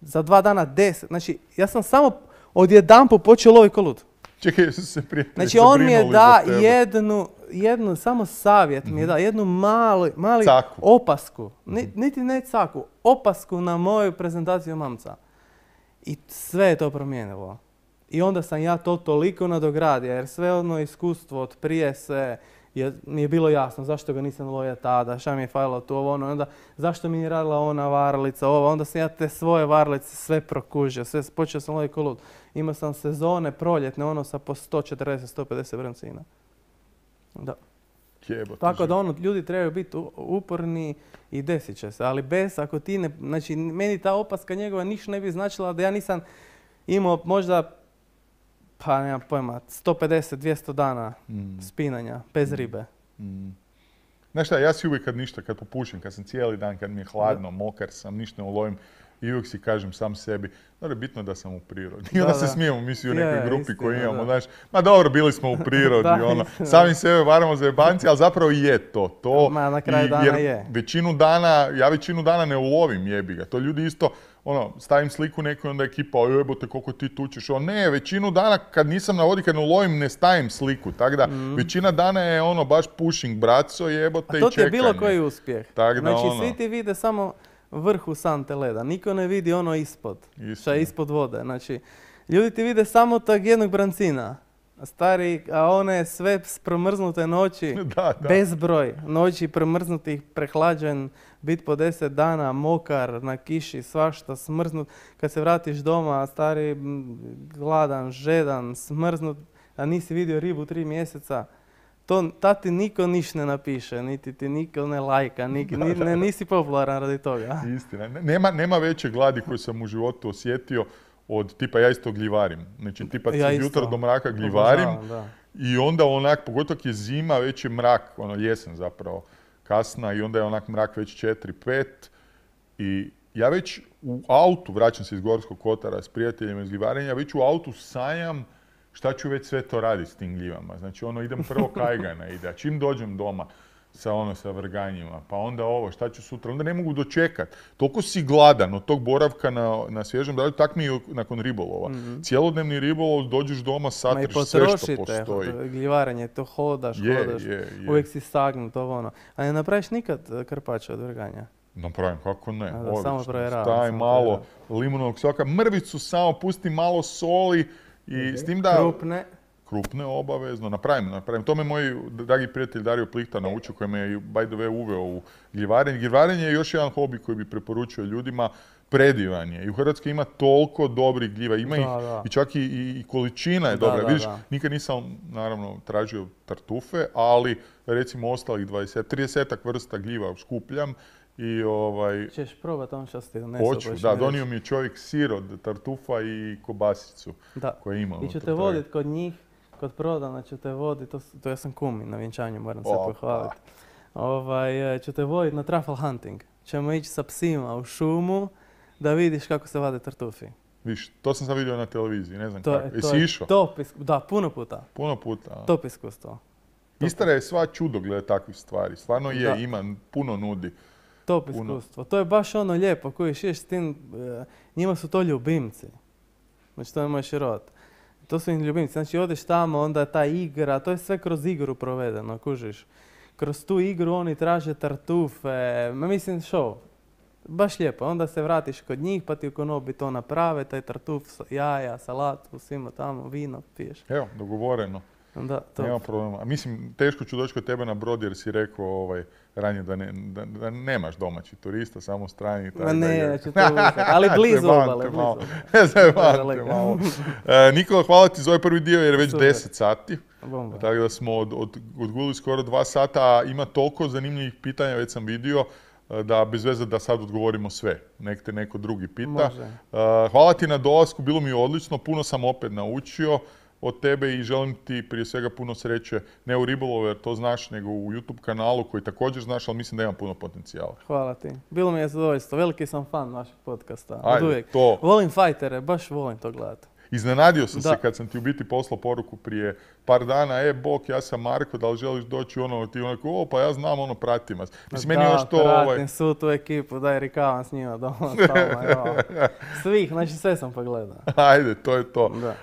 za dva dana deset, znači, ja sam samo odjedanput počeo loviti ko lud. Čekaj, su se prijatelji Znači, on mi je zabrinuli da za tebe. jednu, jednu, samo savjet mi je da, jednu malu, mali Caku. opasku, Ni- niti ne caku, opasku na moju prezentaciju mamca. I sve je to promijenilo. I onda sam ja to toliko nadogradio, jer sve ono iskustvo od prije se je, mi je bilo jasno zašto ga nisam lovio tada, šta mi je falilo tu, ovo ono, onda zašto mi je radila ona varalica, ovo, onda sam ja te svoje varalice sve prokužio, sve, počeo sam loviti ko lud. Imao sam sezone proljetne, ono sa po sto četrdeset do sto pedeset brancina. Da. Jebote, Tako živ. da ono, ljudi trebaju biti u- uporni i desit će se, ali bez, ako ti ne, znači meni ta opaska njegova ništa ne bi značila da ja nisam imao možda, pa nemam pojma, sto pedeset do dvjesto dana Mm. spinanja, bez ribe. Mm. Znaš šta, ja si uvijek kad ništa, kad popušim, kad sam cijeli dan, kad mi je hladno, mokar sam, ništa ne ulovim, i uvijek si kažem sam sebi, dobro je bitno da sam u prirodi. I Da, onda se da. smijemo, mi svi u Je, nekoj je, grupi istina, koju imamo, da. znaš, ma dobro, bili smo u prirodi, Da, ono, istina. sami sebe varamo za jebanci, ali zapravo i je to, to. Ma, na kraju I- dana jer je. većinu dana, ja većinu dana ne ulovim jebi ga, to ljudi isto, ono, stavim sliku neku i onda ekipa, jebote koliko ti tučeš, ono, ne, većinu dana kad nisam na vodi, kad ne ulovim, ne stavim sliku, tako da, većina dana je ono, baš pushing braco, jebote A i to ti je čekanje. bilo koji uspjeh. Tak da, Znači ono. svi ti vide samo vrhu sante leda, niko ne vidi ono ispod, šta Istina. je ispod vode. Znači, ljudi ti vide samo tog jednog brancina, a stari, a one sve s promrznute noći, Da, da. bezbroj noći promrznutih, prehlađen, bit po deset dana, mokar, na kiši, svašta, smrznut. Kad se vratiš doma, stari, m, gladan, žedan, smrznut, a nisi vidio ribu tri mjeseca, to ta ti niko niš ne napiše, niti ti niko ne lajka, ni, ni- ne, nisi popularan radi toga. Istina. Ne- Nema, nema veće gladi koju sam u životu osjetio od tipa ja isto gljivarim. Znači tipa Ja od isto. jutra do mraka gljivarim Obožavam, da. i onda onak, pogotovo je zima, već je mrak, ono jesen zapravo, kasna i onda je onak mrak već četiri pet i ja već u autu, vraćam se iz Gorskog kotara s prijateljima iz gljivarenja, već u autu sanjam šta ću već sve to raditi s tim gljivama. Znači ono idem prvo kajgana ide, a čim dođem doma sa ono sa vrganjima, pa onda ovo, šta ću sutra, onda ne mogu dočekat. Toliko si gladan od tog boravka na, na svježem dalju, tak mi je nakon ribolova. Cijelodnevni ribolov, dođeš doma, Ma i satriš sve što potrošite, postoji. gljivarenje, to hodaš, Je, hodaš, je, je. uvijek si stagnut, ovo ono. A ne napraviš nikad eh, krpača od vrganja? Napravim, kako ne, A da, odlično. samo provjeravam, Staj samo malo provjeravam. limunovog soka, mrvicu samo, pusti malo soli i s tim da... Krupne. Krupne, obavezno, napravim, napravim. To me moj dragi prijatelj Dario Plihta naučio, koji me je by the way uveo u gljivarenje. Gljivarenje je još jedan hobi koji bi preporučio ljudima, predivan je. I u Hrvatskoj ima toliko dobrih gljiva, ima Da, ih da. i čak i, i, i količina je Da, dobra. da, Vidiš, da. nikad nisam naravno tražio tartufe, ali recimo ostalih dvadeset, trideset vrsta gljiva skupljam i ovaj, Ćeš probat on što ti donesu. hoću, pa ćeš da, mi donio reći. mi je čovjek sir od tartufa i kobasicu Da. koje ima. I ću unutra te toga. vodit kod njih, kod prodana ću te vodit, to, s- to ja sam kumi na vjenčanju, moram se Opa. pohvaliti. Ovaj, e, ću te vodit na truffle hunting. Ćemo ići sa psima u šumu da vidiš kako se vade tartufi. Viš, to sam sad vidio na televiziji, ne znam To, kako. je- to Jesi je išao? top isku- Da, puno puta. Puno puta. a? Top iskustvo. Istra je sva čudo glede takvih stvari. Stvarno je, Da. ima, puno nudi. Top Puno. iskustvo. To je baš ono lijepo, koji šiješ s tim, e, njima su to ljubimci. Znači to ne možeš vjerovat. To su im ljubimci. Znači odeš tamo, onda ta igra, to je sve kroz igru provedeno, kužiš. Kroz tu igru oni traže tartufe, ma mislim show. Baš lijepo. Onda se vratiš kod njih pa ti u konobi to naprave, taj tartuf, sa- jaja, salatu, svima tamo, vino piješ. Evo, dogovoreno. Da, to. Nema problema. A mislim, teško ću doći kod tebe na brod jer si rekao ovaj, ranije da, ne, da, da nemaš domaći turista, samo strani. Ma ne, neću to uzeti, ali blizu obale, blizu obale. Zajebam te malo. E, Nikola, hvala ti za ovaj prvi dio jer je već Super. deset sati. Bomba. Tako da smo od, od, odgulili skoro dva sata, a ima toliko zanimljivih pitanja, već sam vidio, da bez veze da sad odgovorimo sve. Nek te neko drugi pita. Može. Uh, hvala ti na dolasku, bilo mi je odlično, puno sam opet naučio od tebe i želim ti prije svega puno sreće, ne u ribolovu jer to znaš, nego u YouTube kanalu koji također znaš, ali mislim da ima puno potencijala. Hvala ti. Bilo mi je zadovoljstvo. Veliki sam fan vašeg podcasta. Ajde, od uvijek. to. Volim fajtere, baš volim to gledati. Iznenadio sam Da. se kad sam ti u biti poslao poruku prije par dana, e, bok, ja sam Marko, da li želiš doći ono, ti onako, o, pa ja znam, ono, pratim vas. Mislim, meni da, još to, pratim ovaj... svu tu ekipu, daj rikavam s njima doma, stalno, evo. Svih, znači sve sam pogledao. Ajde, to je to. Da. Uh,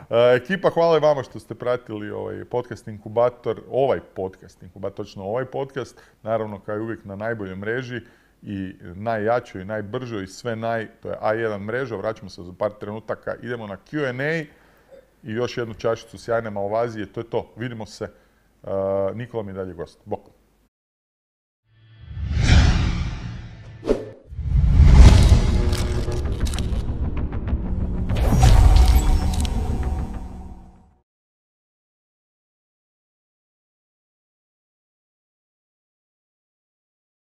ekipa, hvala i vama što ste pratili ovaj podcast Inkubator, ovaj podcast Inkubator, točno ovaj podcast, naravno kao i uvijek na najboljoj mreži i najjačoj i najbržoj i sve naj, to je A jedan mreža, vraćamo se za par trenutaka, idemo na Q and A i još jednu čašicu sjajne Malvazije, to je to, vidimo se, uh, Nikola mi je dalje gost, bok.